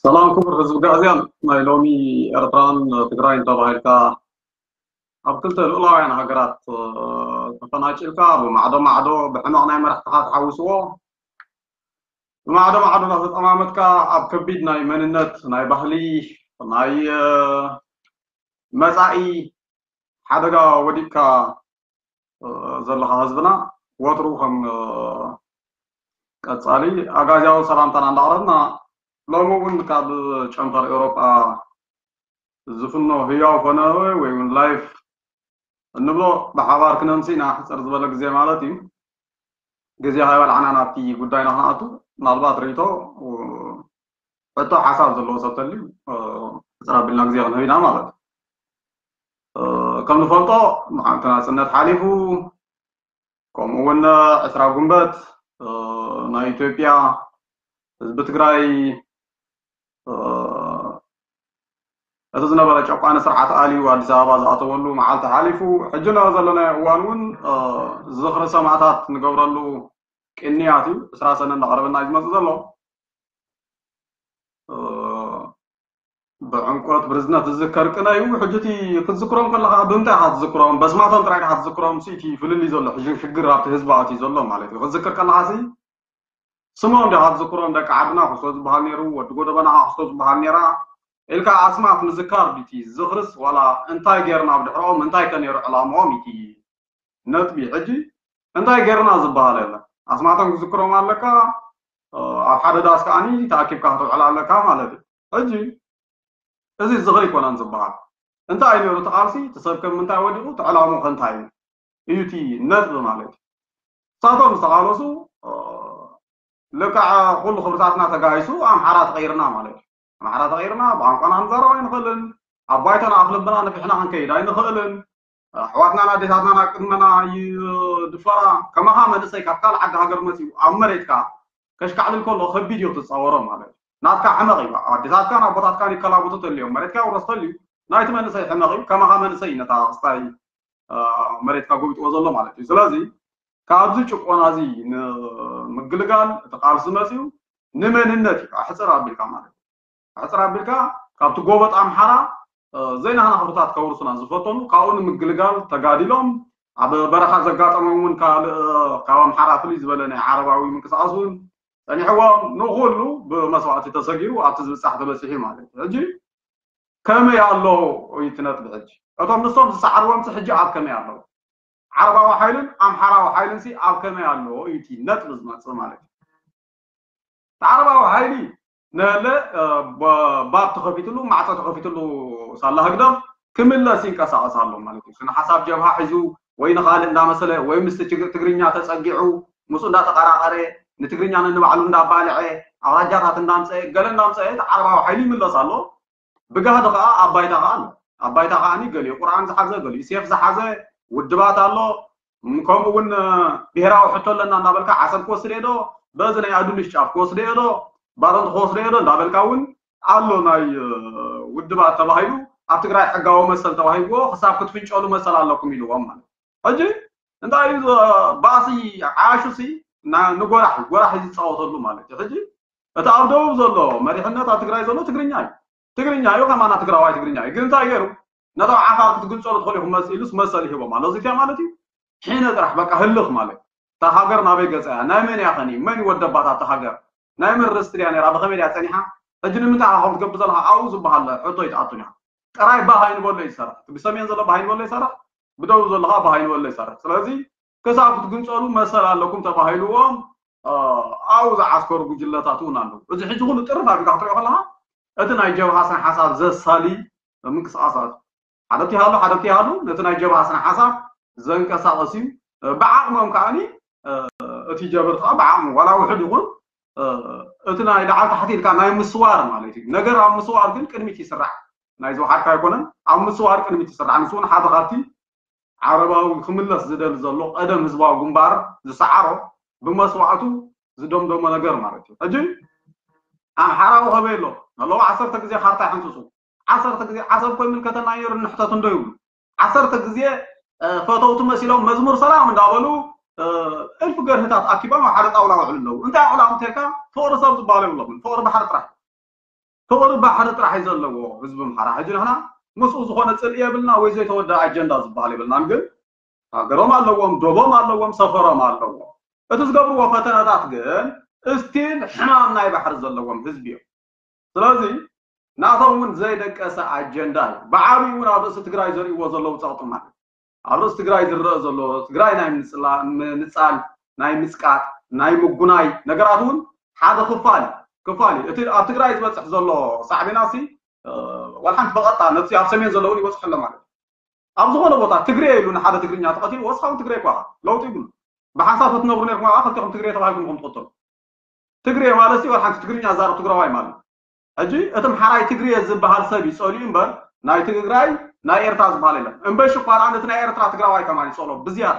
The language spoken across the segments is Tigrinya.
ሰላም ክቡር ህዝቢ ጋእዝያን፣ ናይ ሎሚ ኤርትራን ትግራይን ተባሂልካ ኣብ ክልተ ልኡላውያን ሃገራት ተፈናጭልካ ብማዕዶ ማዕዶ ብሕመቕ ናይ መራሕትኻ ተሓውስዎ ብማዕዶ ማዕዶ እናተጠማመትካ ኣብ ከቢድ ናይ መንነት ናይ ባህሊ ናይ መፃኢ ሓደጋ ወዲቕካ ዘለኻ ህዝብና ወትሩ ከም ቀፃሊ ኣጋዝያዊ ሰላምታና እንዳቕረብና ሎሚ እውን ካብ ጨንፈር ኤውሮጳ ዝፍኖ ህያው ኮነ ወይ እውን ላይፍ እንብሎ ብሓባር ክነምሲ ኢና ሕፅር ዝበለ ግዜ ማለት እዩ። ግዜ ሃይበልዓና ናብቲ ጉዳይና ክንኣቱ ምናልባት ርእቶ ሕቶ ሓሳብ ዘለዎ ሰብ ተልዩ ሕፅር ኣቢልና ግዜ ክንህብ ኢና ማለት እዩ። ከም ንፈልጦ መዓልቲ ናፅነት ሓሊፉ ከምኡ እውን ዕስራ ጉንበት ናይ ኢትዮጵያ ህዝቢ ትግራይ እቲ ዝነበረ ጨቋኒ ስርዓት ኣልዩ ኣዲስ ኣበባ ዝኣተወሉ መዓልቲ ሓሊፉ ሕጂ ንሪኦ ዘለናዮ እዋን እውን ዝኽሪ ሰማእታት ንገብረሉ ቅንያት እዩ። ዕስራ ሰነ እንዳቐረበና እዩ ዝመፅእ ዘሎ። ብዕምቆት ብርዝነት ዝዝከር ቅነ እዩ። ሕጂ እቲ ክትዝክሮም ከለኻ ብምንታይ ኢኻ ትዝክሮም? በስማቶም ጥራይ ኢኻ ትዝክሮም? እቲ ፍልልይ ዘሎ ሕጂ ሽግር ኣብቲ ህዝቢ ኣትዩ ዘሎ ማለት እዩ። ክትዝክር ከለኻ ሲ ስሞም ዲኻ ትዝክሮም? ደቂ ዓድና ክስቶ ዝበሃል ነይሩ፣ ወዲ ጎደበና ክስቶ ዝበሃል ነይራ ኢልካ ኣስማት ምዝካር ድቲ ዝኽርስ ዋላ እንታይ ጌርና ብድሕርኦም እንታይ ከ ነይሩ ዕላምኦም እቲ ነጥቢ። ሕጂ እንታይ ጌርና ዝበሃል የለን። ኣስማቶም ክዝክሮም ኣለካ፣ ኣብ ሓደ ዳስ ከዓኒ ተኣኪብካ ክትውዕል ኣለካ ማለት እዩ። ሕጂ እዚ ዝኽሪ ኣይኮነን ዝበሃል። እንታይ እዩ ነይሩ እቲ ቃልሲ? እቲ ሰብ ከም ምንታይ ወዲቑ? እቲ ዕላምኡ ከ እንታይ እዩ? እዩ እቲ ነጥቢ ማለት እዩ። ንሳቶም ዝተቓለሱ ልክዕ ኩሉ ክብርታትና ተጋሂሱ ኣምሓራ ተቐይርና ማለት እዩ። ኣምሓራ ተቐይርና ብቋንቋና ክንዛረብ ኣይንኽእልን። ኣብ ባይታና ኣፍ ልብና ነፊሕና ክንከይድ ኣይንኽእልን። ኣሕዋትናን ኣዴታትናን ኣብ ቅድመና ይድፈራ። ከማኻ መንእሰይ ካብ ካልእ ዓዲ ሃገር መፂኡ ኣብ መሬትካ ከሽካዕልል ከሎ ከቢድ እዩ ክትፃወሮ ማለት እዩ። ናትካ ሕመቕ እዩ። ኣዴታትካን ኣቦታትካን ይከላብቱ ተልዮም መሬትካ ይውረስ ተልዩ ናይቲ መንእሰይ ሕመቕ እዩ። ከማኻ መንእሰይ እዩ ነታ ክስታይ መሬትካ ጎቢጥዎ ዘሎ ማለት እዩ። ስለዚ ካብዚ ጭቆና እዚ ንምግልጋል እቲ ቃልሲ መፅዩ ንመንነት እዩ ሕፅር ኣቢልካ ማለት እዩ። ሕፅር ኣቢልካ ካብቲ ጎበጥ ኣምሓራ ዘይናህና ክብርታት ከውርሱና ዝፈተኑ ካብኡ ንምግልጋል ተጋዲሎም ኣብ በረኻ ዘጋጠሞም እውን ካልእ ካብ ኣምሓራ ፍልይ ዝበለ ናይ ዓረባዊ ምንቅስቃስ እውን ፀኒሕዎም ንኩሉ ብመስዋእቲ ተሰጊሩ ኣብቲ ዝብፃሕ ተበፂሑ ማለት እዩ። ሕጂ ከመይ ኣሎ እዩ እቲ ነጥቢ? ሕጂ እቶም ንሶም ዝሰዓርዎም ሕጂ ኣብ ከመይ ኣለዉ? ዓረባዊ ሓይልን ኣምሓራዊ ሓይልን ሲ ኣብ ከመይ ኣለዎ እዩ እቲ ነጥቢ ዝመፅእ ማለት እዩ። እቲ ዓረባዊ ሓይሊ ነለ ባብ ተኸፊትሉ ማዕፆ ተኸፊትሉ ሳላ ህግደፍ ክምለስ ይንቀሳቐስ ኣሎ ማለት እዩ። ስነ ሓሳብ ጀብሃ ሒዙ ወይ ንኻልእ እንዳመሰለ ወይ ምስቲ ትግርኛ ተፀጊዑ ምስኡ እንዳተቐራቐረ ንትግርኛ ነንባዕሉ እንዳባልዐ ኣውራጃታት እንዳምፀአ ገለ እንዳምፀአ እቲ ዓረባዊ ሓይሊ ይምለስ ኣሎ። ብጋህዲ ከዓ ኣብ ባይታ ከዓ ኣሎ። ኣብ ባይታ ከዓ ገሊኡ ቁርኣን ዝሓዘ ገሊኡ ሴፍ ዝሓዘ ውድባት ኣሎ። ከምኡ እውን ብሄራዊ ሕቶ ኣለና እንዳበልካ ዓሰብ ክወስድ እየ ዶ በዚ ናይ ኣዱልሽ ጫፍ ክወስድ እየ ዶ ባረንት ክወስድ እየ ዶ እንዳበልካ እውን ኣሎ። ናይ ውድባት ተባሂሉ ኣብ ትግራይ ሕጋዊ መሰል ተዋሂብዎ ክሳብ ክትፍንጨሉ መሰል ኣለኩም ኢልዎም ማለት ሕጂ እንታይ እዩ ባእሲ ዓሹ ሲ ንጎራሕ ጎራሕ እዩ ዝፃወተሉ ማለት እዩ። ሕጂ እቲ ኣብ ደቡብ ዘሎ መሪሕነት ኣብ ትግራይ ዘሎ ትግርኛ እዩ። ትግርኛ እዩ ከማና ትግራዋይ ትግርኛ እዩ። ግን እንታይ ገይሩ ነቶም ዓፋር ክትግንፀሉ ትኽእሉ ኢኹም መስ ኢሉስ መሰል ይህቦም ኣሎ። እዚትያ ማለት እዩ ሒነ ጥራሕ በቃ ህልኽ ማለት እታ ሃገር ናበይ ገፀ እያ? ናይ መን እያ ኸኒ? መን ይወደባት ኣብታ ሃገር? ናይ መን ርስት ድያ ነይራ? ብኸመይ ድያ ፀኒሓ? ሕጂ ንምንታይ ኢኻ ከምኡ ትገብር ዘለኻ? ኣብኡ ዝበሃል ሕቶ ይትኣቱን ኢኻ። ጥራይ ባህ ኣይንበሎ ይሰርሕ። እቲ ብሰሜን ዘሎ ባህ ኣይንበሎ ይሰርሕ፣ ብደቡብ ዘሎ ከዓ ባህ ኣይንበሎ ይሰርሕ። ስለዚ ክሳብ ክትግንፀሉ መሰል ኣለኩም ተባሂልዎም ኣብኡ ዝዓስከሩ ጉጅለታት እውን ኣለዉ። እዚ ሕጂ ኩሉ ጥርፍ ኣቢልካ ክትሪኦ ከለካ እቲ ናይ ጀብሃ ስነ ሓሳብ ዘሳሊ ምንቅስቃሳት ሓደቲ ሃሉ ሓደቲ ሃሉ ነቲ ናይ ጀብሃ ስነ ሓሳብ ዘንቀሳቀስ እዩ። ብዓቅሞም ከዓኒ እቲ ጀበር ከዓ ብዓቅሙ ዋላ ውሕድ ይኹን እቲ ናይ ላዕሊ ታሕቲ ኢልካ ናይ ምስዋር ማለት እዩ። ነገር ኣብ ምስዋር ግን ቅድሚት ይስራሕ። ናይ ዝወሓድካ ኣይኮነን፣ ኣብ ምስዋር ቅድሚት ይስራሕ። ንሱ እውን ሓደ ካብቲ ዓረባዊ ክምለስ ዝደሊ ዘሎ ቀደም ህዝባዊ ግንባር ዝሰዓሮ ብመስዋእቱ ዝደምደሞ ነገር ማለት እዩ። ሕጂ ኣምሓራዊ ከበይ ኣሎ ኣለዎ ዓሰርተ ግዜ ካርታ ይሕንፅፁ ዓሰርተ ግዜ ዓሰብ ኮ ይምልከተና ነይሩ ንሕተት እንዶ ይብሉ ዓሰርተ ግዜ ፈተውቲ መሲሎም መዝሙር ሰላም እንዳበሉ እልፊ ገርህታት ኣኪቦም ኣብ ሓደ ጣውላ ውዕሉ ኣለዉ። እንታይ ቁላ ምተካ ፍቅሪ ሰብ ዝበሃሉ የብሎምን። ፍቅሪ ባሕሪ ጥራሕ ፍቕሪ ባሕሪ ጥራሕ እዩ ዘለዎ ህዝቢ ኣምሓራ። ሕጂ ንሕና ምስኡ ዝኾነ ጽልኢ የብልና ወይ ዘይተወደኣ ኣጀንዳ ዝበሃል የብልናን። ግን ሃገሮም ኣለዎም፣ ዶቦም ኣለዎም፣ ሰፈሮም ኣለዎም። እቲ ዝገብርዎ ፈተነታት ግን እስቲል ሕማም ናይ ባሕሪ ዘለዎም ህዝቢ እዮም። ስለዚ ናቶም እውን ዘይደቀሰ ኣጀንዳ እዩ። ብዓብዩ እውን ኣብ ርእሲ ትግራይ ዘርእይዎ ዘለዉ ጸቕጢ ማለት እዩ። ኣብ ርእሲ ትግራይ ዝረአ ዘሎ ትግራይ ናይ ምንጽላ- ምንጻል፣ ናይ ምጽቃጥ፣ ናይ ምጉናይ ነገራት እውን ሓደ ክፋል እዩ። ክፋል እዩ። እቲ ኣብ ትግራይ ዝበጽሕ ዘሎ ሳዕቤናሲ ዋላ ሓንቲ በቐጥታ ነቲ ኣብ ሰሜን ዘለውን ይበጽሑ ኣሎ ማለት እዩ። ኣብ ዝኾነ ቦታ ትግሬ ኢሉ ንሓደ ትግርኛ ተቐቲሉ ወስኻ እውን ትግሬ እኳ ለውጢ ይብሉ። ብሓንሳብ ክትነብሩ ነርኩም ከዓ ክልቲኹም ትግሬ ተባሂልኩም ኢኹም ትቕተሉ። ትግሬ ማለት ዋላ ሓንቲ ትግርኛ ዛረብ ትግራዋይ ማለት እዩ። ሕጂ እቲ ኣምሓራይ ትግሬ ዝበሃል ሰብ እዩ ጸሊኡ እምበር ናይ ትግራይ ናይ ኤርትራ ዝበሃል የለን። እምበሽ እኳ ደኣ ነቲ ናይ ኤርትራ ትግራዋይ ከማን ይጸሎ ብዝያዳ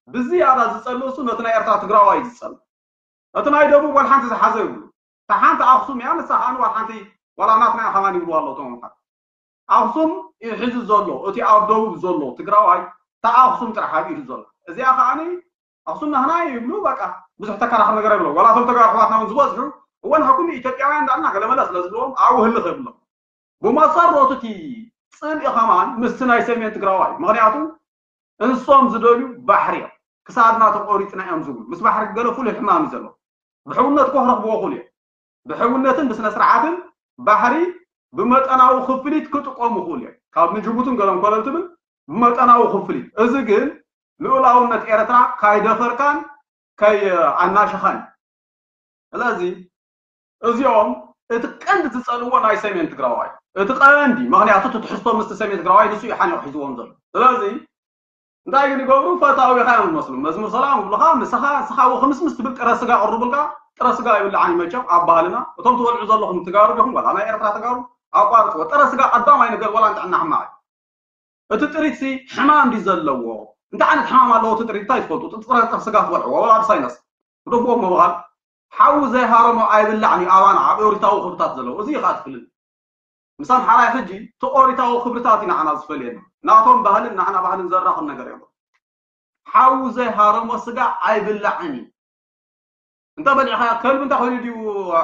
ብዝያዳ ዝጸልእ እሱ ነቲ ናይ ኤርትራ ትግራዋይ እዩ ዝጸልእ። እቲ ናይ ደቡብ ዋላ ሓንቲ ዝሓዘ ይብሉ። እታ ሓንቲ ኣኽሱም እያ፣ ንሳ ከዓ ዋላ ሓንቲ ዋላ ናትና እያ ከማን ይብሉ ኣለዉ እቶም ኣምሓራ። ኣኽሱም እዩ ሒዙ ዘሎ፣ እቲ ኣብ ደቡብ ዘሎ ትግራዋይ እታ ኣኽሱም ጥራሕ ኣብ ኢዱ ዘሎ። እዚኣ ከዓኒ ኣኽሱም ናህና እዩ ይብሉ፣ በቃ ብዙሕ ተከራኽር ነገር የብሎም። ዋላ እቶም ተጋሩ ኣሕዋትና እውን ዝበዝሑ እወ ንሕኩም ኢትዮጵያውያን እንዳልና ገለመለ ስለ ዝብልዎም ኣብኡ ህልኽ የብሎም። ብመሰረቱ እቲ ጽልኢ ከማን ምስቲ ናይ ሰሜን ትግራዋይ፣ ምኽንያቱ እንሶም ዝደልዩ ባሕሪ እዮም። ክሳድና ተቆሪጽና እዮም ዝብሉ። ምስ ባሕሪ ገለ ፍሉይ ሕማም እዩ ዘሎ። ብሕውነት እኮ ክረኽብዎ ክእሉ እዮም። ብሕውነትን ብስነ ስርዓትን ባሕሪ ብመጠናዊ ክፍሊት ክጥቀሙ ክእሉ እዮም። ካብ ንጅቡትን ገለን ኮለል ትብል ብመጠናዊ ክፍሊት። እዚ ግን ልኡላውነት ኤርትራ ካይደፈርካን ከይኣናሸኻን። ስለዚ እዚኦም እቲ ቀንዲ ዝጸልዎ ናይ ሰሜን ትግራዋይ፣ እቲ ቀንዲ ምኽንያቱ እቲ ትሕዝቶ ምስቲ ሰሜን ትግራዋይ ንሱ እዩ ሓኒቑ ሒዝዎም ዘሎ። ስለዚ እንታይ ግን ይገብሩ? ፈታዊኻ እዮም ዝመስሉ። መዝሙር ሰላም ይብሉኻ፣ ንስኻ ንስኻ ወ ክምስምስ ትብል ጥረ ስጋ ቅርቡልካ፣ ጥረ ስጋ ይብልዓን መቸም ኣብ ባህልና። እቶም ትበልዑ ዘለኹም ትጋሩ ዲኹም ዋላ ናይ ኤርትራ ተጋሩ ኣቋርጽዎ። ጥረ ስጋ ቀዳማይ ነገር ዋላ ንጥዕና ሕማቕ እዩ። እቲ ጥሪት ሲ ሕማም ድዩ ዘለዎ? እንታይ ዓይነት ሕማም ኣለዎ እቲ ጥሪት እንታይ ትፈልጡ? እቲ ጥረ ስጋ ትበልዕዎ ዋላ ብሳይነስ ግደፍዎ ምባል ሓዊ ዘይሃረሞ ኣይብላዕን እዩ ኣባና ኣብ ኦሪታዊ ክብርታት ዘለዉ። እዚ እዩ ከዓ ትፍልል። ምስ ኣምሓራይ ሕጂ እቲ ኦሪታዊ ክብርታት እዩ ንዓና ዝፈልየና። ናቶም ባህልን ንዓና ባህልን ዘራኽብ ነገር የብሉን። ሓዊ ዘይሃረሞ ስጋ ኣይብላዕን እዩ። እንተ በሊዕኻዮ ከልቢ እንታይ ኮይኑ ድዩ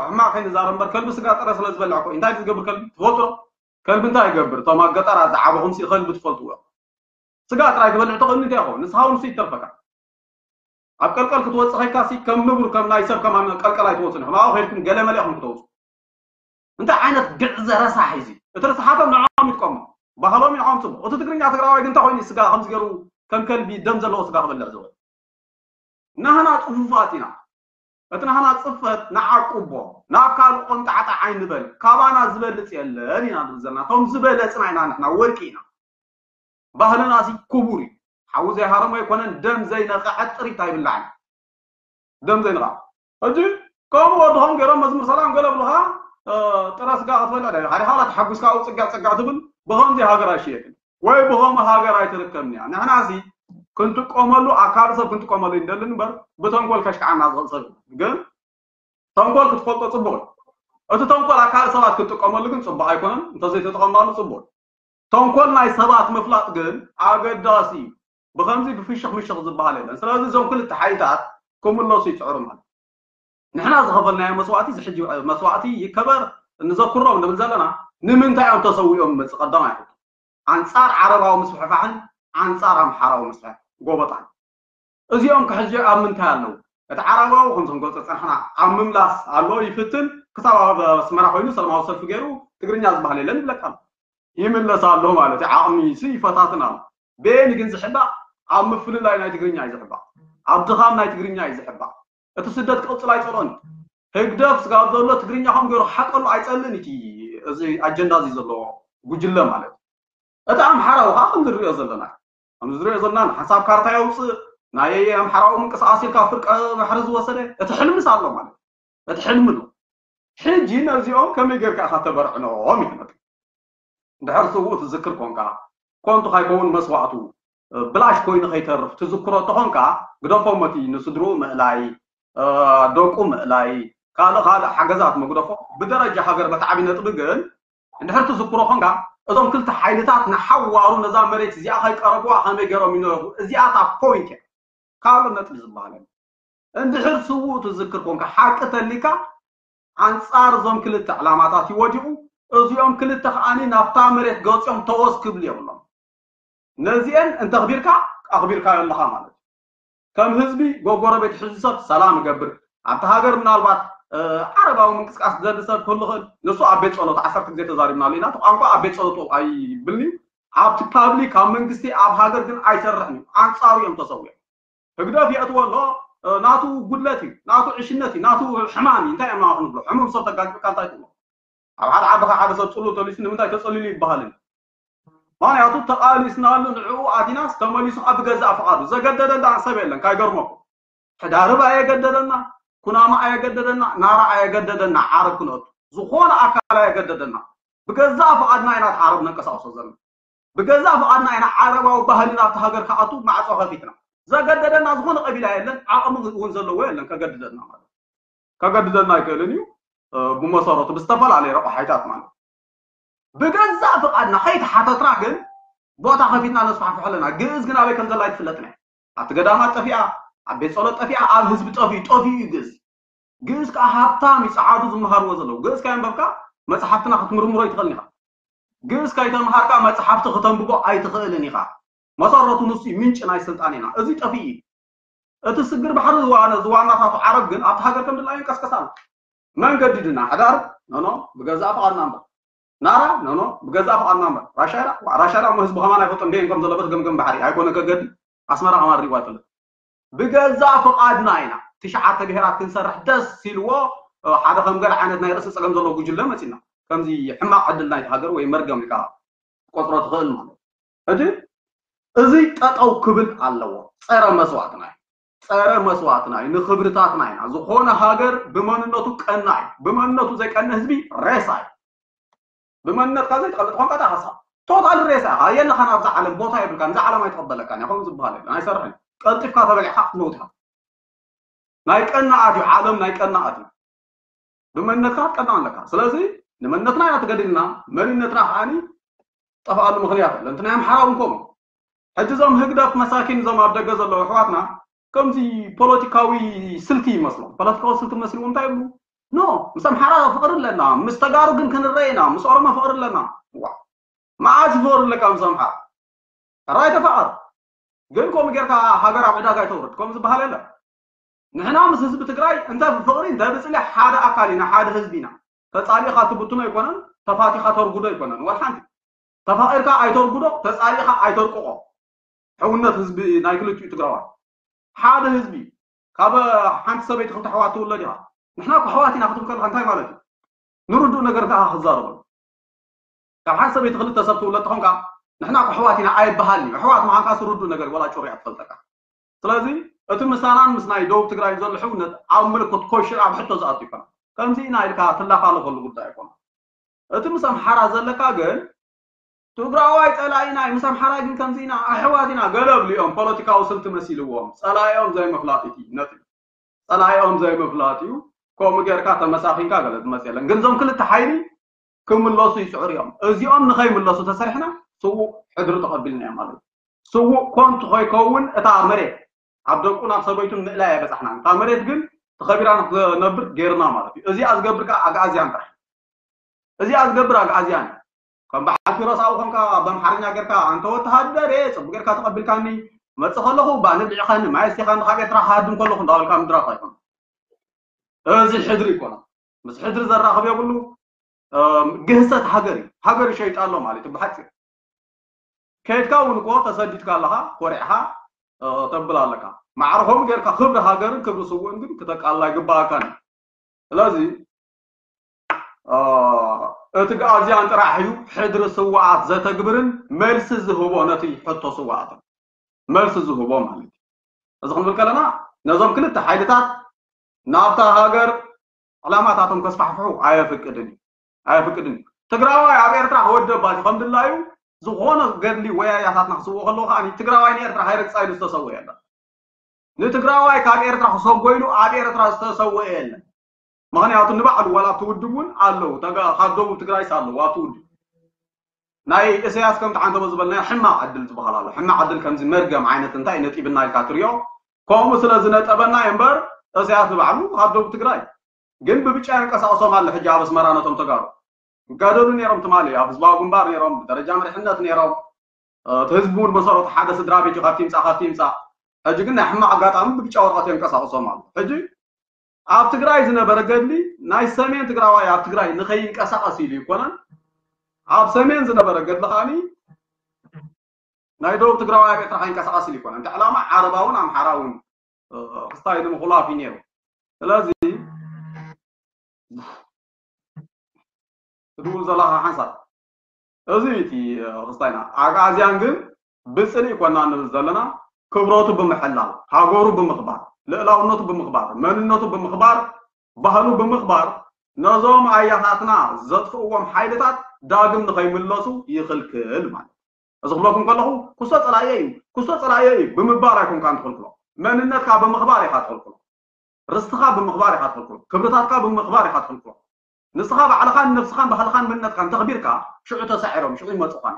ሕማቕ ከይንዛረብ እምበር ከልቢ ስጋ ጥረ ስለ ዝበልዕ እኮ እዩ። እንታይ ዝገብር ከልቢ ትፈልጡ ዶ? ከልቢ እንታይ ይገብር? እቶም ኣብ ገጠራት ዝዓበኹም ሲ ከልቢ ትፈልጥዎ። ስጋ ጥራይ ትበልዕ ተኾይኑ እንታይ ይኸውን? ንስኻ እውን ንሱ ይተርፈካ። ኣብ ቀልቀል ክትወጽእ ከይካ ሲ ከም ንቡር ከም ናይ ሰብ ከማን ቀልቀል ኣይትወጽኡን ኢኹም። ኣብኡ ከይድኩም ገለ መለ ኢኹም ክትወጽኡ። እንታይ ዓይነት ግዕዘ ረሳሕ እዩ እዚ? እቲ ርስሓቶም ንዕኦም ይጥቀሙ። ባህሎም ንዕኦም ጽቡቕ። እቲ ትግርኛ ትግራዋይ ግን እንታይ ኮይኑ ስጋ ከምዚ ገይሩ ከም ከልቢ ደም ዘለዎ ስጋ ክበልዕ ዝውዕል? ናህና ጽፉፋት ኢና። እቲ ናህና ጽፈት ንዓቁቦ፣ ናብ ካልእ ቆንጣዕጣዕ ኣይንበል። ካባና ዝበልጽ የለን ኢና ንብል ዘለና። እቶም ዝበለጽና ኢና ንሕና፣ ወርቂ ኢና። ባህልና ሲ ክቡር እዩ። ሓዊ ዘይሃረሞ ኣይኮነን፣ ደም ዘይነቐዐት ጥሪት ኣይብላዕን። ደም ዘይንቐዓ። ሕጂ ከምኡ ወድኾም ገይሮም መዝሙር ሰላም ገለ ብሉኻ፣ እ፣ ጥረ ስጋ ክትበልዕ ዶ ኢኻ? ዲኻ ዋላ ተሓጒስካ ኣብኡ ጽግዕ ጽግዕ ትብል? ብኸምዚ ሃገር ኣይሽየጥን። ወይ ብኸምኡ ሃገር ኣይትርከብን እያ። ንሕና ሲ ክንጥቀመሉ፣ ኣብ ካልእ ሰብ ክንጥቀመሉ ይንደልን እምበር፣ ብተንኮል ከሽክዓና ዝኽእል ሰብ የለን። ግን ተንኮል ክትፈልጦ ጽቡቕ እዩ። እቲ ተንኮል ኣብ ካልእ ሰባት ክትጥቀመሉ ግን ጽቡቕ ኣይኮነን። እንተዘይተጠቐምናሉ ጽቡቕ እዩ። ተንኮል ናይ ሰባት ምፍላጥ ግን ኣገዳሲ እዩ። ብኸምዚ ብፍሽኽ ምሽኽ ዝበሃል የለን። ስለዚ እዞም ክልተ ሓይልታት ክምለሱ ይጽዕሩ ማለት እዩ። ንሕና ዝኸፈልናዮ መስዋእቲ፣ እዚ ሕጂ መስዋእቲ ይከበር፣ እንዘክሮም ንብል ዘለና፣ ንምንታይ እዮም ተሰዊኦም ይመጽእ ቀዳማይ ሕቶ። ኣንጻር ዓረባዊ ምስፍሕፋሕን ኣንጻር ኣምሓራዊ ምስፍሕፋሕን ጎበጣን። እዚኦም ከ ሕጂ ኣብ ምንታይ ኣለዉ? እቲ ዓረባዊ ከምዞም ገልጾ ጸንሕና ኣብ ምምላስ ኣሎ ይፍትን፣ ክሳብ ኣብ ኣስመራ ኮይኑ ሰላማዊ ሰልፊ ገይሩ ትግርኛ ዝበሃል የለን ይብለካ ኣሎ። ይምለስ ኣሎ ማለት እዩ። ዓቕሚ ሲ ይፈታትን ኣሎ። በየን ግን ዝሕባእ? ኣብ ምፍልላይ ናይ ትግርኛ እዩ ዝሕባእ። ኣብ ድኻም ናይ ትግርኛ እዩ ዝሕባእ። እቲ ስደት ክቕጽል ኣይጸልኦን እዩ። ህግደፍ ስጋብ ዘሎ ትግርኛ ከም ገይሩ ክሓቀሉ ኣይጸልእን እቲ እዚ ኣጀንዳ እዚ ዘለዎ ጉጅለ ማለት እዩ። እቲ ኣምሓራዊ ከዓ ከም ዝሪኦ ዘለና እዩ። ከም ዝሪኦ ዘለና ንሓንሳብ ካርታ የውፅእ ናይ ኣምሓራዊ ምንቅስቃስ ኢልካ ፍርቀ ባሕሪ ዝወሰደ እቲ ሕልምስ ኣሎ ማለት እዩ። እቲ ሕልሚ ኣሎ። ሕጂ ነዚኦም ከመይ ጌርካ ኢኻ ተበርዕኖም እዩ ዝመጽእ። እንድሕር ስውእ ትዝክር ኮንካ ኮንቱ ካይከውን መስዋእቱ ብላሽ ኮይኑ ከይተርፍ ትዝክሮ ተኾንካ ግደፎም እቲ ንስድርኡ ምእላይ ደቁ ምእላይ ካልእ ካልእ ሓገዛት መግደፎ ብደረጃ ሃገር በቲ ዓብዪ ነጥቢ ግን እንድሕር ትዝክሮ ኾንካ እዞም ክልተ ሓይልታት ንሓዋሩ ነዛ መሬት እዚኣ ከይቀረብዋ ከመይ ገይሮም ይነብሩ እዚኣ እታ ፖይንት እያ ካልእ ነጥቢ ዝበሃል እንድሕር ስውእ ትዝክር ኮንካ ሓቂ ተሊካ ኣንጻር እዞም ክልተ ዕላማታት እዩ ወዲቑ። እዚኦም ክልተ ከዓኒ ናብታ መሬት ገፂኦም ተወስ ክብሉ የብሎም። ነዚአን እንተኽቢርካ ኣኽቢርካዮ ኣለኻ ማለት እዩ። ከም ህዝቢ ጎጎረቤት ሕዚ ሰብ ሰላም እገብር ኣብቲ ሃገር ምናልባት ዓረባዊ ምንቅስቃስ ዘሊ ሰብ ክህሉ ክእል ንሱ ኣብ ቤት ጸሎት ዓሰርተ ግዜ ተዛሪብናሉ ኢና። ቋንቋ ኣብ ቤት ጸሎት ኣይብልን እዩ። ኣብቲ ፓብሊክ ኣብ መንግስቲ ኣብ ሃገር ግን ኣይሰርሕን እዩ። ኣንጻሩ እዮም ተሰዊኦም። ህግደፍ የእትዎ ኣሎ። ናቱ ጉድለት እዩ፣ ናቱ ዕሽነት እዩ፣ ናቱ ሕማም እዩ። እንታይ እዮም ንብሎ? ሕሙም ሰብ ተጋጭካ እንታይ ትብሎ? ኣብ ሓደ ዓዲ ሓደ ሰብ ጽሉ ተሊሱ ንምንታይ ተጸሊሉ ይበሃልን? ምክንያቱ ተቓሊስናሉ ንዕኡ ኣቲናስ ተመሊሱ ኣብ ገዛእ ፍቓዱ ዘገደደና ሰብ የለን። ካይገርመኩም ሕዳርብ ኣየገደደና፣ ኩናማ ኣየገደደና፣ ናራ ኣየገደደና፣ ዓረብ ክንእቱ ዝኾነ ኣካል ኣየገደደና። ብገዛእ ፍቓድና ኢና ዓረብ ነንቀሳቕሶ ዘለና። ብገዛእ ፍቓድና ኢና ዓረባዊ ባህሊ ናብቲ ሃገር ክኣቱ ማዕጾ ከፊትና። ዘገደደና ዝኾነ ቀቢላ የለን፣ ዓቕሚ እውን ዘለዎ የለን ከገድደና ማለት ከገድደና ኣይክእልን እዩ። ብመሰረቱ ብዝተፈላለየ ረቑሓይታት ማለት ብገዛእ ፍቓድና ከይተሓተትና ግን ቦታ ከፊትና ነስፋሕፍሖ ኣለና። ግእዝ ግን ኣበይ ከም ዘላ ኣይትፍለጥን እያ። ኣብቲ ገዳማት ጠፊኣ፣ ኣብ ቤት ጸሎት ጠፊኣ፣ ኣብ ህዝቢ ጠፊኡ ጠፊኡ እዩ ግእዝ። ግእዝ ከዓ ሃብታም እዩ። ጸዓዱ ዝመሃርዎ ዘለዉ ግእዝ ከየንበብካ መጽሓፍትና ክትምርምሮ ኣይትኽእልን ኢኻ። ግእዝ ከይተምሃርካ መጽሓፍቲ ክተንብቦ ኣይትኽእልን ኢኻ። መሰረቱ ንሱ እዩ፣ ምንጪ ናይ ስልጣን ኢና። እዚ ጠፊኡ እዩ። እቲ ስግር ባሕሪ ዝዋነ ዝዋናታቱ ዓረብ ግን ኣብቲ ሃገር ከም ድላዩ ይንቀስቀስ ኣሎ። መን ገዲድና? ሕዳር ኖኖ ብገዛእ ፍቓድና እምበር። ናራ ኖኖ ብገዛእ ፍቓድና እምበር። ራሻይዳ ዋ፣ ራሻይዳ እሞ ህዝቢ ከማን ኣይፈልጦ እንዴ ከም ዘለበት ገምገም ባሕሪ ኣይኮነ ከገዲ ኣስመራ ከማን ሪዋ ኣይፈልጥ። ብገዛእ ፍቓድና ኢና ትሽዓተ ብሄራት ክንሰርሕ ደስ ኢልዎ ሓደ ከም ገለ ዓይነት ናይ ርእሲ ጸገም ዘለዎ ጉጅለ መጺና ከምዚ ሕማቕ ዕድል ናይቲ ሃገር ወይ መርገም ኢልካ ቆጽሮ ትኽእል ማለት ሕጂ እዚ ጠጠው ክብል ኣለዎ። ጸረ መስዋእትና እዩ። ጸረ መስዋእትና እዩ። ንክብርታትና ኢና። ዝኾነ ሃገር ብመንነቱ ቀና እዩ። ብመንነቱ ዘይቀነ ህዝቢ ሬሳ እዩ። ብመንነትካ ዘይትቐልጥ ኾንካ ዳኸሳ ቶታል ሬሳ ኢኻ። የለኻን ኣብዛ ዓለም ቦታ የብልካን። እዛ ዓለም ኣይትቐበለካን እያ። ከምኡ ዝበሃል የለን። ኣይሰርሕን። ቀልጢፍካ ተበሊዕካ ክትመውት ኢኻ። ናይ ቀናኣት እዩ። ዓለም ናይ ቀናኣት እዩ። ብመንነትካ ክትቀና ኣለካ። ስለዚ ንመንነትና ኢና ተገዲልና፣ መንነትና ከዓኒ ጠፍኣሉ ምኽንያት የለን። እቲ ናይ ኣምሓራ እውን ከምኡ። ሕጂ እዞም ህግደፍ መሳኪን እዞም ኣብ ደገ ዘለዉ ኣሕዋትና ከምዚ ፖለቲካዊ ስልቲ ይመስሎም። ፖለቲካዊ ስልቲ መስልዎም እንታይ ይብሉ? ኖ፣ ምስ ኣምሓራ ፍቕሪ ኣለና፣ ምስ ተጋሩ ግን ክንረአ ኢና፣ ምስ ኦሮሞ ፍቕሪ ኣለና። ዋ፣ መዓዝ ፍቕሪ ኣለካ ምስ ኣምሓራ? ሕራይ ተፋቐር። ግን ከምኡ ጌርካ ሃገር ኣብ ዕዳጋ ኣይተውርድ። ከምኡ ዝበሃል የለን። ንሕና ምስ ህዝቢ ትግራይ እንተ ብፍቕሪ እንተ ብፅሊ ሓደ ኣካል ኢና፣ ሓደ ህዝቢ ኢና። ተፃሊእኻ ትብትኖ ኣይኮነን፣ ተፋቲኻ ተርጉዶ ኣይኮነን። ወላ ሓንቲ ተፋቒርካ ኣይተርጉዶ፣ ተፃሊእኻ ኣይተርቅቖ። ሕውነት ህዝቢ ናይ ክልቲኡ ትግራዋይ ሓደ ህዝቢ። ካብ ሓንቲ ሰበይቲ ክልተ ኣሕዋት ትውለድ ኢኻ። ንሕና እኮ ኣሕዋት ኢና ክትብል ከለኻ እንታይ ማለት እዩ? ንርዱእ ነገር ከዓ ክዛረበሉ። ካብ ሓንቲ ሰበይቲ ክልተ ሰብ ትውለድ ተኾንካ ንሕና እኮ ኣሕዋት ኢና ኣይበሃልን እዩ። ኣሕዋት ምዃንካ ርዱእ ነገር እዩ፣ ወላ ጩርያ ትፈልጠካ። ስለዚ እቲ ምሳናን ምስ ናይ ደቡብ ትግራይ ዘሎ ሕውነት ኣብ ምልክት ኮሽን ኣብ ሕቶ ዝኣቱ ይኮና። ከምዚ ኢና ኢልካ ትላፋለፈሉ ጉዳይ ኣይኮነ። እቲ ምስ ኣምሓራ ዘለካ ግን ትግራዋይ ፀላኢና እዩ፣ ምስ ኣምሓራ ግን ከምዚ ኢና ኣሕዋት ኢና ገለ ብልኦም ፖለቲካዊ ስልቲ መሲልዎም ፀላኢኦም ዘይምፍላጥ እቲ ነጥቢ። ፀላኢኦም ዘይምፍላጥ እዩ። ከምኡ ጌርካ ተመሳኺንካ ገለ ዝመፅ የለን። ግን እዞም ክልተ ሓይሊ ክምለሱ ይፅዕሩ እዮም። እዚኦም ንኸይምለሱ ተሰሪሕና ስዉእ ሕድሪ ተቐቢልና እዮም ማለት እዩ። ስዉእ ኮንቱ ከይከውን እታ መሬት ኣብ ደቁን ኣብ ሰበይቱን ምእላይ ኣይበፃሕናን። እታ መሬት ግን ተኸቢራ ንክትነብር ገይርና ማለት እዩ። እዚኣ ዝገብር ከዓ ኣግኣዝያን ጥራሕ። እዚኣ ዝገብር ኣግኣዝያን እዩ። ከም በዓል ኪሮስ ኣብኡ ኮንካ ብኣምሓርኛ ጌርካ ኣንተ ወተሃደር እየ ፅቡቅ ጌርካ ተቐቢልካኒ መፅእ ከለኹ ባኒ ብዒኻኒ ማይ ኣስቲኻኒ ካብ ኤርትራ ክሃድም ከለኹ እንዳበልካ ምድራፍ ኣይኮነ። እዚ ሕድሪ ይኮነ። ምስ ሕድሪ ዘራኽብ የብሉ። ግህሰት ሃገር እዩ። ሃገር ይሸይጣ ኣሎ ማለት እዩ ብሓፂር። ከይድካ እውን እኮ ተሰዲድካ ኣለኻ ኮሪዕኻ ተብል ኣለካ። ማዕርኾም ጌርካ ክብሪ ሃገርን ክብሪ ስውእን ግን ክተቃልላ ይግባኣካን እዩ። ስለዚ እቲ ግኣዝያን ጥራሕ እዩ ሕድሪ ስውኣት ዘተግብርን መልሲ ዝህቦ ነቲ ሕቶ ስውኣትን መልሲ ዝህቦ ማለት እዩ። እዚ ክንብል ከለና ነዞም ክልተ ሓይልታት ናብታ ሃገር ዕላማታቶም ከስፋሕፍሑ ኣየፍቅድን እዩ። ኣየፍቅድን እዩ። ትግራዋይ ኣብ ኤርትራ ክወደባት እዩ ከም ድላዩ ዝኾነ ገድሊ ወያያታትና ክስውኦ ከለዉ ከዓ ትግራዋይ ንኤርትራ ሃይረግፃ ኢሉ ዝተሰወ የለን። ንትግራዋይ ካብ ኤርትራ ክሰጎ ኢሉ ኣብ ኤርትራ ዝተሰወ የለን። ምክንያቱ ንባዕሉ ዋላ ኣብቲ ውድብ እውን ኣለዉ ካብ ደቡብ ትግራይስ ኣለዉ ኣብቲ ውድብ ናይ እሰያስ ከምቲ ዓንተቦ ዝበልናዮ ሕማቕ ዕድል ዝበሃል ኣሎ። ሕማቕ ዕድል ከምዚ መርገም ዓይነት እንታይ ነጢብና ኢልካ ትሪኦ ከምኡ ስለ ዝነጠበና እዩ እምበር እሰያስ ንባዕሉ ካብ ደቡብ ትግራይ ግን ብብጫ የንቀሳቕሶም ኣሎ። ሕጂ ኣብ ኣስመራ ነቶም ተጋሩ ይጋደሉ ነይሮም ትማሊ ኣብ ህዝባዊ ግንባር ነይሮም፣ ብደረጃ መሪሕነት ነይሮም። እቲ ህዝቢ እውን መሰረቱ ሓደ ስድራ ቤት እዩ፣ ካብቲ ይምፃእ ካብቲ ይምፃእ። ሕጂ ግን ናይ ሕማቕ ኣጋጣሚ ብብጫ ወረቐት የንቀሳቕሶም ኣሎ። ሕጂ ኣብ ትግራይ ዝነበረ ገድሊ ናይ ሰሜን ትግራዋይ ኣብ ትግራይ ንኸይንቀሳቐስ ኢሉ ይኮነን፣ ኣብ ሰሜን ዝነበረ ገድሊ ከዓኒ ናይ ደቡብ ትግራዋይ ኣብ ኤርትራ ከይንቀሳቐስ ኢሉ ይኮነን። እቲ ዕላማ ዓረባውን ኣምሓራውን ክስታይ ንምኹላፍ እዩ ነይሩ። ስለዚ ትድውል ዘለኻ ሓንሳብ እዚ እቲ ክስታይና ኣግኣዝያን ግን ብፅልኢ ኮና ንብል ዘለና፣ ክብረቱ ብምሕላው፣ ሃገሩ ብምኽባር፣ ልእላውነቱ ብምኽባር፣ መንነቱ ብምኽባር፣ ባህሉ ብምኽባር ነዞም ኣያታትና ዘጥፍእዎም ሓይልታት ዳግም ንኸይምለሱ ይኽልክል ማለት። እዚ ክብለኩም ከለኹ ክሶ ፀላእየ እዩ፣ ክሶ ፀላእየ እዩ ብምባል ኣይኮንካን ትኽልክሎ። መንነትካ ብምኽባር ኢኻ ትኽልክሎ። ርስትኻ ብምኽባር ኢኻ ትኽልክሎ። ክብርታትካ ብምኽባር ኢኻ ትኽልክሎ። ንስኻ ባዕልኻን ነብስኻን ባህልኻን መንነትካን ተኽቢርካ ሽዑ ተሳዒሮም ሽዑ ይመፁኻን።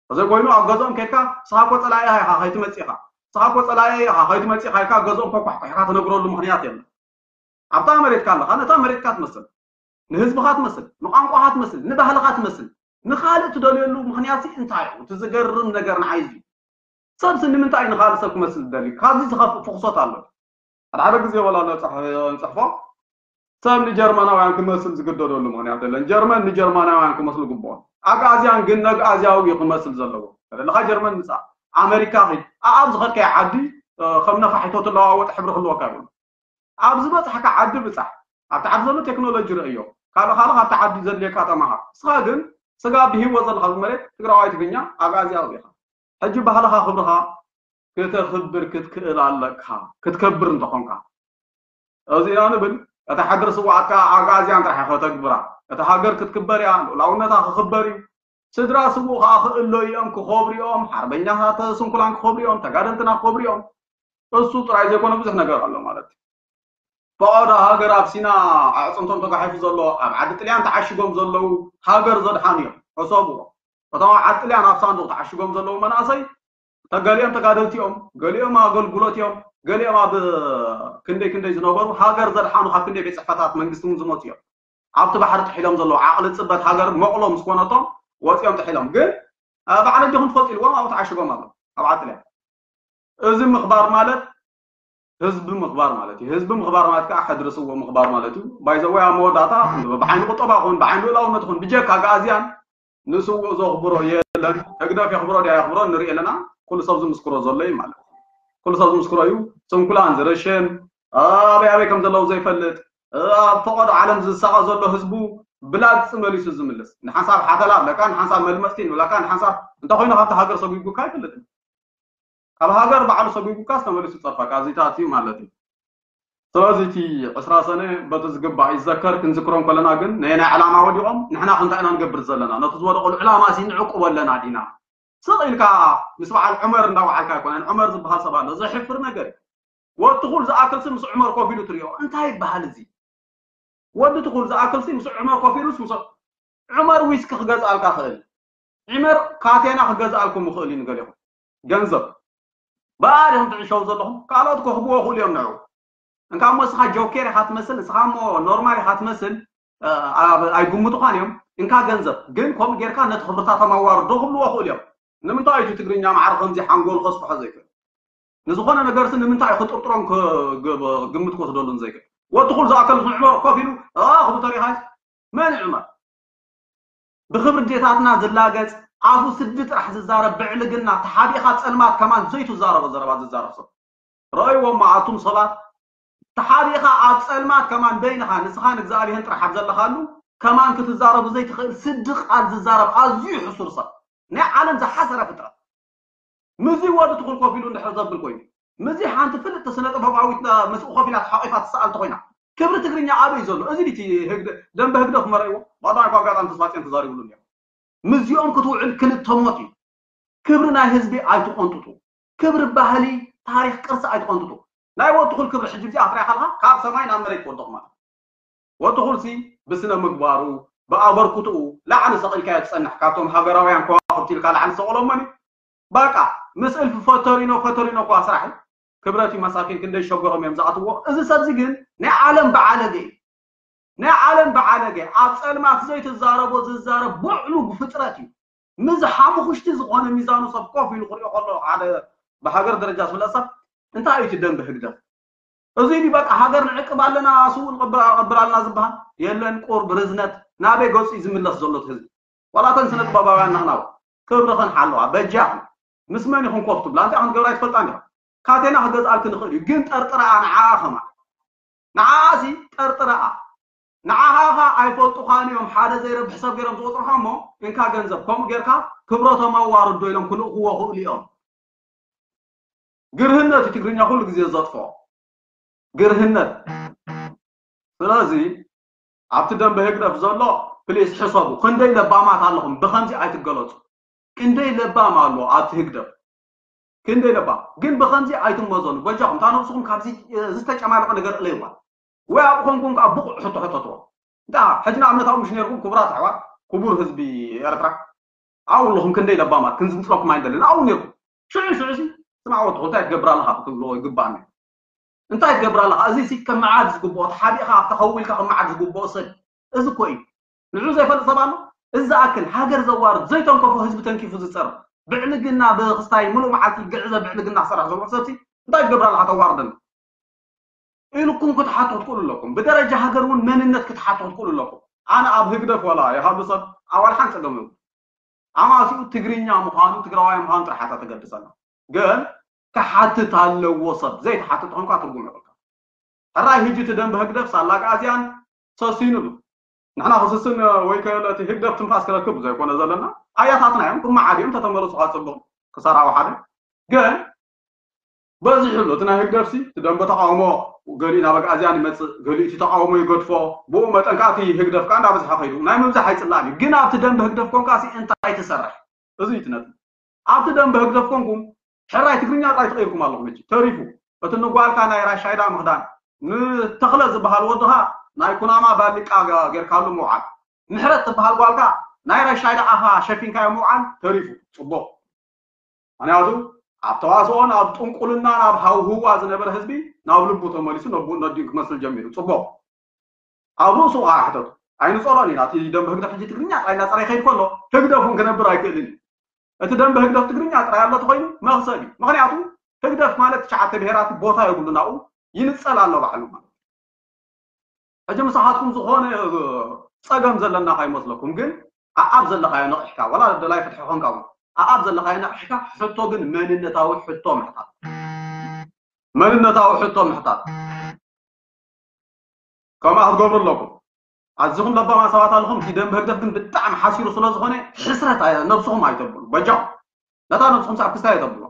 ተዘይኮይኑ ኣብ ገዝኦም ከድካ ንስኻ እኮ ፀላኢ ኢኻ ከይትመፅእ ኢኻ፣ ንስኻ እኮ ፀላኢ ኢኻ ከይትመፅእ ኢኻ ኢልካ ኣብ ገዝኦም ኮኳሕኳሕካ ትነግረሉ ምኽንያት የለን። ኣብታ መሬትካ ኣለኻ፣ ነታ መሬትካ ትመስል፣ ንህዝብኻ ትመስል፣ ንቋንቋኻ ትመስል፣ ንባህልኻ ትመስል፣ ንኻልእ ትደልየሉ ምኽንያት እንታይ እዩ? እቲ ዝገርም ነገር ንዓይ እዚ ሰብሲ ንምንታይ እዩ ንኻልእ ሰብ ክመስል ዝደሊ? ካብዚ ዝኸፍእ ፍኹሶት ኣሎ። ሓደ ሓደ ግዜ ወላ ነብጻሕ ንጽሕፎ ሰብ ንጀርመናውያን ክመስል ዝግደደሉ ምኽንያት የለን። ጀርመን ንጀርመናውያን ክመስሉ ግብኦም። ኣግኣዝያን ግን ነግኣዝያዊ እዩ ክመስል ዘለዎ። ተደለኻ ጀርመን ምጻእ፣ ኣመሪካ ኺድ፣ ኣኣብ ዝኸድካዮ ዓዲ ከም ነፋሒቶ ትለዋወጥ ሕብሪ ክህልወካ ይብሉ። ኣብ ዝበጻሕካ ዓዲ ብጻሕ፣ ኣብቲ ዓዲ ዘሎ ቴክኖሎጂ ርእዮ፣ ካልእ ካልእ ካብቲ ዓዲ ዘድልየካ ተማሃር። ንስኻ ግን ስጋ ብሂወት ዘለኻ መሬት ትግራዋይ ትግርኛ ኣግኣዝያዊ ኢኻ። ሕጂ ባህልኻ ክብርኻ ክተኽብር ክትክእል ኣለካ፣ ክትከብር እንተኾንካ። እዚ ኢና ንብል። እታ ሓድሪ ስውኣትካ ኣግኣዝያን ጥራሕ ከተግብራ። እታ ሃገር ክትክበር እያ፣ ልኡላውነታ ክኽበር እዩ። ስድራ ስውእ ከዓ ክእለዩ እዮም፣ ክኸብሩ እዮም። ሓርበኛታት ስንኩላን ክኸብሩ እዮም፣ ተጋደልትና ክኸብሩ እዮም። እሱ ጥራይ ዘይኮነ ብዙሕ ነገር ኣሎ ማለት እዩ። ፈቐዶ ሃገር ኣብ ሲና ኣዕፅምቶም ተጓሒፉ ዘሎ፣ ኣብ ዓዲ ጥልያን ተዓሽጎም ዘለዉ ሃገር ዘድሓኑ እዮም። ሕሰብዎ። እቶም ኣብ ዓዲ ጥልያን ኣብ ሳንዱቕ ተዓሽጎም ዘለዉ መናእሰይ ተገሊኦም ተጋደልቲ እዮም፣ ገሊኦም ኣገልግሎት እዮም፣ ገሊኦም ኣብ ክንደይ ክንደይ ዝነበሩ ሃገር ዘድሓኑ ካብ ክንደይ ቤት ፅሕፈታት መንግስቲ እውን ዝመፁ እዮም። ኣብቲ ባሕሪ ጥሒሎም ዘለዉ ዓቕሊ ፅበት ሃገር መቕሎ ምስ ኮነቶም ወፂኦም ጥሒሎም። ግን ባዕለ ዲኹም ትፈልጡ ኢልዎም ኣብኡ ተዓሽጎም ኣለዉ ኣብ ዓጥልያ። እዚ ምኽባር ማለት ህዝቢ ምኽባር ማለት እዩ። ህዝቢ ምኽባር ማለት ከዓ ሕድሪ ስውእ ምኽባር ማለት እዩ። ባይዘወይ ኣብ መወዳእታ ብዓይኒ ቁጠባ ኹን ብዓይኒ ልኡላውነት ኹን ብጀካ ኣግኣዝያን ንስውእ ዘኽብሮ የለን። ህግደፍ የኽብሮ ድያ የኽብሮ ንርኢ ኣለና። ኩሉ ሰብ ዝምስክሮ ዘሎ እዩ ማለት እዩ። ኩሉ ሰብ ዝምስክሮ እዩ። ስንኩላን ዝረሸን ኣበይ ኣበይ ከም ዘለዉ ዘይፈልጥ ኣብ ፈቐዶ ዓለም ዝሳቐ ዘሎ ህዝቡ ብላግፂ መሊሱ ዝምልስ ንሓንሳብ ሓተላ ኣለካ ንሓንሳብ መልመፅቲ ንብለካ ንሓንሳብ እንተኮይኑ ካብቲ ሃገር ሰጒጉካ ኣይፈልጥን። ካብ ሃገር ባዕሉ ሰጒጉካ ዝተመሊሱ ፀርፋ ካብዚታት እዩ ማለት እዩ። ስለዚ እቲ ዕስራ ሰነ በቲ ዝግባእ ይዘከር። ክንዝክሮም ከለና ግን ናይ ናይ ዕላማ ወዲቖም ንሕና ክንታይ ኢና ንገብር ዘለና ነቲ ዝወደቐሉ ዕላማ ሲ ንዕቁቦ ኣለና ዲና? ስቕ ኢልካ ምስ በዓል ዑመር እንዳወዓልካ ኣይኮነን። ዑመር ዝበሃል ሰብ ኣሎ ዘሕፍር ነገር እዩ። ወትኹል ዝኣክል ሲ ምስ ዑመር ኮፍ ኢሉ ትሪኦ እንታይ ይበሃል እዚ? ወዲ ትኹል ዝኣክል ሲ ምስ ዑመር ኮፍ ኢሉስ ምስ ዑመር ዊስኪ ክገዝኣልካ ክእል፣ ዑመር ካቴና ክገዝኣልኩም ይኽእል እዩ ንገሊኹም ገንዘብ። ብኣ ዲኹም ትዕሸው ዘለኹም ካልኦት ክህብዎ ይኽእሉ እዮም ንዑ። እንካ እሞ ንስኻ ጆኬር ኢኻ ትመስል፣ ንስኻ እሞ ኖርማል ኢኻ ትመስል። ኣይግምቱኻን እዮም። እንካ ገንዘብ ግን ከምኡ ጌርካ ነቲ ክብርታቶም ኣዋርዶ ክብልዎ ይኽእሉ እዮም። ንምንታይ እዩ ትግርኛ ማዕረ ከምዚ ሓንጎል ከስፍሖ ዘይክእል? ንዝኾነ ነገርሲ ንምንታይ እዩ ክጥርጥሮን ግምት ክወስደሉን ዘይክእል? ወዲ ኩሉ ዝኣከል ንዕመር ኮፍ ኢሉ ክብሉ ተሪኻስ መን ይዕመር? ብክብሪ ዴታትና ዝላገጽ ኣፉ ስዲ ጥራሕ ዝዛረብ ብዕልግና ተሓቢእኻ ጸልማት ከማን ዘይትዛረቦ ዘረባ ዝዛረብ ሰብ ረእይዎ እሞ ኣቱም ሰባት ተሓቢእኻ ኣብ ጸልማት ከማን በይንኻ ንስኻ ንእግዚኣብሔር ጥራሕ ኣብ ዘለኻሉ ከማን ክትዛረቡ ዘይትኽእል ስዲ ቃል ዝዛረብ ኣዝዩ ሕሱር ሰብ ናይ ዓለም ዝሓሰረ ፍጥረት ምዚ ወዲ ትኹል ኮፍ ኢሉ እንድሕር ዘብል ኮይኑ ምዚ ሓንቲ ፍልጥቲ ስነ ጥበባዊት ምስኡ ኮፍ ኢላ ተሓቂፋ ትሰኣል ተኮይና ክብሪ ትግርኛ ኣበይ ዘሎ እዚ ዲቲ ደንበ ህግደፍ መረእዎ ባዳ እኳ ኣጋጣሚ ተስፋፅዮን ተዛሪብሉ እኒኦ ምዚኦም ክትውዕል ክልተ ሞት እዩ ክብሪ ናይ ህዝቢ ኣይትቆንጥጡ ክብሪ ባህሊ ታሪክ ቅርሲ ኣይትቆንጥጡ ናይ ወዲ ትኹል ክብሪ ሕጂ እዚኣ ክትሪኣ ከለካ ካብ ሰማይ ናብ መሬት ትወድቕ ማለት ወዲ ኩልሲ ብስነ ምግባሩ ብኣበርክትኡ ላዕሊ ሰቒልካዮ ትጸንሕ ካብቶም ሃገራውያን ከዋኽብቲ ኢልካ ላዕሊ ሰቕሎሞን እዩ በቃ ምስ እልፊ ፈተሪኖ ፈተሪኖ እኳ ስራሕ እዩ ክብረት እዩ መሳኪን ክንደይ ሸጎሮም እዮም ዝኣትዎ እዚ ሰብዚ ግን ናይ ዓለም ብዓለገ እዩ ናይ ዓለም ብዓለገ ኣብ ጸልማት ዘይትዛረቦ ዝዛረብ ብዕሉግ ፍጥረት እዩ። ምስ ሓሙኽሽቲ ዝኾነ ሚዛኑ ሰብ ኮፍ ኢሉ ክሪኦ ከሎ ሓደ ብሃገር ደረጃ ዝፍለጥ ሰብ እንታይ እዩ እቲ ደንበ ህግደፍ? እዚ እዩ በቃ ሃገር ንዕቅብ ኣለና፣ ስውእ ንቐብር ኣለና ዝበሃል የለን። ቁርብ ርዝነት ናበይ ገጹ እዩ ዝምለስ ዘሎ እቲ ህዝቢ? ዋላ እተን ስነ ጥበባውያን ንሕና ክብርኽን ሓለዋ በጃኽን ምስ መን ኢኹም ኮፍ ትብላ? እንታይ ኢኹም ትገብራ ኣይትፈልጣን ኢኹም። ካቴና ክገዝኣልክን ይኽእል እዩ፣ ግን ጠርጥረኣ ንዓኣ ከማን ንዓኣ ሲ ጠርጥረኣ። ንዓኻ ኸ ኣይፈልጡኻን እዮም፣ ሓደ ዘይረብሕ ሰብ ገይሮም ዝቆጽሩኻ እሞ እንካ ገንዘብ ከምኡ ጌርካ ክብረቶም ኣዋርዶ ኢሎም ክልእኽዎ ክእሉ እዮም። ግርህነት እዩ ትግርኛ ኩሉ ግዜ ዘጥፍኦ ግርህነት። ስለዚ ኣብቲ ደንበ ህግደፍ ዘሎ ፕሊስ ሕሰቡ። ክንደይ ለባማት ኣለኹም ብኸምዚ ኣይትገለጹ። ክንደይ ለባም ኣሎ ኣብቲ ህግደፍ ክንደይ ለባም ግን ብኸምዚ ኣይትመዘኑ። በጃኹም እታ ነብስኹም ካብዚ ዝተጨማለቐ ነገር እለይዋ ወይ ኣብ ኮንኩም ከዓ ብቑዕ ሕቶ ሕተትዎ። እንታ ሕጂ ንኣብነት ኣብኡ ምሽ ነርኩም ክቡራት ኣሕዋት ክቡር ህዝቢ ኤርትራ ኣብኡ ኣለኹም ክንደይ ለባማት ክንዝንፅለኩም ኣይንደልን ኣብኡ ነርኩም ሽዑ ሽዑ ሲ ስማዕ ወትኹ እንታይ ትገብር ኣለኻ ክትብልዎ ይግባእ ነይሩ። እንታይ ትገብር ኣለኻ? እዚ ሲ ከም መዓድ ዝግብኦ ተሓቢእኻ ኣብቲ ከው ኢልካ ከም መዓድ ዝግብኦ ሰብ እዚ እኮ እዩ። ንዑ ዘይፈልጥ ሰብ ኣሎ? እዚ ዝኣክል ሃገር ዘዋርድ ዘይተንከፎ ህዝቢ ተንኪፉ ዝፀር ብዕልግና ብክስታይ ሙሉእ መዓልቲ ግዕዘ ብዕልግና ክሰርሕ ዘሎ ሰብ ሲ እንታይ ትገብር ኣለኻ ተዋርደና? ኢልኩም ክትሓቱ ክትክእሉ ኣለኩም። ብደረጃ ሃገር እውን መንነት ክትሓቱ ክትክእሉ ኣለኩም። ኣነ ኣብ ህግደፍ ወላ ይሃሉ ሰብ ኣዋል ሓን ፀገም ኣማሲኡ ትግርኛ ምዃኑ ትግራዋይ ምዃኑ ጥራሕ እያ ተገድሰና። ግን ክሓትት ኣለዎ ሰብ ዘይትሓትት ተኾንካ ትርጉም የብልካ። ሕራይ ህጂ እቲ ደንበ ህግደፍ ሳላ ኣግኣዝያን ሰሲኑ ኣሎ። ንሕና ክስስን ወይ ከለ እቲ ህግደፍ ትንፋስ ክረክብ ዘይኮነ ዘለና ኣያታትና እዮም ክመዓድ እዮም ተተመለሱ ካፅቡቕ ክሰራዊ ሓደ ግን በዚሑ ኣሎ እቲ ናይ ህግደፍሲ እቲ ደንበ ተቃውሞ ገሊኡ ናብ ኣግኣዝያን ይመፅእ ገሊኡ እቲ ተቃውሞ ይገድፎ ብኡ መጠን ከዓ እቲ ህግደፍ ከዓ እንዳበዝሐ ከይዱ ናይ ምብዛሕ ኣይፅላእን እዩ ግን ኣብቲ ደንበ ህግደፍ ኮንካ ሲ እንታይ ትሰርሕ እዚ እዩ እቲ ነጥቢ ኣብቲ ደንበ ህግደፍ ኮንኩም ሕራይ ትግርኛ ጥራይ ተቐይርኩም ኣለኹም ሕጂ ተሪፉ እቲ ንጓልካ ናይ ራሻይዳ ምኽዳን ንተኽለ ዝበሃል ወድኻ ናይ ኩናማ ባሊቃ ጌርካሉ ምውዓል ምሕረት ትበሃል ጓልካ ናይ ራሻይዳ ኣፋ ሸፊንካዮ ምውዓል ተሪፉ ፅቡቕ ምክንያቱ ኣብ ተዋስኦን ኣብ ጥንቁልናን ኣብ ሃውህዋ ዝነበረ ህዝቢ ናብ ልቡ ተመሊሱ ነቡኡ ነዲኡ ክመስል ጀሚሩ ፅቡቕ ኣብ ርእሱ ከዓ ሕተቱ ኣይንፀሎን ኢና እቲ ደንበ ህግደፍ ሕጂ ትግርኛ ጥራይ እናፀረ ይኸይድ ከሎ ህግደፍ እውን ክነብር ኣይክእልን እዩ እቲ ደንበ ህግደፍ ትግርኛ ጥራይ ኣሎ ተኮይኑ መክሰብ እዩ ምክንያቱ ህግደፍ ማለት ትሽዓተ ብሄራት ቦታ የብሉን ኣብኡ ይንፀል ኣሎ ባዕሉ ማለት ሕጂ ምሳኻትኩም ዝኾነ ፀገም ዘለና ካይመስለኩም ግን ኣኣብ ዘለኻዮ ነቕሕካ ዋላ ደላይ ፍትሒ ኾንካ እውን ኣኣብ ዘለኻዮ ነቕሕካ ሕቶ ግን መንነታዊ ሕቶ ምሕታት መንነታዊ ሕቶ ምሕታት ከምኣ ክትገብሩ ኣለኩም ኣዚኹም ለባማ ሰባት ኣለኹም እቲ ደንበ ህግደፍ ግን ብጣዕሚ ሓሲሩ ስለ ዝኾነ ሕስረት ነብስኹም ኣይተብሉ በጃኹም ነታ ነብስኹም ኣብ ክስታይ ኣይተብሉ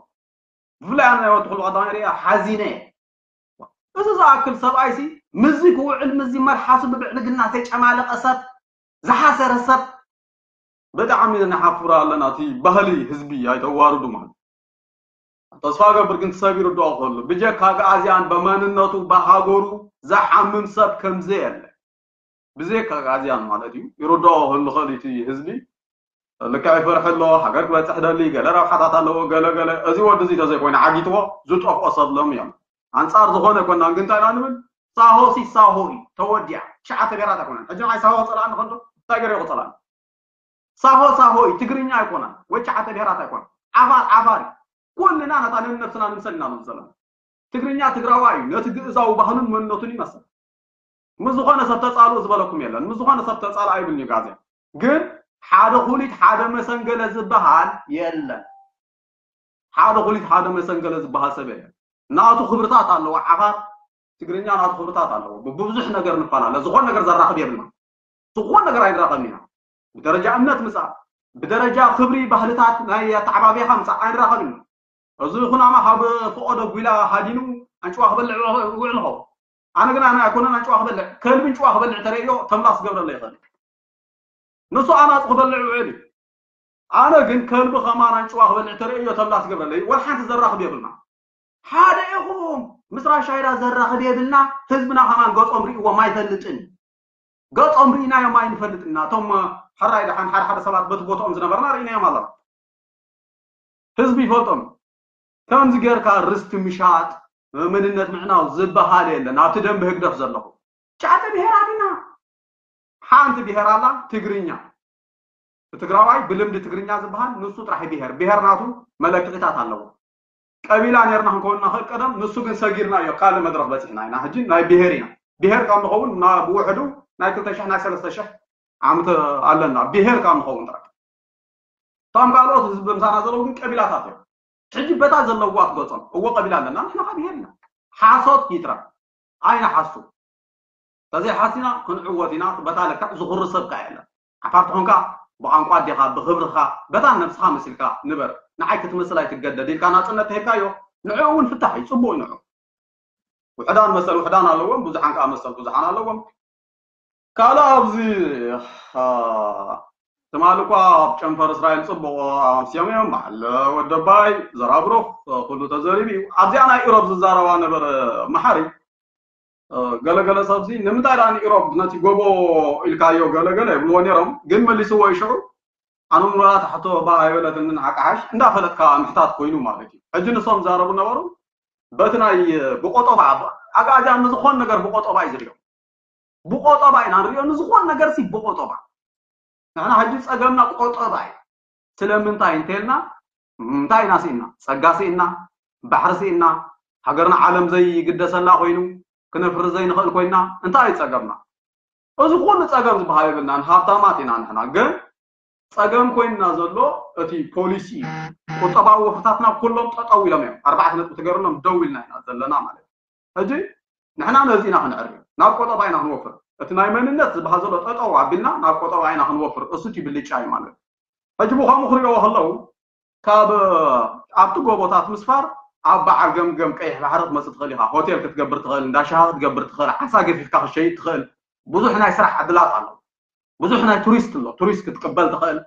ብፍላይ ኣነ ናይ ወዲ ኩሉ ቀዳማይ ሪኣ ሓዚነ እዚ ዝኣክል ሰብኣይሲ ምዚ ክውዕል ምዚ መልሓሱ ብብዕልግና ተጨማለቐ ሰብ ዝሓሰረ ሰብ ብጣዕሚ ነሓፍር ኣለና እቲ ባህሊ ህዝቢ ኣይተዋርዱ ማለት ተስፋ ገብር ግን ሰብ ይርድኦ ከሎ ብጀካ ኣግኣዝያን በመንነቱ በሃገሩ ዝሓምም ሰብ ከምዘየለ ብዘይካ ኣግኣዝያን ማለት እዩ ይርድኦ ክህሉ ክእል እቲ ህዝቢ ልክዕ ይፈርሕ ኣሎ ሃገር ክበፅሕ ደሊ ገለ ረብሓታት ኣለዎ ገለ ገለ እዚ ወዲ እዚ ተዘይኮይኑ ዓጊትዎ ዝጠፍኦ ሰብ ሎም እዮም ኣንፃር ዝኾነ ኮናን ግን እንታይ ኢና ንብል ሳሆ ሲ ሳሆ እዩ ተወዲኣ ትሽዓተ ብሄራት ኣይኮነን ሕጂ ንዓይ ሳሆ ፀላእኒ ከሎ እንታይ ገይረ ክፀላእኒ ሳሆ ሳሆ እዩ ትግርኛ ኣይኮነን ወይ ትሽዓተ ብሄራት ኣይኮነን ዓፋር ዓፋር እዩ ኩልና ነታ ነንነብስና ንምሰል ኢና ንብል ዘለና ትግርኛ ትግራዋይ እዩ ነቲ ግእዛዊ ባህሉን መንነቱን ይመስል ምስ ዝኾነ ሰብ ተፃልኡ ዝበለኩም የለን ምስ ዝኾነ ሰብ ተፃልኣ ይብልኒ ጋዜ ግን ሓደ ኩሊት ሓደ መሰንገለ ዝበሃል የለን ሓደ ኩሊት ሓደ መሰንገለ ዝበሃል ሰብ የለን ናቱ ክብርታት ኣለዎ ዓፋር ትግርኛ ናቱ ክብርታት ኣለዎ ብብዙሕ ነገር ንፈላለ ዝኾነ ነገር ዘራኽብ የብልና ዝኾነ ነገር ኣይንራኸብን ኢና ብደረጃ እምነት ምፃእ ብደረጃ ክብሪ ባህልታት ናይ ኣተዓባቢኻ ምፃእ ኣይንራኸብን ኢና እዚ ኩናማ ካብ ፈቐዶ ጒላ ሃዲኑ ኣንጭዋ ክበልዕ ውዕል ኸው ኣነ ግን ኣነ ኣይኮነን ኣንጭዋ ክበልዕ ከልቢ እንጭዋ ክበልዕ ተርእዮ ተምላስ ክገብረለ ይኽእል ንሱ ኣናፁ ክበልዕ ውዕል እዩ ኣነ ግን ከልቢ ከማን ኣንጭዋ ክበልዕ ተርእዮ ተምላስ ክገብረለ ወላ ሓንቲ ዘራኽብ የብልና ሓደ ኢኹም ምስ ራሻይዳ ዘራኽብ የብልና ህዝብና ከማን ገፆም ርእዎም ኣይፈልጥን ገፆም ርኢናዮም ኣይንፈልጥን ኢና እቶም ሕራይ ደሓን ሓደ ሓደ ሰባት በቲ ቦትኦም ዝነበርና ርኢናዮም ኣለና ህዝቢ ይፈልጦም ከምዚ ጌርካ ርስቲ ምሻጥ መንነት ምዕናው ዝበሃል የለን ኣብቲ ደንብ ህግደፍ ዘለኹ ትሽዓተ ብሄራት ኢና ሓንቲ ብሄር ኣላ ትግርኛ። ትግራዋይ ብልምዲ ትግርኛ ዝበሃል ንሱ ጥራሕ ብሄር ብሄር ናቱ መለክዒታት ኣለዎ። ቀቢላ ነርና ክንከውን ንኽእል ቀደም፣ ንሱ ግን ሰጊርናዮ ካልእ መድረኽ በፂሕና ኢና። ሕጂ ናይ ብሄር ኢና። ብሄር ካብ ንኸውን ብውሕዱ ናይ ክልተ ሽሕ ናይ ሰለስተ ሽሕ ዓመት ኣለና። ብሄር ካብ ንኸውን ጥራሕ እቶም ካልኦት ህዝቢ ምሳና ዘለዉ ግን ቀቢላታት እዮም። ሕጂ በታ ዘለዋ ትገጾም እዎ ቀቢላ ኣለና ንሕና ካብ ይሄድ ኢና። ሓሶት ይትረፍ ኣይንሓሱ። ተዘይሓሲና ክንዕወት ኢና። በታ ልክዕ ዝኹሪ ሰብ ከ የለን። ዓፋር ትኾንካ ብቋንቋ ኣዴኻ ብኽብርኻ በታ ነብስኻ መሲልካ ንበር። ንዓይ ክትመስል ኣይትገደድ ኢልካ ናጽነት ተሂብካዮ ንዕኡ እውን ፍታሕ እዩ። ጽቡቕ እዩ ንዑ። ውሕዳን መሰል ውሕዳን ኣለዎም፣ ብዙሓን ከዓ መሰል ብዙሓን ኣለዎም። ካልእ ኣብዚ ትማሊ እኳ ኣብ ጨንፈር እስራኤል ፅቡቕ ኣምስዮም እዮም። በዓል ወደባይ ዘራብሩኽ ኩሉ ተዘሪቡ እዩ። ኣብዚኣ ናይ ኢሮብ ዝዛረባ ነበረ መሓሪ ገለገለ ሰብዚ ንምንታይ ደኣ ንኢሮብ ነቲ ጎቦ ኢልካዮ ገለገለ ይብልዎ ነይሮም፣ ግን መሊስዎ ይሽዑ ኣነ ምኖላ ታሕቶ ባ ኣይበለትንን ዓቃሓሽ እንዳፈለጥካ ምሕታት ኮይኑ ማለት እዩ። ሕጂ ንሶም ዛረቡ ነበሩ በቲ ናይ ብቆጠባ ኣጋጃ ንዝኾን ነገር ብቆጠባ እዩ ዝሪኦ። ብቆጠባ ኢና ንሪኦ ንዝኾን ነገር ሲ ብቆጠባ። ንሕና ሕጂ ጸገምና ቆጠባ እዩ። ስለምንታይ እንተልና እንታይ ኢና ስኢና? ጸጋ ስኢና፣ ባሕሪ ስኢና፣ ሃገርና ዓለም ዘይግደሰላ ኮይኑ ክነፍሪ ዘይንኽእል ኮይና እንታይ እዩ ጸገምና? እዚ ኩሉ ጸገም ዝበሃል የብልናን፣ ሃብታማት ኢና ንሕና። ግን ጸገም ኮይንና ዘሎ እቲ ፖሊሲ እዩ። ቁጠባዊ ወፍርታትና ኩሎም ጠጠው ኢሎም እዮም። ኣርባዕተ ነጥቢ ተገርሎም ደው ኢልና ኢና ዘለና ማለት እዩ። ሕጂ ንሕና ነዚ ኢና ክንዕሪ፣ ናብ ቆጠባ ኢና ክንወፍር። እቲ ናይ መንነት ዝበሃል ዘሎ ጠጠው ኣቢልና ናብ ቆጠባ ኢና ክንወፍር። እሱ እቲ ብልጫ እዩ ማለት እዩ። ሕጂ ብኸምኡ ክሪኦ ከለዉ ካብ ኣብቲ ጎቦታት ምስፋር ኣብ በዓል ገምገም ቀይሕ ባሕሪ ክትመፅእ ትኽእል ኢኻ። ሆቴል ክትገብር ትኽእል፣ እንዳ ሻሂ ክትገብር ትኽእል፣ ዓሳ ገፊፍካ ክሸይጥ ትኽእል። ብዙሕ ናይ ስራሕ ዕድላት ኣሎ። ብዙሕ ናይ ቱሪስት ኣሎ፣ ቱሪስት ክትቅበል ትኽእል።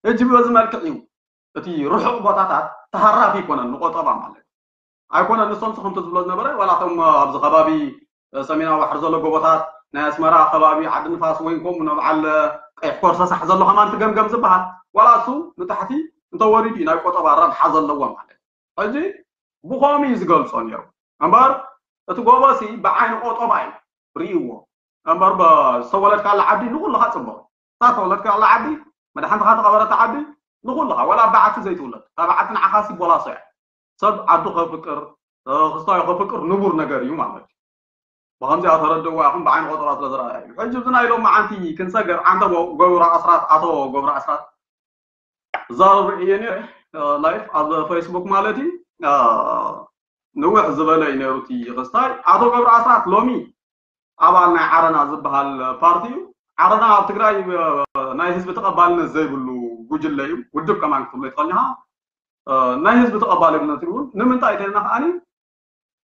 ሕጂ በዚ መልክዕ እዩ እቲ ርሑቕ ቦታታት ተሃራፊ ይኮነን ንቆጠባ ማለት እዩ። ኣይኮነን ንሶም ስኽምቲ ዝብሎ ዝነበረ ዋላ እቶም ኣብዚ ከባቢ ሰሜናዊ ባሕሪ ዘሎ ጎቦታት ናይ ኣስመራ ከባቢ ዓዲ ንፋስ ወይ ከምኡ ንበዓል ቀይሕ ኮርሰ ሳሕ ዘሎ ከማን ትገምገም ዝበሃል ዋላ እሱ ንታሕቲ እንተወሪዱ እዩ ናይ ቆጠባ ረብሓ ዘለዎ ማለት እዩ። ሕጂ ብኸምኡ እዩ ዝገልጾ ነይሩ እምበር እቲ ጎቦሲ ብዓይኒ ቆጠባ እዩ ርእይዎ እምበር ዝተወለድካላ ዓዲ ንኩልኻ ፅቡቕ እታ ተወለድካላ ዓዲ መድሓንትኻ ተቐበረታ ዓዲ ንኩልኻ ዋላ በዓቲ ዘይትውለድ እታ በዓቲ ንዓኻ ሲቦላሶ እያ ሰብ ዓዱ ከፍቅር ክስታዮ ከፍቅር ንቡር ነገር እዩ ማለት እዩ ብከምዚኣ ተረድእዋ ኢኹም ብዓይኒ ቆጠባ ስለ ዝረኣያ እዩ ሕጂ እዚ ናይ ሎም መዓንቲ ክንሰገር ዓንተ ገብሩ ኣስራት ኣቶ ገብሩ ኣስራት ዛረብ እየ ነይረ ላይፍ ኣብ ፌስቡክ ማለት እዩ ንውሕ ዝበለ እዩ ነይሩ እቲ ክስታይ ኣቶ ገብሩ ኣስራት ሎሚ ኣባል ናይ ዓረና ዝበሃል ፓርቲ እዩ ዓረና ኣብ ትግራይ ናይ ህዝቢ ተቐባልነት ዘይብሉ ጉጅለ እዩ ውድብ ከማን ክትብሎ ይትኸልኒኻ ናይ ህዝቢ ተቐባልነት እውን ንምንታይ ተልና ከዓኒ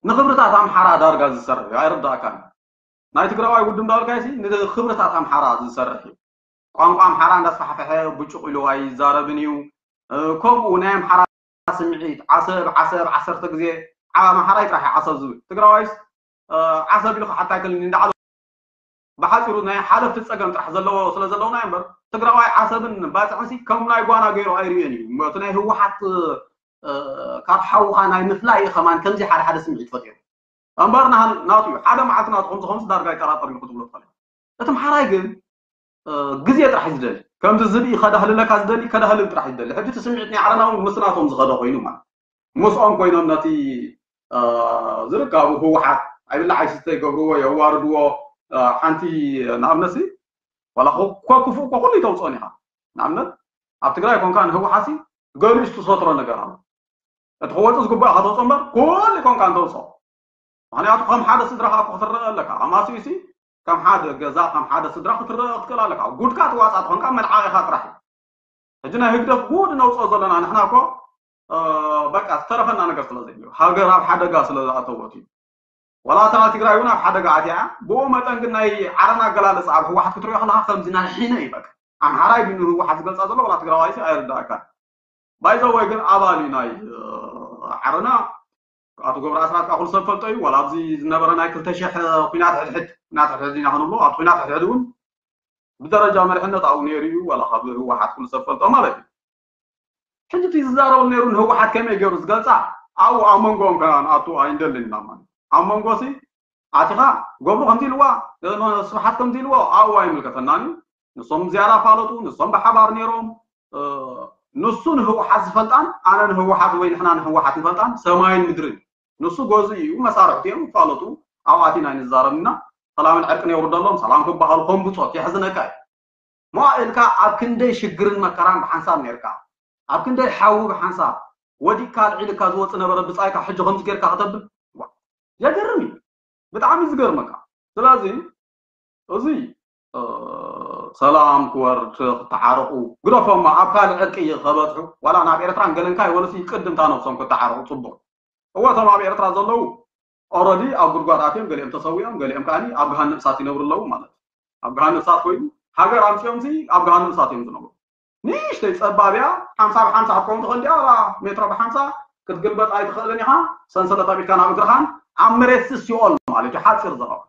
ንክብርታት ኣምሓራ ዳርጋ ዝሰርሕ እዩ ኣይርዳእካን ናይ ትግራዋይ ውድብ እንዳበልካይሲ ንክብርታት ኣምሓራ ዝሰርሕ እዩ ቋንቋ ኣምሓራ እንዳስፋሕፈሐ ብጭቕ ኢሉ ኣይዛረብን እዩ ከምኡ ናይ ኣምሓራ ስምዒት ዓሰብ ዓሰብ ዓሰርተ ግዜ ዓብ ኣምሓራይ ጥራሕ ዓሰብ ዝብል ትግራዋይስ ዓሰብ ኢሉ ክሓታ ኣይክእልን እንዳዓለ ብሓፂሩ ናይ ሓለፍቲ ፀገም ጥራሕ ዘለዎ ስለ ዘለውና እምበር ትግራዋይ ዓሰብን ባፅዕንሲ ከም ናይ ጓና ገይሩ ኣይርእዮን እዩ እቲ ናይ ህወሓት ካብ ሓውኻ ናይ ምፍላይ እዩ ከማን ከምዚ ሓደ ሓደ ስምዒት ፈጢሩ እምበር ናቱ እዩ ሓደ መዓልቲ ናቱ ከምዚ ከምዚ ዳርጋ ይጠራጠር ኢሉ ክትብሎ ትኽእል እቲ ምሓራይ ግን ግዜ ጥራሕ እዩ ዝደሊ ከምዚ ዝብኢ ከዳህልለካ ዝደሊ ከዳህልል ጥራሕ እዩ ዝደሊ ሕጂ እቲ ስምዒት ናይ ዓለና እውን ምስ ናቶም ዝኸደ ኮይኑ ማለት ምስኦም ኮይኖም ነቲ ዝርካቡ ህወሓት ኣይብላዕ ኣይስተ ይገብርዎ የዋርድዎ ሓንቲ ንኣብነትሲ ዋላ ኮ ክፉእ ኮ ኩሉ ይተውፅኦን ኢኻ ንኣብነት ኣብ ትግራይ ኮንካ ንህወሓትሲ ገሊኡ ዝተሰትሮ ነገር ኣሎ እቲ ክወፅእ ዝግባእ ከተውፅኦ እምበር ኩሉ ኮንካ እንተውፅኦ ምክንያቱ ከም ሓደ ስድራ ከዓ ክትረአ ኣለካ ኣማስዩሲ ከም ሓደ ገዛ ከም ሓደ ስድራ ክትረአ ክትክእል ኣለካ ጉድካ ትዋፃእ ትኾንካ መልዓቂኻ ጥራሕ እዩ ሕጂ ናይ ህግደፍ ጉድ ነውፅኦ ዘለና ንሕና እኮ በቃ ዝተረፈና ነገር ስለ ዘይብሉ ሃገር ኣብ ሓደጋ ስለ ዝኣተወት እዩ ዋላ እታ ትግራይ እውን ኣብ ሓደጋ ኣትያ ብኡ መጠን ግን ናይ ዓረና ኣገላልፃ ኣብ ህወሓት ክትሪኦ ከለካ ከምዚ ናይ ሒነ እዩ በቃ ኣምሓራይ ድዩ ንህወሓት ዝገልፃ ዘሎ ዋላ ትግራዋይሲ ኣይርዳእካን ባይዘወይ ግን ኣባል እዩ ናይ ዓረና ኣቶ ገብረ ኣስራት ከዓ ኩሉ ሰብ ፈልጦ እዩ ዋላ ኣብዚ ዝነበረ ናይ ክልተ ሽሕ ኩናት ሕድሕድ ኩናት ሕድሕድ ኢና ክንብሎ ኣብ ኩናት ሕድሕድ እውን ብደረጃ መሪሕነት ኣብኡ ነይሩ እዩ ዋላ ካብ ህወሓት ኩሉ ሰብ ፈልጦ ማለት እዩ ሕጂ እቲ ዝዛረበሉ ነይሩ ንህወሓት ከመይ ገይሩ ዝገልፃ ኣብኡ ኣብ መንጎኦም ከኣ ንኣቱ ኣይንደልን ኢና ማለት ኣብ መንጎ ሲ ኣቲኻ ገብሩ ከምዚ ኢልዋ፣ እ፣ ስብሓት ከምዚ ኢልዎ ኣብኡ ኣይምልከተናን እዩ። ንሶም ዝያዳ ፋለጡ፣ ንሶም ብሓባር ነይሮም። እ፣ ንሱ ንህወሓት ዝፈልጣን ኣነ ንህወሓት ወይ ንሕና ንህወሓት ንፈልጣን ሰማይን ምድርን እዩ። ንሱ ገዙ እዩ፣ መሳርሕቲ እዮም፣ ይፋለጡ። ኣብኣቲ ናይ ንዛረብ እና ሰላምን ዕርቅን የውርደሎም። ሰላም ክበሃሉ ከም ብጾት የሕዝነካ እዩ። ሞ ኢልካ ኣብ ክንደይ ሽግርን መከራን ብሓንሳብ ነርካ፣ ኣብ ክንደይ ሓዊ ብሓንሳብ ወዲቅካ ኣልዒልካ ዝወፅ ነበረ ብፃይካ ሕጂ ከምዚ ጌርካ ከተብል፣ ዋ፣ የገርም እዩ። ብጣዕሚ ዝገርመካ። ስለዚ እዚ እ፣ ሰላም ክወርድ፣ ክተዓረቁ ግደፎማ፣ ኣብ ካልእ ዕርቂ ከበፅሑ ዋላ ናብ ኤርትራን ገለንካ ይበሉሲ ቅድምታ ነብሶም ክተዓረቁ ፅቡቅ። እወ እቶም ኣብ ኤርትራ ዘለዉ ኦረዲ ኣብ ጉድጓድ ኣትዮም፣ ገሊኦም ተሰዊኦም፣ ገሊኦም ከዓኒ ኣብ ገሃነም እሳት ይነብሩ ኣለዉ ማለት እዩ። ኣብ ገሃነም እሳት ኮይኑ ሃገር ኣምፅኦም ሲ ኣብ ገሃነም እሳት እዮም ዝነብሩ። ንእሽተይ ጸባብ እያ፣ ሓምሳ ብሓምሳ ክትከውን ትኽእል ድያ? ዋላ ሜትሮ ብሓምሳ ክትግልበጥ ኣይትኽእልን ኢኻ። ሰንሰለት ኣቢልካ ናብ እግርኻን ኣብ መሬት ሲ ሲኦል ማለት እዩ። ሓጺር ዘረባ፣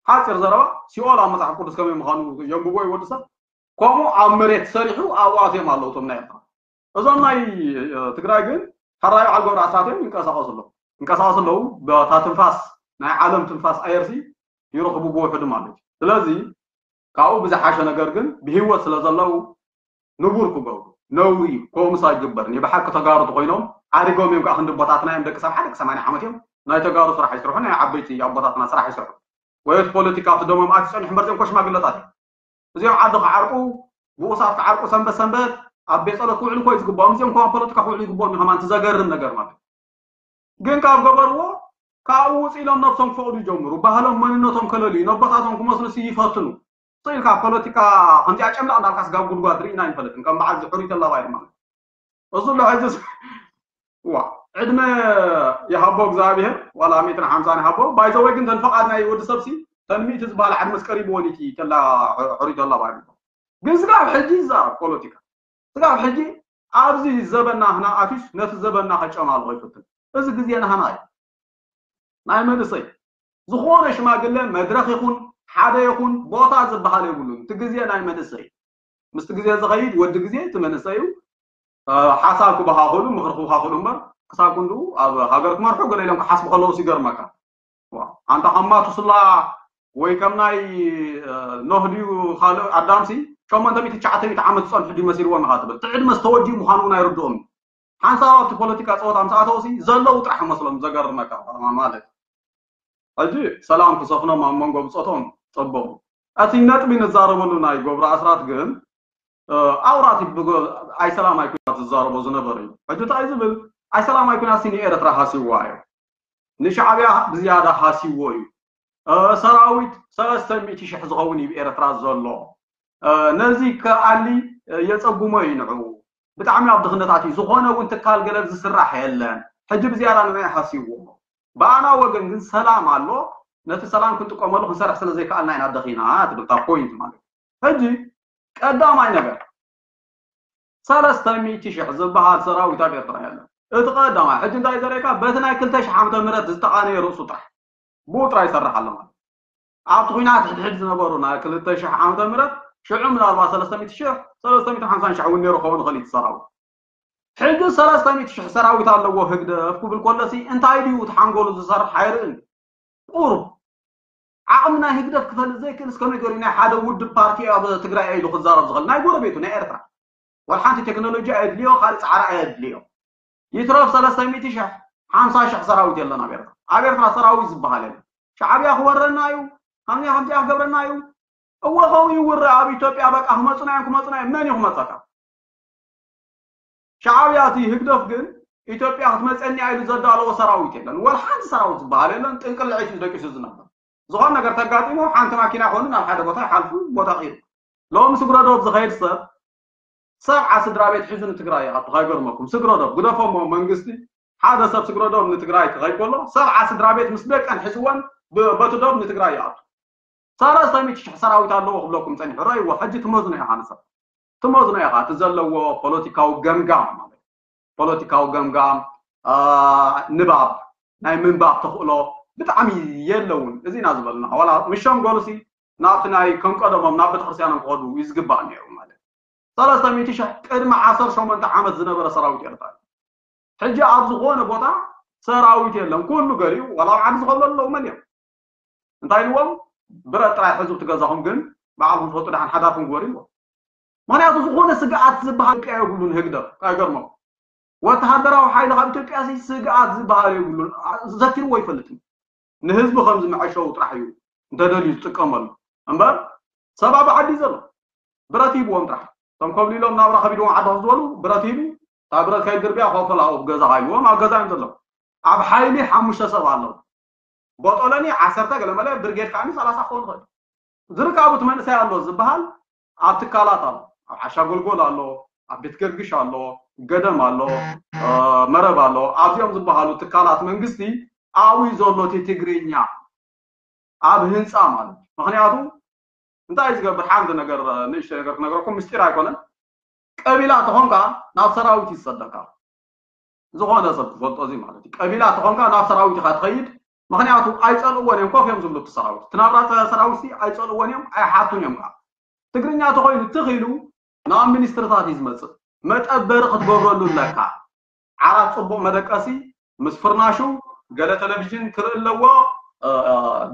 ሓጺር ዘረባ፣ ሲኦል ኣብ መጽሓፍ ቅዱስ ከመይ ምዃኑ የንብቦ እዩ ወዲ ሰብ። ከምኡ ኣብ መሬት ሰሪሑ ኣብኡ ኣትዮም ኣለዉ እቶም ናይ ኤርትራ። እዞም ናይ እ፣ ትግራይ ግን ሕራይ በዓል ገብሩ ኣስራት እዮም ይንቀሳቐሱ ኣለዉ። ይንቀሳቐሱ ኣለዉ። በታ ትንፋስ ናይ ዓለም ትንፋስ ኣየርሲ ይረኽቡ ብውሕዱ ማለት እዩ። ስለዚ ካብኡ ብዝሓሸ ነገር ግን ብህይወት ስለ ዘለዉ ንቡር ክገብሩ ነውሪ እዩ። ከምኡስ ኣይግበርን። ብሓቂ ተጋሩ ተኮይኖም ዓሪጎም እዮም ከዓ ክንዲ ኣቦታትና እዮም። ደቂ ሰብዓ ደቂ ሰማንያ ዓመት እዮም። ናይ ተጋሩ ስራሕ ይስርሑ፣ ናይ ዓበይቲ ኣቦታትና ስራሕ ይስርሑ። ወይ እቲ ፖለቲካ ኣብቲ ደሞም ኣትዩ ጸኒሑ እምበር እዚኦም እኮ ሽማግለታት እዮም። እዚኦም ዓዲ ክዓርቁ፣ ብኡሳት ክዓርቁ፣ ሰንበት ሰንበት ኣብ ቤት ጸሎት ክውዕሉ እኮ እዩ ዝግባኦም። እዚኦም እኮ ኣብ ፖለቲካ ክውዕሉ ይግባኦም እዩ። ከማን እቲ ዘገርም ነገር ማለት ግን ካብ ገበርዎ ካብኡ ውፅ ኢሎም ነብሶም ክፈቕዱ ይጀምሩ። ባህሎም መንነቶም ከለልዩ ነቦታቶም ክመስሉ ሲ ይፈትኑ። ስቕ ኢልካ ፖለቲካ ከምዚኣ ጨምላቕ እንዳልካ ስጋብ ጉድጓድ ርኢና ኣይንፈልጥን። ከም በዓል እዚ ሕሩይ ተላባይ ድማ እዚ ኣሎ ሕዚ ስ-፣ ዋ፣ ዕድመ ይሃቦ እግዚኣብሔር፣ ዋላ ሚእትን ሓምሳን ይሃቦ። ባይዘወይ ግን ተን ፈቓድ ናይ ወዲ ሰብ ሲ ተን ሚእቲ ዝበሃል ዓድመስ ቀሪብዎ ኒቲ ተላ ሕሩይ ተላባይ። ግን ስጋብ ሕጂ ይዛረብ ፖለቲካ። ስጋብ ሕጂ ኣብዚ ዘበና ህና ኣትዩስ ነቲ ዘበና ከጨማልቆ ይፍትን። እዚ ግዜ ናህና እዩ። ናይ መንእሰይ ዝኾነ ሽማግለ መድረኽ ይኹን ሓደ ይኹን ቦታ ዝበሃል የብሉን። እቲ ግዜ ናይ መንእሰይ እዩ። ምስቲ ግዜ ዝኸይድ ወዲ ግዜ እቲ መንእሰይ እዩ። እ፣ ሓሳብ ክበኻኽሉ፣ ምኽሪ ክበኻኽሉ እምበር ክሳብ ክንድኡ ኣብ ሃገር ክመርሑ ገለ ኢሎም ክሓስቡ ከለውስ ይገርመካ። ዋ፣ ኣንታ ከም ማቱስላ ወይ ከም ናይ፣ እ፣ ኖህ ድዩ ካልእ ኣዳምሲ ሸሞንተ ሚእቲ ትሽዓተ ሚእቲ ዓመት ዝጸንሑ ድዩ መሲልዎም ኢኻ ትብል። እቲ ዕድመስ ተወዲኡ ምዃኑ እውን ኣይርድኦም። ሓንሳብ ኣብቲ ፖለቲካ ጸወታ ምስ ኣተውሲ ዘለዉ ጥራሕ መስሎም ዘገርመካ ማለት። ሕጂ ሰላም ክሰፍኖም ኣብ መንጎ ብጾቶም ጸበቡ። እቲ ነጥቢ ንዛረበሉ ናይ ገብሩ ኣስራት ግን፣ እ፣ ኣውራት ይብጎ-፣ ኣይሰላማይ ኩናት ዝዛረቦ ዝነበረ እዩ። ሕጂ እንታይ ዝብል ኣይሰላማይ ኩናት ሲ ንኤርትራ ሃሲዋ እዩ። ንሻዕብያ ብዝያዳ ሃሲዎ እዩ። እ፣ ሰራዊት ሰለስተ ሚእቲ ሽሕ ዝኸውን እዩ ብኤርትራ ዘሎ። እ፣ ነዚ ከኣሊ፣ እ፣ የጸጉሞ እዩ ንዕኡ። ብጣዕሚ ኣብ ድኽነታት እዩ። ዝኾነ እውን ትካል ገለ ዝስራሕ የለን። ሕጂ ብዝያዳ ንዕኡ ሃሲዎ። ብኣና ወገን ግን ሰላም ኣሎ። ነቲ ሰላም ክንጥቀመሉ ክንሰርሕ ስለ ዘይከኣልና ኢና ደኺና ትብል እታ ፖይንት ማለት እዩ። ሕጂ ቀዳማይ ነገር ሰለስተ ሚእቲ ሽሕ ዝበሃል ሰራዊት ኣብ ኤርትራ የለን። እቲ ቀዳማይ ሕጂ እንታይ ዘርእካ በቲ ናይ ክልተ ሽሕ ዓመተ ምህረት ዝተቓነየ ርእሱ ጥራሕ ብኡ ጥራይ ይሰርሕ ኣሎ ማለት እዩ። ኣብቲ ኲናት ሕድሕድ ዝነበሩ ናይ ክልተ ሽሕ ዓመተ ምህረት ሽዑ ምናልባት ሰለስተ ሚእቲ ሽሕ፣ ሰለስተ ሚእትን ሓምሳን ሽሕ እውን ነይሩ ክኸውን ይኽእል እዩ እቲ ሰራዊት። ሕጂ ሰለስተ ሚእቲ ሽሕ ሰራዊት ኣለዎ ህግደፍ ክብል ከሎሲ እንታይ ድዩ እቲ ሓንጎሉ ዝሰርሕ ኣይርእን። ቁሩብ ዓቕሚ ናይ ህግደፍ ክፈልጥ ዘይክእልስ ከመይ ገይሩ ናይ ሓደ ውድብ ፓርቲ ኣብ ትግራይ ኢሉ ክዛረብ ዝኽእል? ናይ ጎረቤቱ ናይ ኤርትራ ዋላ ሓንቲ ቴክኖሎጂ ኣየድልዮ፣ ካልእ ጻዕሪ ኣየድልዮ። ይትረፍ ሰለስተ ሚእቲ ሽሕ፣ ሓምሳ ሽሕ ሰራዊት የለን ኣብ ኤርትራ። ኣብ ኤርትራ ሰራዊት ዝበሃል የለን። ሻዕብያ ክወረና እዩ፣ ከምዚኣ ከምዚኣ ክገብረና እዩ። እወ ከምኡ ይውረ ኣብ ኢትዮጵያ በቃ ክመጹና እዮም፣ ክመጹና እዮም። መን እዩ ክመጸካ? ሻዕብያ እቲ ህግደፍ ግን ኢትዮጵያ ክትመፀኒ ኢሉ ዘዳለዎ ሰራዊት የለን። ወላ ሓንቲ ሰራዊት ዝበሃል የለን። ጥንቅልዒት እዩ ደቂሱ ዝነበር። ዝኾነ ነገር ተጋጢሙ ሓንቲ ማኪና ኮይኑ ናብ ሓደ ቦታ ይሓልፉ፣ ቦታ ቀይሩ። ሎሚ ስግረዶብ ዝኸይድ ሰብ ሰብዓ ስድራ ቤት ሒዙ ንትግራይ ይኣቱ። ከይገርመኩም ስግረዶብ ግደፎሞ መንግስቲ ሓደ ሰብ ስግረዶብ ንትግራይ ክኸይድ ከሎ ሰብዓ ስድራ ቤት ምስ ደቀን ሒዝወን ብ-፣ በቲ ዶብ ንትግራይ ይኣቱ። ሰለስተ ሚእቲ ሽሕ ሰራዊት ኣለዎ ክብለኩም ጸኒሑ። ረእይዎ፣ ሕጂ ትመዝኖ ኢኻ ንሰብ። ትመዝኖ ኢኻ፣ እቲ ዘለዎ ፖለቲካዊ ገምጋም ማለት እዩ። ፖለቲካዊ ገምጋም፣ አ፣ ንባብ፣ ናይ ምንባብ ተኽእሎ ብጣዕሚ የለውን። እዚ ኢና ዝበልና። ዋላ ምሸም ገሉሲ ናብቲ ናይ ከም ቀደሞም ናብ ቤተክርስትያኖም ክኸዱ እዩ ዝግባእ ነይሩ ማለት እዩ። ሰለስተ ሚእቲ ሽሕ ቅድሚ ዓሰርተ ሸሞንተ ዓመት ዝነበረ ሰራዊት ኤርትራ እዩ። ሕጂ ኣብ ዝኾነ ቦታ ሰራዊት የለን። ኩሉ ገሊኡ ዋላ ኣብ ዓዲ ዝኸብሉ ኣለዉ መን እዮም? እንታይ ኢልዎም? ብረት ጥራይ ሕዙ ትገዛኹም ግን ባዕልኩም ትፈልጡ ደሓን ሓዳርኩም ግበሩ ኢልዎም። ምክንያቱ ዝኾነ ስግኣት ዝበሃል ኢትዮጵያ የብሉን። ህግደፍ ኣይገርሞም። ወተሃደራዊ ሓይሊ ካብ ኢትዮጵያ ሲ ስግኣት ዝበሃል የብሉን። ዘኪርዎ ኣይፈልጥን። ንህዝቢ ከም ዝመዐሸው ጥራሕ እዩ እንተደልዩ ዝጥቀመሉ እምበር ሰብ ኣብ ዓዲ ዘሎ ብረት ሂብዎም ጥራሕ። እቶም ኮብሊሎም ናብራ ከቢድዎም ዓዲ ዝበሉ ብረት ሂቡ እታ ብረት ከይድርብያ ኮፈላ ኣብ ገዛ ሃይልዎም ኣብ ገዛ እዮም ዘለዉ። ኣብ ሓይሊ ሓሙሽተ ሰብ ኣለዉ። ቦጦለኒ ዓሰርተ ገለ መለ ብርጌድ ከዓኒ ሰላሳ ክኸውን ይኽእል። ዝርካቡ እቲ መንእሰይ ኣሎ ዝበሃል ኣብ ትካላት ኣሎ። ኣብ ዓሻ ጎልጎል ኣሎ፣ ኣብ ቤት ገርግሽ ኣሎ፣ ገደም ኣሎ፣ መረብ ኣሎ። ኣብዚኦም ዝበሃሉ ትካላት መንግስቲ ኣብዩ ዘሎ እቲ ትግርኛ ኣብ ህንፃ ማለት። ምክንያቱ እንታይ ዝገብር ሓንቲ ነገር ንእሽተ ነገር ክነገረኩም ምስጢር ኣይኮነን። ቀቢላ ተኾንካ ናብ ሰራዊት ይሰደካ። ዝኾነ ሰብ ክፈልጦ እዚ ማለት እዩ። ቀቢላ ተኾንካ ናብ ሰራዊት ኢኻ ትኸይድ። ምክንያቱ ኣይፀልእዎን እዮም፣ ኮፍ እዮም ዝብሉ እቲ ሰራዊት። እቲ ናብራ ሰራዊት ሲ ኣይፀልእዎን እዮም፣ ኣይሓቱን እዮም ከዓ። ትግርኛ ተኾይኑ ትኽ ኢሉ ናብ ሚኒስትርታት እዩ ዝመፅእ። መጠበሪ ክትገብረሉ ኣለካ። ዓራት ፅቡቕ መደቀሲ ምስ ፍርናሹ ገለ ቴሌቪዥን ክርኢ ኣለዎ።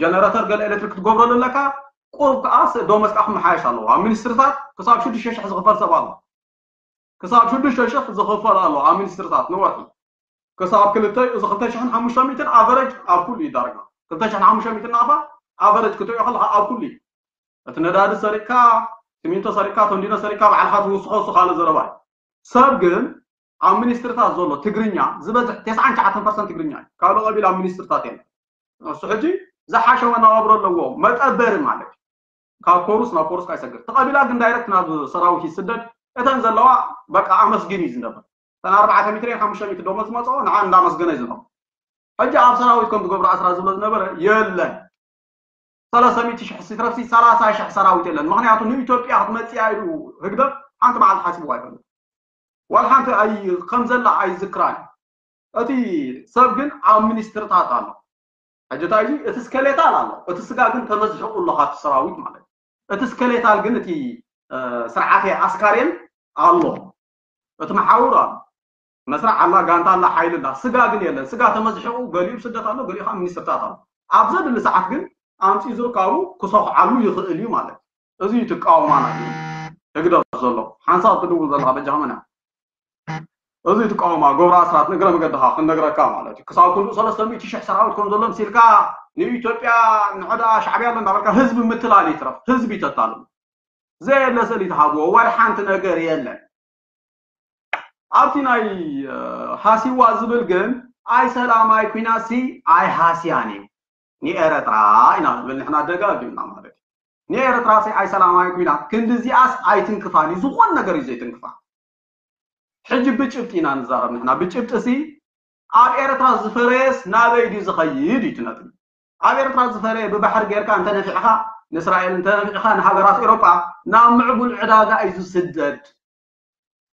ጀነረተር ገለ ኤሌክትሪክ ክትገብረሉ ኣለካ። ቁሩብ ከዓ ዶመስቃ ክመሓየሽ ኣለዎ። ኣብ ሚኒስትርታት ክሳብ ሽዱሽተ ሽሕ ዝኽፈል ሰብ ኣሎ። ክሳብ ሽዱሽተ ሽሕ ዝኽፈል ኣሎ ኣብ ሚኒስትርታት ንወርሒ። ክሳብ ክልተ እዚ ክልተ ሽሕን ሓሙሽተ ሚእትን ኣቨረጅ ኣብ ኩሉ እዩ ዳርጋ። ክልተ ሽሕን ሓሙሽተ ሚእትን ናፋ ኣቨረጅ ክትሪኦ ከለካ ኣብ ኩሉ እዩ። እቲ ነዳዲ ሰሪቅካ፣ ሲሚንቶ ሰሪቅካ፣ ቶንዲኖ ሰሪቅካ ባዕልካ ትውስኾ እሱ ካልእ ዘረባ እዩ። ሰብ ግን ኣብ ሚኒስትርታት ዘሎ ትግርኛ ዝበዝሕ ተስዓን ትሽዓተን ፐርሰንት ትግርኛ እዩ። ካልእ ቀቢል ኣብ ሚኒስትርታት የለን። እሱ ሕጂ ዝሓሸ መነባብሮ ኣለዎ። መጠበሪ ማለት እዩ። ካብ ኮሩስ ናብ ኮሩስ ኣይሰግር። እቲ ቀቢላ ግን ዳይረክት ናብ ሰራዊት ይስደድ። እተን ዘለዋ በቃ ኣመስግን እዩ ዝነበር። እተን ኣርባዕተ ሚትር ሓሙሽተ ሚትር ደሞ ዝመፅኦ ንዓ እንዳመስገነ እዩ ዝነበር። ሕጂ ኣብ ሰራዊት ከም ትገብሮ ኣስራ ዝብሎ ዝነበረ የለን። ሰለስተ ሚእቲ ሽሕ ሲትረፍሲ ሰላሳ ሽሕ ሰራዊት የለን። ምክንያቱ ንኢትዮጵያ ክትመፅእ ኢሉ ህግደፍ ሓንቲ መዓልቲ ሓሲቡ ኣይፈልጥ። ዋላ ሓንቲ ኣይ ከም ዘላ ኣይዝክራን። እቲ ሰብ ግን ኣብ ሚኒስትርታት ኣሎ። ሕጂ እንታይ እዩ እቲ ስከሌታል ኣሎ፣ እቲ ስጋ ግን ተመዝሕቑ ኣሎ ካብቲ ሰራዊት ማለት እዩ። እቲ ስከሌታል ግን እቲ ስርዓተ ኣስካሬን ኣሎ፣ እቲ መሓውር ኣሎ፣ መስርዕ ኣላ፣ ጋንታ ኣላ፣ ሓይሊ ኣላ። ስጋ ግን የለን። ስጋ ተመዝሕቑ፣ ገሊኡ ስደት ኣሎ፣ ገሊኡ ከዓ ሚኒስትርታት ኣሎ። ኣብ ዘድሊ ሰዓት ግን ኣምፂኡ ዝርካቡ ክሰኹዓሉ ይኽእል እዩ ማለት እዩ። እዚ እዩ ትቃወማና ህግደፍ ዘሎ ሓንሳብ ትድውል ዘለካ በጃኻ መን እያ? እዚ ትቃወማ ገብረ ኣስራት ንግረ መገድኻ ክንነግረካ ማለት እዩ። ክሳብ ክንድኡ ሰለስተ ሚእቲ ሽሕ ሰራዊት ከም ዘሎ ምሲልካ ንኢትዮጵያ ንዕዳ ሻዕብያ ኣሎ እንዳበልካ ህዝቢ ምትላል ይትረፍ ህዝቢ ይተታሉ። ዘየለ ስእሊ ትሃብዎ ዋላ ሓንቲ ነገር የለን። ኣብቲ ናይ ሃሲዋ ዝብል ግን ኣይ ሰላም ኣይ ኩናት ሲ ኣይ ሃስያን እዩ። ንኤረትራ ኢና ንብል ንሕና ደጋጊምና ማለት እዩ። ንኤረትራ ሲ ኣይ ሰላም ኣይ ኩናት ክንዲ እዚኣስ ኣይትንክፋን እዩ። ዝኾን ነገር እዩ ዘይትንክፋ። ሕጂ ብጭብጢ ኢና ንዛረብ ንሕና። ብጭብጢ ሲ ኣብ ኤረትራ ዝፈረየስ ናበይ ድዩ ዝኸይድ እዩ እቲ ነጥቢ። ኣብ ኤረትራ ዝፈረየ ብባሕሪ ጌርካ እንተነፊዕኻ ንእስራኤል እንተነፊዕኻ ንሃገራት ኤሮጳ ናብ ምዕቡል ዕዳጋ እዩ ዝስደድ።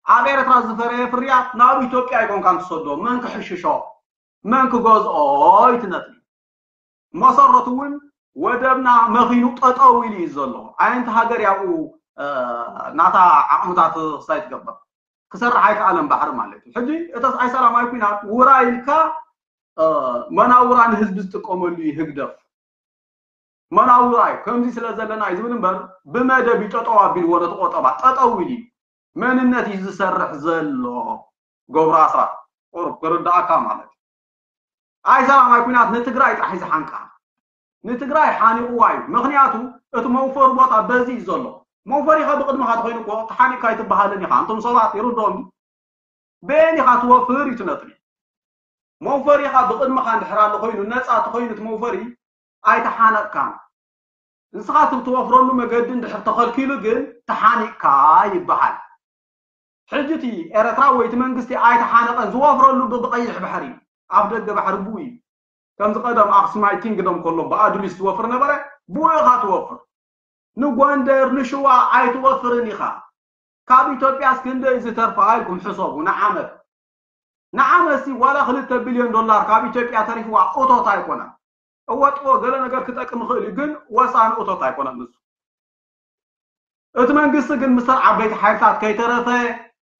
ኣብ ኤረትራ ዝፈረየ ፍርያት ናብ ኢትዮጵያ ኣይኮንካን ትሰዶ። መን ክሕሽሾ መን ክገዝኦ እዩ እቲ ነጥቢ። መሰረቱ እውን ወደብና መኺኑ ጠጠው ኢሉ እዩ ዘሎ። ኣየንቲ ሃገር ያብኡ ናታ ዓቕምታት ክሳይ ትገብር ክሰርሕ ኣይከኣለን ባሕሪ ማለት እዩ። ሕጂ እተስ ኣይ ሰላማዊ ኩናት ውራ ኢልካ መናውራ ንህዝቢ ዝጥቀመሉ እዩ ህግደፍ። መናውራ እዩ ከምዚ ስለ ዘለና እዩ ዝብል እምበር ብመደብ እዩ ጠጠው ኣቢልዎ ነቲ ቆጠባ ጠጠው ኢሉ እዩ መንነት እዩ ዝሰርሕ ዘሎ። ገብሩ ኣስራት ቁሩብ ክርዳእካ ማለት እዩ። ኣይ ሰላማዊ ኩናት ንትግራይ ጥራሕ እዩ ዝሓንቃ። ንትግራይ ሓኒቕዋ እዩ። ምኽንያቱ እቲ መውፈሪ ቦታ በዚ እዩ ዘሎ። መውፈሪኻ ብቕድምኻ ተኾይኑ እኮ ተሓኒቕካ ኣይትበሃልን ኢኻ። እንቶም ሰባት ይርድኦም ድዩ? በየን ኢኻ ትወፍር እዩ እቲ ነጥቢ። መውፈሪኻ ብቕድምኻ እንድሕር ኣሎ ኮይኑ ነፃ ተኾይኑ እቲ መውፈሪ ኣይተሓነቕካን። ንስኻ እቲ ትወፍረሉ መገዲ እንድሕር ተኸልኪሉ ግን ተሓኒቕካ ይበሃል። ሕጂ እቲ ኤረትራ ወይ እቲ መንግስቲ ኣይተሓነቐን ዝወፍረሉ ብቐይሕ ባሕሪ እዩ። ኣፍ ደገ ባሕሪ ብኡ እዩ። ከምዚ ቀደም ኣክሱማይ ኪንግደም ከሎ ብኣዱሊስ ዝወፍር ነበረ ብኡ ኢኻ ትወፍር። ንጎንደር ንሽዋ ኣይትወፍርን ኢኻ። ካብ ኢትዮጵያስ ክንደይ ዝተርፋ ኢልኩም ሕሰቡ ንዓመት። ንዓመትሲ ዋላ ክልተ ቢልዮን ዶላር ካብ ኢትዮጵያ ተሪፍዋ እቶት ኣይኮነን። እወጥዎ ገለ ነገር ክጠቅም ይኽእል እዩ ግን ወሳኒ እቶት ኣይኮነን ንሱ። እቲ መንግስቲ ግን ምስተን ዓበይቲ ሓይልታት ከይተረፈ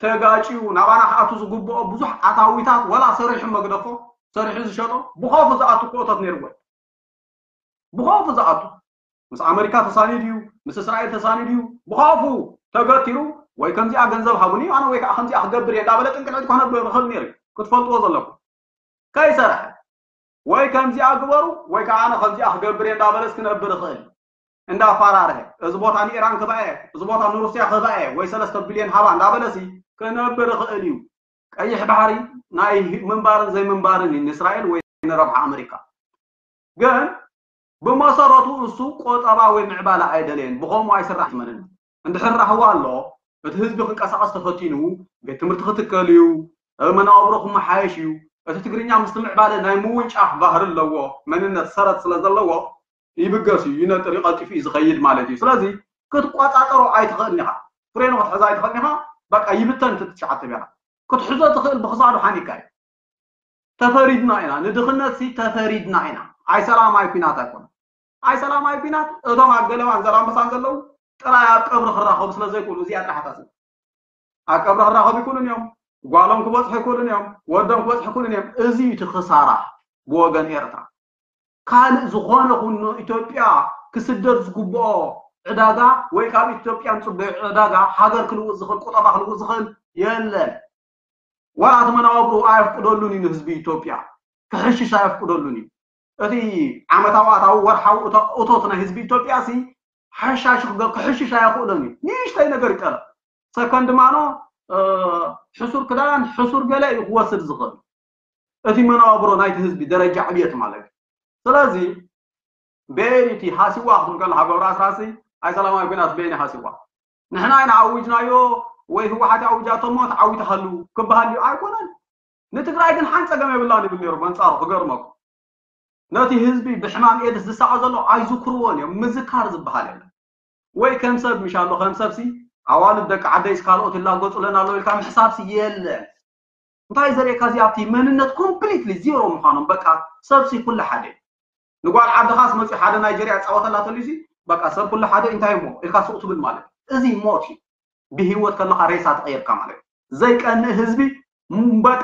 ተጋጭዩ ናባና ክኣቱ ዝግብኦ ብዙሕ ኣታዊታት ወላ ሰሪሑ መግደፎ ሰሪሑ ዝሸጦ ብኸፉ ዝኣቱ እኮ እቶት ነይርዎ። ብኸፉ ዝኣቱ ምስ ኣመሪካ ተሳኒዱ እዩ፣ ምስ እስራኤል ተሳኒዱ እዩ። ብኸፉ ተገቲሩ ወይ ከምዚኣ ገንዘብ ሃቡኒ ኣነ ወይ ከዓ ከምዚኣ ክገብር እየ እንዳበለ ጥንቅልዕት ክኾነብር ይኽእል ነይሩ እዩ። ክትፈልጥዎ ዘለኩም። ከይሰርሐ ወይ ከምዚኣ ግበሩ ወይ ከዓ ኣነ ከምዚኣ ክገብር እየ እንዳበለስ ክነብር ይኽእል እዩ። እንዳፈራርሀ እዚ ቦታ ንኢራን ክህባ እየ፣ እዚ ቦታ ንሩስያ ክህባ እየ ወይ ሰለስተ ቢልዮን ሃባ እንዳበለሲ ክነብር ይኽእል እዩ። ቀይሕ ባሕሪ ናይ ምንባርን ዘይምንባርን እዩ ንእስራኤል ወይ ንረብሓ ኣመሪካ። ግን ብመሰረቱ እሱ ቆጠባ ወይ ምዕባለ ኣይደለየን። ብኸምኡ ኣይስራሕ መንን እንድሕር ራህዋ ኣሎ እቲ ህዝቢ ክንቀሳቐስ ተፈቲኑ ቤት ትምህርቲ ክትከል እዩ፣ መናብሮ ክመሓየሽ እዩ። እቲ ትግርኛ ምስ ምዕባለ ናይ ምውንጫፍ ባህሪ ኣለዎ። መንነት ሰረት ስለ ዘለዎ ይብገስ እዩ፣ ይነጥር እዩ፣ ቀልጢፉ እዩ ዝኸይድ ማለት እዩ። ስለዚ ክትቆፃፀሮ ኣይትኽእልን ኢኻ፣ ፍሬኑ ክትሕዛ ኣይትኽእልን ኢኻ። በቃ ይብተን እቲ ትሽዓተ ቢራ ክትሕዞ ትኽእል ብክሳዱ ሓኒካ እዩ። ተፈሪድና ኢና ንድኽነት ሲ ተፈሪድና ኢና። ኣይ ሰላማይ ኩናት ኣይኮነ ኣይ ሰላማይ ኩናት እቶም ኣብ ገለባን ዘላንበሳን ዘለዉ ጥራይ ኣብ ቀብሪ ክራኸቡ ስለ ዘይክእሉ እዚኣ ጥራሕ ታስብ ኣብ ቀብሪ ክራኸቡ ይክእሉን እዮም። ጓሎም ክበፅሑ ይክእሉን እዮም። ወዶም ክበፅሑ ይክእሉን እዮም። እዚ እቲ ክሳራ ብወገን ኤርትራ ካልእ ዝኾነ ኩኑ ኢትዮጵያ ክስደድ ዝግብኦ ዕዳጋ ወይ ካብ ኢትዮጵያ ንፅበዮ ዕዳጋ ሃገር ክልውጥ ዝኽእል ቁጠባ ክልውጥ ዝኽእል የለን። ዋላ እቲ መናብርኡ ኣየፍቅደሉን እዩ ንህዝቢ ኢትዮጵያ ክሕሽሽ ኣየፍቅደሉን እዩ። እቲ ዓመታዊ ኣታዊ ወርሓዊ እቶት ናይ ህዝቢ ኢትዮጵያ ሲ ሓሻሽ ክሕሽሽ ኣየኽእሎን እዩ። ንእሽተይ ነገር ይጠረፍ ሰከንድ ማኖ ሕሱር ክዳን ሕሱር ገለ እዩ ክወስድ ዝኽእል። እቲ መናብሮ ናይቲ ህዝቢ ደረጃ ዕብየት ማለት እዩ። ስለዚ ቤን እቲ ሃሲዋ ክትብል ከለካ ገብረ ኣስራሲ ኣይ ሰላማዊ ኩናት ቤን ሃሲዋ ንሕና ኢና ኣዊጅናዮ ወይ ህወሓት ኣውጃቶ እሞ ተዓዊቱ ሃሉ ክበሃል እዩ ኣይኮነን። ንትግራይ ግን ሓን ፀገም የብላን ይብል ነይሩ። በንፃሩ ክገርመኩም ነቲ ህዝቢ ብሕማም ኤድስ ዝሳቐ ዘሎ ኣይዝክርዎን እዮም። ምዝካር ዝበሃል የለን። ወይ ከም ሰብ ምሻሎ ከም ሰብሲ ኣዋልድ ደቂ ዓደይስ ካልኦት ይላገፁለን ኣሎ ኢልካ ምሕሳብሲ የለን። እንታይ ዘርእካ እዚ ኣብቲ መንነት ኮምፕሊትሊ ዜሮ ምዃኖም በቃ ሰብሲ ኩሉ ሓደ ንጓል ዓድኻስ መፅኡ ሓደ ናይጀርያ ፃወተላ ተልዩሲ በቃ ሰብ ኩሉ ሓደ እንታይ እሞ ኢልካ ሱቕ ትብል ማለት እዚ ሞት እዩ። ብህይወት ከለካ ሬሳ ተቐይርካ ማለት እዩ። ዘይቀንእ ህዝቢ በቃ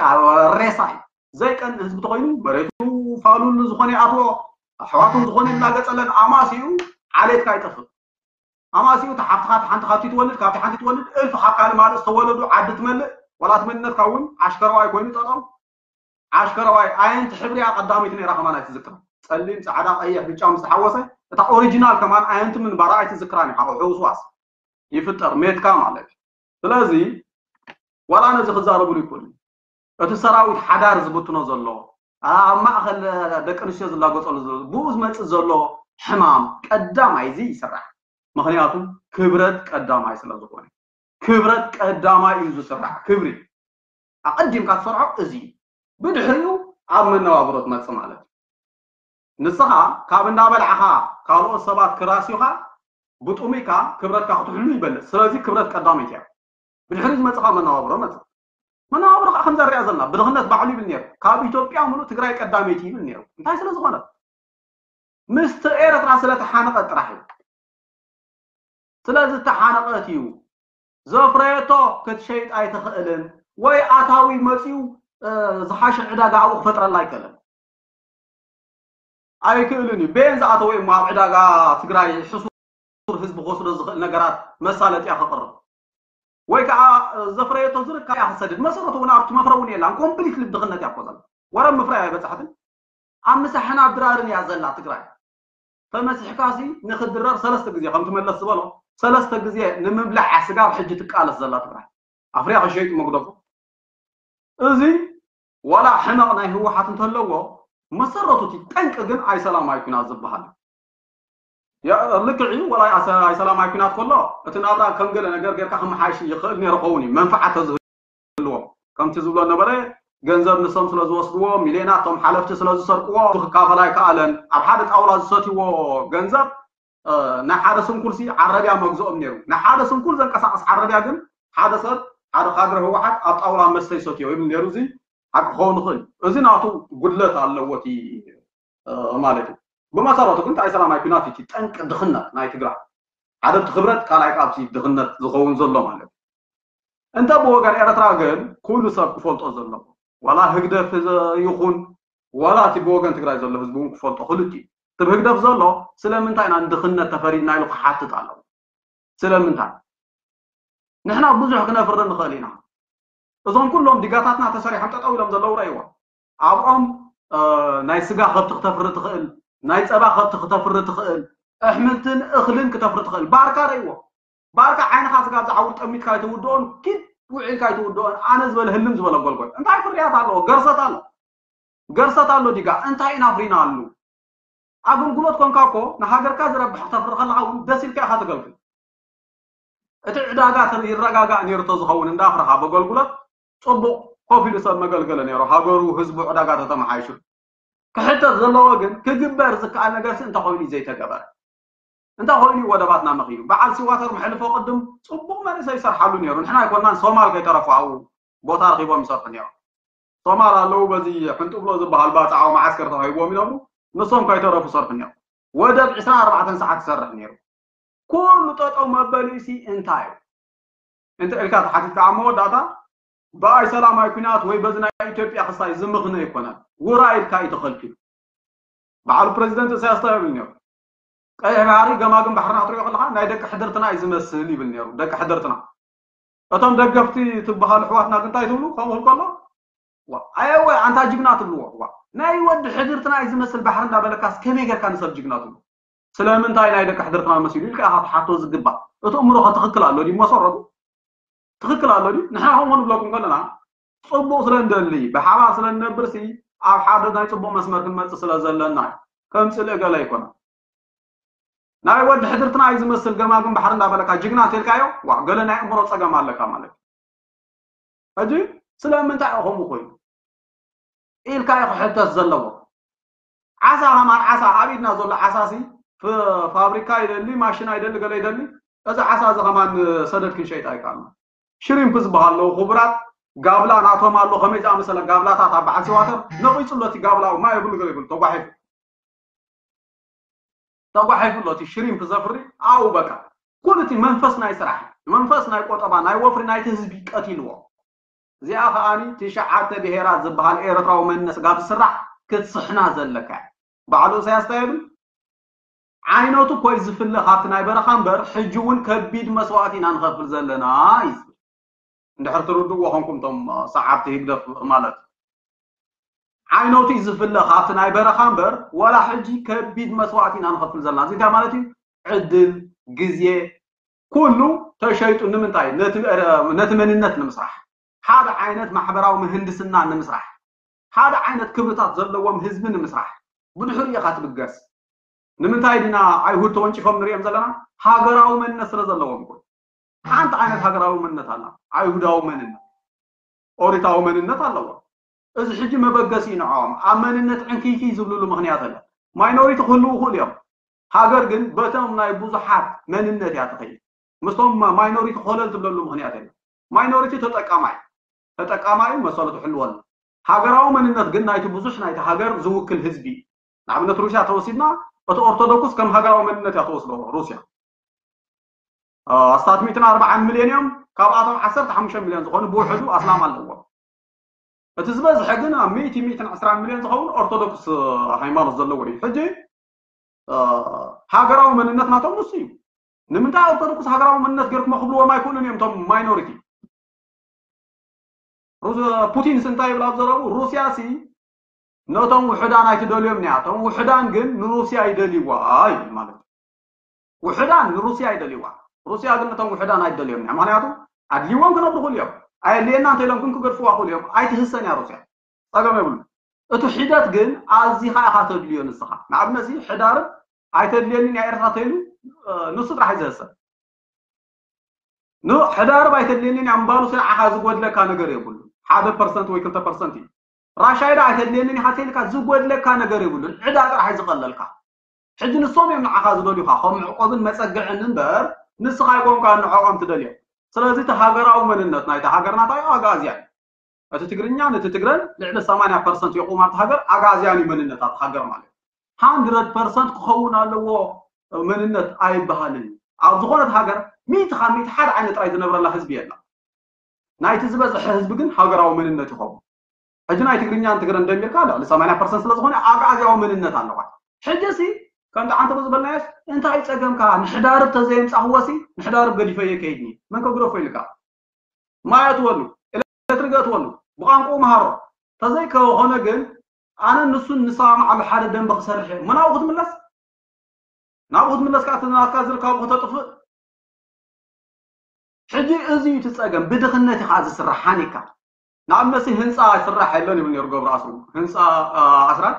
ሬሳ እዩ። ዘይቀንእ ህዝቢ ተኮይኑ መሬቱ ፋሉሉ ዝኾነ ይኣትዎ ኣሕዋቱ ዝኾነ እናገፀለን ኣማሲኡ ዓሌትካ ይጠፍእ። ኣማሲኡ ተሓፍትኻ ሓንቲ ካብቲ ትወልድ ካብቲ ሓንቲ ትወልድ እልፍ ካብ ካልእ ማለት ዝተወለዱ ዓዲ ትመልእ። ዋላ እቲ መንነትካ እውን ዓሽከረዋይ ኮይኑ ጠጠው ዓሽከረዋይ ኣየንቲ ሕብሪያ ቀዳመይቲ ነይራ ከማን ኣይትዝክራ። ፀሊም ፃዕዳ ቀይሕ ብጫ ምስ ተሓወሰ እታ ኦሪጂናል ከማን ኣየንቲ ምንባራ ኣይትዝክራን ኢኻ። ሕውስዋስ ይፍጠር ሜትካ ማለት እዩ። ስለዚ ዋላ ነዚ ክዛረብሉ ይክእሉ። እቲ ሰራዊት ሓዳር ዝብትኖ ዘሎ ኣብ ማእኸል ደቂ ኣንስትዮ ዝላገፀሉ ዘሎ ብኡ ዝመፅእ ዘሎ ሕማም ቀዳማይ እዚ ይስራሕ። ምክንያቱ ክብረት ቀዳማይ ስለ ዝኾነ ክብረት ቀዳማይ እዩ ዝስራሕ። ክብሪ ኣቐዲምካ ትሰርሖ እዚ እዩ። ብድሕሪኡ ኣብ መነባብሮ ትመፅእ ማለት እዩ። ንስኻ ካብ እንዳበላዕኻ ካልኦት ሰባት ክራስዩኻ ብጥሙይካ ክብረትካ ክትሕሉ ይበልፅ። ስለዚ ክብረት ቀዳመይቲ እያ። ብድሕሪ ዝመፅኻ መነባብሮ መፅእ። መነባብሮ ከዓ ከምዛ ንሪኣ ዘለና ብድኽነት ባዕሉ ይብል ነይሩ። ካብ ኢትዮጵያ ሙሉእ ትግራይ ቀዳመይቲ ይብል ነይሩ። እንታይ ስለ ዝኾነ ምስቲ ኤርትራ ስለ ተሓነቐ ጥራሕ እዩ። ስለዚ ተሓነቐት እዩ። ዘፍረየቶ ክትሸይጥ ኣይትኽእልን ወይ ኣታዊ መፅዩ ዝሓሸ ዕዳጋ ኣብኡ ክፈጥረላ ኣይክእልን። ኣይክእልን እዩ። ቤን ዝኣተወ እሞ ኣብ ዕዳጋ ትግራይ ሕሱር ህዝቢ ክወስዶ ዝኽእል ነገራት መሳለጥያ ክቕርብ ወይ ከዓ ዘፍረየቶ ዝርካ እያ ክሰድድ መሰረቱ እውን ኣብቲ መፍረ እውን የላን ኮምፕሊት ልብድኽነት እያ ኮዘል ወረብ ምፍራይ ኣይበፃሕትን ኣብ ምሳሕና ድራርን እያ ዘላ ትግራይ ተመሲሕካሲ ንክድረር ሰለስተ ግዜ ከምቲ መለስ ዝበሎ ሰለስተ ግዜ ንምብላዕ ስጋብ ሕጂ ትቃለስ ዘላ ትግራይ ኣፍርያ ከሸይጡ መግደፉ እዚ ዋላ ሕመቕ ናይ ህወሓት እንተለዎ መሰረቱ እቲ ጠንቂ ግን ኣይሰላማዊ ኩናት ዝበሃል ልክዕ እዩ። ዋላ ኣይሰላማዊ ኩናት ከሎ እቲ ናብራ ከም ገለ ነገር ጌርካ ክመሓይሽ ይኽእል ነይሩ ኸውን እዩ መንፍዓት ተዝህልዎም ከምቲ ዝብሎ ነበረ ገንዘብ ንሶም ስለ ዝወስድዎ ሚልዮናት ቶም ሓለፍቲ ስለ ዝሰርቅዎ ክካፈል ኣይከኣለን። ኣብ ሓደ ጣውላ ዝሰትይዎ ገንዘብ ናይ ሓደ ስንኩል ሲ ዓረብያ መግዝኦም ነይሩ። ናይ ሓደ ስንኩል ዘንቀሳቀስ ዓረብያ ግን ሓደ ሰብ ሓደ ካድረ ህወሓት ኣብ ጣውላ መስተ ይሰትዮ ይብል ነይሩ። እዚ ሓቂ ክኸውን ይኽእል። እዚ ናቱ ጉድለት ኣለዎ እቲ ማለት እዩ። ብመሰረቱ ግን እንታይ ሰላማዊ ኩናት እቲ ጠንቂ ድኽነት ናይ ትግራይ ሓደ እቲ ክብረት ካልኣይ ካብቲ ድኽነት ዝኸውን ዘሎ ማለት እዩ። እንተ ብወገን ኤርትራ ግን ኩሉ ሰብ ክፈልጦ ዘለዎ ዋላ ህግደፍ ይኹን ዋላ እቲ ብወገን ትግራይ ዘሎ ህዝቢ እውን ክፈልጦ ክልቲ ህግደፍ ዘሎ ስለምንታይ ኢና ንድኽነት ተፈሪድና ኢሉ ክሓትት ኣለዎ። ስለምንታይ? ንሕና ብዙሕ ክነፍሪ ንኽእል ኢና። እዞም ኩሎም ዲጋታትና ተሰሪሖም ጠጠው ኢሎም ዘለዉ ረእይዎ። ኣብኦም ናይ ስጋ ከብቲ ክተፍሪ ትኽእል፣ ናይ ፀባ ከብቲ ክተፍሪ ትኽእል፣ ኣሕምልትን እኽልን ክተፍሪ ትኽእል። ባርካ ረእይዎ። ባርካ ዓይንኻ ስጋብ ዝዓውር ጠሚትካ ኣይትውድኦን፣ ኪድ ውዒልካ ኣይትውድኦን። ኣነ ዝበለ ህልም ዝበለ ጎልጎል። እንታይ ፍርያት ኣለዎ? ገርሰት ኣሎ። ገርሰት ኣሎ ዲጋ። እንታይ ኢና ኣፍሪና ኣሉ? ኣገልግሎት ኮንካ እኮ ንሃገርካ ዝረብሕ ክተፍሪ ከለኻ እውን ደስ ኢልካ ኢኻ ተገልግል። እቲ ዕዳጋ ይረጋጋእ ነይሩ ተዝኸውን እንዳፍረኻ በገልግሎት ፅቡቕ ኮፍ ኢሉ ሰብ መገልገለ ነይሩ። ሃገሩ ህዝቡ ዕዳጋ ተተመሓይሹ። ክሕተት ዘለዎ ግን ክግበር ዝከኣል ነገርሲ እንተኾይኑ እዩ ዘይተገበረ። እንተኾይኑ እዩ ወደባትና መኺኑ። በዓል ሲዋተር መሕልፎ ቅድም ፅቡቕ መንእሰይ ይሰርሓሉ ነይሩ። ንሕና ኣይኮናን ሶማል ከይተረፉ ኣብኡ ቦታ ረኺቦም ይሰርሑ ነይሮም። ሶማል ኣለዉ በዚ ሕንጥብሎ ዝበሃል ባፅዓዊ መዓስከር ተዋሂብዎም ይነብሩ። ንሶም ከይተረፉ ሰርሑ ነይሮም። ወደብ ዕስራን ኣርባዕተን ሰዓት ይሰርሕ ነይሩ። ኩሉ ጠጠው መበሊሲ እንታይ እዩ? እንተ ኢልካ ተሓቲትካ ኣብ መወዳእታ ብኣይ ሰላማዊ ኩናት ወይ በዚ ናይ ኢትዮጵያ ክሳይ ዝምኽነ ኣይኮነን። ውራ ኢልካ እዩ ተኸልኪሉ። በዓሉ ፕረዚደንት ኢሳያስ እንታይ ይብል ነይሩ? ቀይሕ ባሕሪ ገማግም ባሕርና ክትሪኦ ከለኻ ናይ ደቂ ሕድርትና እዩ ዝመስል ይብል ነይሩ። ደቂ ሕድርትና። እቶም ደገፍቲ ትበሃሉ ኣሕዋትና ግን እንታይ ትብሉ? ከምኡ ክብል ከሎ ዋ ኣየወ ኣንታ ጅግና ትብልዎ። ዋ ናይ ወዲ ሕድርትና እዩ ዝመስል ባሕሪ እንዳበለካስ ከመይ ጌርካ ንሰብ ጅግና ትብሉ? ስለምንታይ ናይ ደቂ ሕድርትና መሲሉ ኢልካ ኢኻ ትሓቶ ዝግባእ። እቲ እምሮኸ ትኽክል ኣሎ ድዩ መሰረቱ? ትኽክል ኣሎ ድዩ? ንሕና ከምኡ ንብለኩም ከለና ፅቡቕ ስለ እንደሊ ብሓባር ስለ እንነብርሲ ኣብ ሓደ ናይ ፅቡቕ መስመር ክንመፅእ ስለ ዘለና እዩ። ከም ፅልኢ ገለ ኣይኮነን። ናይ ወዲ ሕድርትና እዩ ዝመስል ገማግም ባሕሪ እንዳበለካ ጅግና እንተልካዮ ዋ ገለ ናይ እምሮ ፀገም ኣለካ ማለት እዩ። ሕጂ ስለምንታይ እዩ ከምኡ ኮይኑ ኢልካ እዩ ክሕተት ዘለዎ። ዓሳ ከማን ዓሳ ኣብ ኢድና ዘሎ ዓሳ ሲ ፍ- ፋብሪካ ይደሊ ማሽና ይደሊ ገለ ይደሊ እዚ ዓሳ እዚ ከማን ሰደድ ክንሸይጣ ኣይከኣልና። ሽሪምፕ ዝበሃል ኣለዉ ክቡራት ጋብላ ናቶም ኣሎ ከመይ ዝኣመሰለ ጋብላታት ኣብ በዓል ሲዋተር ነቂፅሎ እቲ ጋብላ ማይ የብሉ ገለ ይብሉ ተጓሒፉ ተጓሒፉ ኣሎ እቲ ሽሪምፕ ዘፍሪ ኣው በቃ ኩሉ እቲ መንፈስ ናይ ስራሕ መንፈስ ናይ ቆጠባ ናይ ወፍሪ ናይቲ ህዝቢ ቀቲልዎ። እዚኣ ከኣኒ ትሽዓተ ብሄራት ዝበሃል ኤርትራዊ መንነት ጋብ ዝስራሕ ክትስሕና ዘለካ ባዕሉ ኢሳያስ እንታይ ይብል? ዓይነቱ ኮይ ዝፍለ ካብቲ ናይ በረኻ እምበር ሕጂ እውን ከቢድ መስዋእቲ ኢና ንኸፍል ዘለና እዩ ዝብል። እንድሕር ትርድእዎ ኾንኩም እቶም ሰዓብቲ ህግደፍ ማለት ዓይነቱ እዩ ዝፍለ ካብቲ ናይ በረኻ እምበር ዋላ ሕጂ ከቢድ መስዋእቲ ኢና ንኸፍል ዘለና እዚ እንታይ ማለት እዩ ዕድል ግዜ ኩሉ ተሸይጡ ንምንታይ ነቲ መንነት ንምስራሕ ሓደ ዓይነት ማሕበራዊ ምህንድስና ንምስራሕ ሓደ ዓይነት ክብርታት ዘለዎም ህዝቢ ንምስራሕ ብድሕሪኡ ኢኻ ትብገስ ንምንታይ ዲና ኣይሁድ ተወንጪፎም ንሪኦም ዘለና ሃገራዊ መንነት ስለ ዘለዎም እኮ ሓንቲ ዓይነት ሃገራዊ መንነት ኣላ ኣይሁዳዊ መንነት ኦሪታዊ መንነት ኣለዎም እዚ ሕጂ መበገሲ እዩ ንዕኦም ኣብ መንነት ዕንክይክይ ዝብልሉ ምኽንያት ኣለ ማይኖሪቲ ክህልዉ ይኽእሉ እዮም ሃገር ግን በቶም ናይ ብዙሓት መንነት እያ ትኸይድ ምስቶም ማይኖሪቲ ኮለል ትብለሉ ምኽንያት የለ ማይኖሪቲ ተጠቃማይ ተጠቃማይ መሰሉ ትሕልወሉ ሃገራዊ መንነት ግን ናይቲ ብዙሕ ናይቲ ሃገር ዝውክል ህዝቢ ንኣብነት ሩስያ ተወሲድና እቲ ኦርቶዶክስ ከም ሃገራዊ መንነት እያ ተወስዶ ሩስያ ኣስታት ሚእትን ኣርባዓን ሚልዮን እዮም ካብኣቶም ዓሰርተ ሓሙሽተ ሚልዮን ዝኾኑ ብውሕዱ ኣስላም ኣለዎም እቲ ዝበዝሐ ግን ኣብ ሚእቲ ሚእትን ዕስራን ሚልዮን ዝኸውን ኦርቶዶክስ ሃይማኖት ዘለዎ እዩ ሕጂ ሃገራዊ መንነት ናቶም ንሱ እዩ ንምንታይ ኦርቶዶክስ ሃገራዊ መንነት ገርኩም ክብልዎም ኣይክእሉን እዮም እቶም ማይኖሪቲ ፑቲንስ እንታይ ይብል ኣብ ዘረቡ ሩስያ ሲ ነቶም ውሕዳን ኣይትደልዮም እያ እቶም ውሕዳን ግን ንሩስያ ይደልይዋ ይብል ማለት እዩ ውሕዳን ንሩስያ ይደልይዋ ሩስያ ግን ነቶም ውሕዳን ኣይትደልዮም እያ ምክንያቱ ኣድልይዎም ክነብሩ ክእሉ እዮም ኣየድልየና እንተኢሎም ግን ክገድፍዋ ክእሉ እዮም ኣይትህሰን እያ ሩስያ ጸገም የብሉ እቲ ሒደት ግን ኣዚኻ ኢኻ ተድልዮ ንስኻ ንኣብነት ሕዳርብ ኣይተድልየንን እያ ኤርትራ ተይሉ ንሱ ጥራሕ እዩ ዘህሰብ ኖ ሕዳርብ ኣይተድልየንን እያ ምባሉ ስለ ዓኻ ዝጎድለካ ነገር የብሉ ሓደ ፐርሰንት ወይ ክልተ ፐርሰንት እዩ ራሻይዳ ኣይተድልየንን ኢኻ ተይልካ ዝጎድለካ ነገር የብሉን ዕዳ ጥራሕ እዩ ዝቐለልካ ሕጂ ንሶም እዮም ንዓኻ ዝደልዩኻ ከም መዕቆብን መጸግዕን እምበር ንስኻ ኣይኮንካ ንዕኦም ትደልዮም ስለዚ እቲ ሃገራዊ መንነት ናይቲ ሃገርና እንታይ ኣግኣዝያ እዩ እቲ ትግርኛ ነቲ ትግረን ልዕሊ ሰማንያ ፐርሰንት የቑም ኣብቲ ሃገር ኣግኣዝያን እዩ መንነት ኣብቲ ሃገር ማለት እዩ ሃንድረድ ፐርሰንት ክኸውን ኣለዎ መንነት ኣይበሃልን እዩ ኣብ ዝኾነት ሃገር ሚእቲ ካብ ሚእቲ ሓደ ዓይነት ጥራይ ዝነብረላ ህዝቢ የላ ናይቲ ዝበዝሐ ህዝቢ ግን ሃገራዊ መንነት ይኸውን ሕጂ ናይ ትግርኛን ትግረን ደሚርካ ልዕሊ ሰማንያ ፐርሰንት ስለ ዝኾነ ኣግኣዝያዊ መንነት ኣለዋ ሕጂ ሲ ከምቲ ዓንተ ዝበልናዮስ እንታይ ጸገምካ? ንሕዳርብ ተዘየምጻኽዎሲ ንሕዳርብ ገዲፈዮ ከይድኒ። መን ከግደፎ ኢልካ? ማይ ኣትወሉ፣ ኤሌክትሪክ ኣትወሉ፣ ብቋንቋኡ መሃሮ። ተዘይከኾነ ግን ኣነ ንሱን ንሰማማዓሉ ሓደ ደንበ ክሰርሕ እየ። እሞ ናብኡ ክትምለስ? ናብኡ ክትምለስ ከኣ እቲ ናትካ ዝርካቡ ከተጥፍእ? ሕጂ እዚ እዩ እቲ ጸገም። ብድኽነት እዩ ከኣ ዝስራሕ ሓኒካ። ንኣብነት ህንጻ ይስራሕ የለን ይብል ነይሩ ገብሩ ኣስሩ። ህንጻ ኣስራት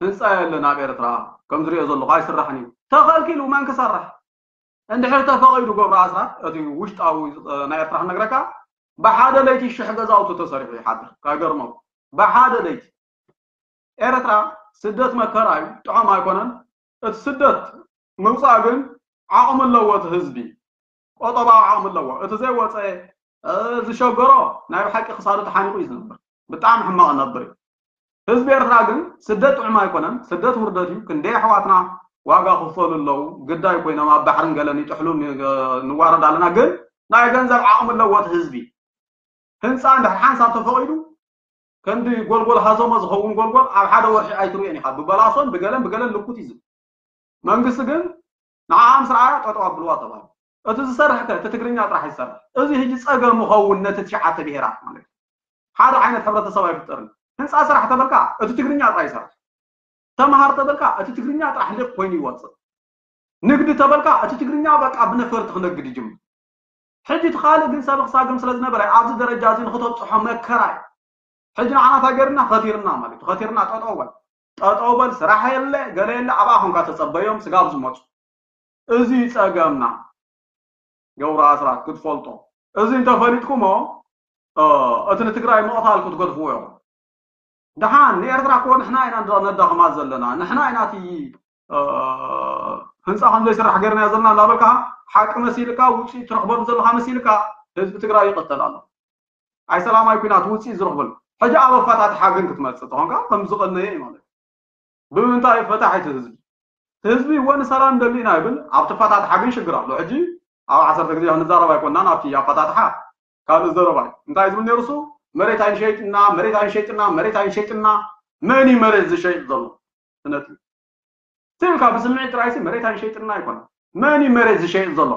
ህንጻ የለን ኣብ ኤርትራ ከም ዝሪኦ ዘለኹ ኣይስራሕን እዩ። ተኸልኪሉ መን ክሰርሕ? እንድሕር ተፈቒዱ ገብሩ ኣስራት እቲ ውሽጣዊ ናይ ኤርትራ ክነግረካ ብሓደ ለይቲ ሽሕ ገዛውቲ ተሰሪሑ ይሓድር። ከይገርመኩም ብሓደ ለይቲ ኤርትራ ስደት መከራ እዩ፣ ጥዑም ኣይኮነን። እቲ ስደት ምውፃእ ግን ዓቕሚ ኣለዎ። እቲ ህዝቢ ቆጠባዊ ዓቕሚ ኣለዎ። እቲ ዘይወፀ ዝሸገሮ ናይ ብሓቂ ክሳዱ ተሓኒቑ እዩ ዝነብር። ብጣዕሚ ሕማቕ ነብር እዩ። ህዝቢ ኤርትራ ግን ስደት ጥዑም ኣይኮነን። ስደት ውርደት እዩ። ክንደይ ኣሕዋትና ዋጋ ክፈሉ ኣለዉ። ግዳይ ኮይኖም ኣብ ባሕርን ገለን ይጥሕሉ ንዋረድ ኣለና። ግን ናይ ገንዘብ ዓቕሚ ኣለዎ እቲ ህዝቢ። ህንፃ እንድሕር ሓንሳብ ተፈቒዱ ከምዚ ጎልጎል ሃዞሞ ዝኸውን ጎልጎል ኣብ ሓደ ወርሒ ኣይትርእዮን ኢኻ። ብበላሶን ብገለን ብገለን ልኩት እዩ ዝብል። መንግስቲ ግን ንዓኣ ምስ ረኣያ ጠጠው ኣብልዋ ተባሂሉ። እቲ ዝሰርሕ ከ እቲ ትግርኛ ጥራሕ ይሰርሕ። እዚ ሕጂ ጸገም ይኸውን ነቲ ትሽዓተ ብሄራት ማለት እዩ። ሓደ ዓይነት ሕብረተሰብ ኣይፍጠርን። ህንፃ ስራሕ ተበልካ እቲ ትግርኛ ጥራሕ ይሰርሕ። ተምሃር ተበልካ እቲ ትግርኛ ጥራሕ ልክ ኮይኑ ይወፅእ። ንግዲ ተበልካ እቲ ትግርኛ በቃ ብነፈርቲ ክነግድ ይጅምር። ሕጂ እቲ ካልእ ግን ሰብ ክሳግም ስለ ዝነበረ ኣብዚ ደረጃ እዚ ንክተብፅሖ መከራ እዩ። ሕጂ ንዓና እንታይ ገይርና? ከቲርና ማለት እዩ። ከቲርና ጠጠው በል፣ ጠጠው በል፣ ስራሕ የለ፣ ገለ የለ፣ ኣብኣ ኮንካ ተጸበዮም ስጋብ ዝመፁ። እዚ ጸገምና ገብሩ ኣስራት ክትፈልጦ። እዚ እንተፈሊጥኩሞ እቲ ንትግራይ ምቕታል ክትገድፍዎ ኢኹም። ደሓን ንኤርትራ እኮ ንሕና ኢና ነዳኽማ ዘለና። ንሕና ኢና እቲ ህንፃ ከም ዘይስራሕ ገይርናዮ ዘለና እናበልካ ሓቂ መሲልካ ውፅኢት ትረኽበሉ ዘለካ መሲልካ ህዝቢ ትግራይ ይቕተል ኣሎ። ኣይ ሰላማዊ ኩናት ውፅኢት ዝረኽበሉ ሕጂ ኣብ ኣፈታትሓ ግን ክትመፅእ ተኾንካ ከም ዝቐነየ እዩ ማለት እዩ። ብምንታይ ፈታሕ እቲ ህዝቢ ህዝቢ እወ ንሰላም ደሊና ይብል ኣብቲ ፈታትሓ ግን ሽግር ኣሎ። ሕጂ ኣብ ዓሰርተ ግዜ ክንዛረብ ኣይኮንናን ኣብቲ ኣፈታትሓ ካልእ ዘረባ እዩ። እንታይ ዝብል ነይሩ እሱ? መሬት ኣይንሸይጥና፣ መሬት ኣይንሸይጥና፣ መሬት ኣይንሸይጥና። መን እዩ መሬት ዝሸይጥ ዘሎ? ስነቲ ትብል ካብ ብስምዒት ጥራይሲ መሬት ኣይንሸይጥና ኣይኮነን። መን እዩ መሬት ዝሸይጥ ዘሎ?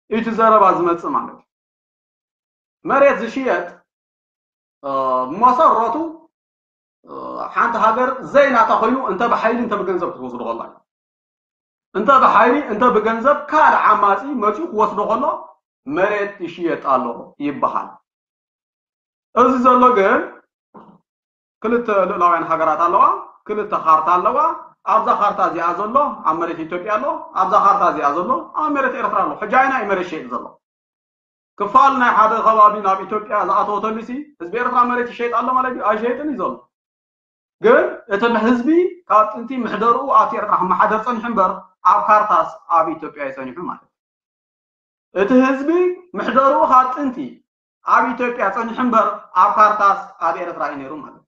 እቲ ዘረባ ዝመጽእ ማለት እዩ። መሬት ዝሽየጥ መሰረቱ ሓንቲ ሃገር ዘይናታ ኮይኑ እንተ ብሓይሊ እንተ ብገንዘብ ክትወስዶ ከላ እንተ ብሓይሊ እንተ ብገንዘብ ካልእ ዓማፂ መፂኡ ክወስዶ ከሎ መሬት ይሽየጥ ኣሎ ይበሃል። እዚ ዘሎ ግን ክልተ ልእላውያን ሃገራት ኣለዋ፣ ክልተ ካርታ ኣለዋ። ኣብዛ ካርታ እዚኣ ዘሎ ኣብ መሬት ኢትዮጵያ ኣሎ፣ ኣብዛ ካርታ እዚኣ ዘሎ ኣብ መሬት ኤርትራ ኣሎ። ሕጂ ኣይና እዩ መሬት ሸይጥ ዘሎ? ክፋል ናይ ሓደ ከባቢ ናብ ኢትዮጵያ ዝኣተወ ተሊሲ ህዝቢ ኤርትራ መሬት ይሸይጥ ኣሎ ማለት እዩ? ኣይሸይጥን እዩ ዘሎ። ግን እቲ ህዝቢ ካብ ጥንቲ ምሕደርኡ ኣብቲ ኤርትራ ክመሓደር ጸኒሑ እምበር ኣብ ካርታስ ኣብ ኢትዮጵያ እዩ ጸኒሑ ማለት እዩ። እቲ ህዝቢ ምሕደርኡ ካብ ጥንቲ ኣብ ኢትዮጵያ ጸኒሑ እምበር ኣብ ካርታስ ኣብ ኤርትራ እዩ ነይሩ ማለት እዩ።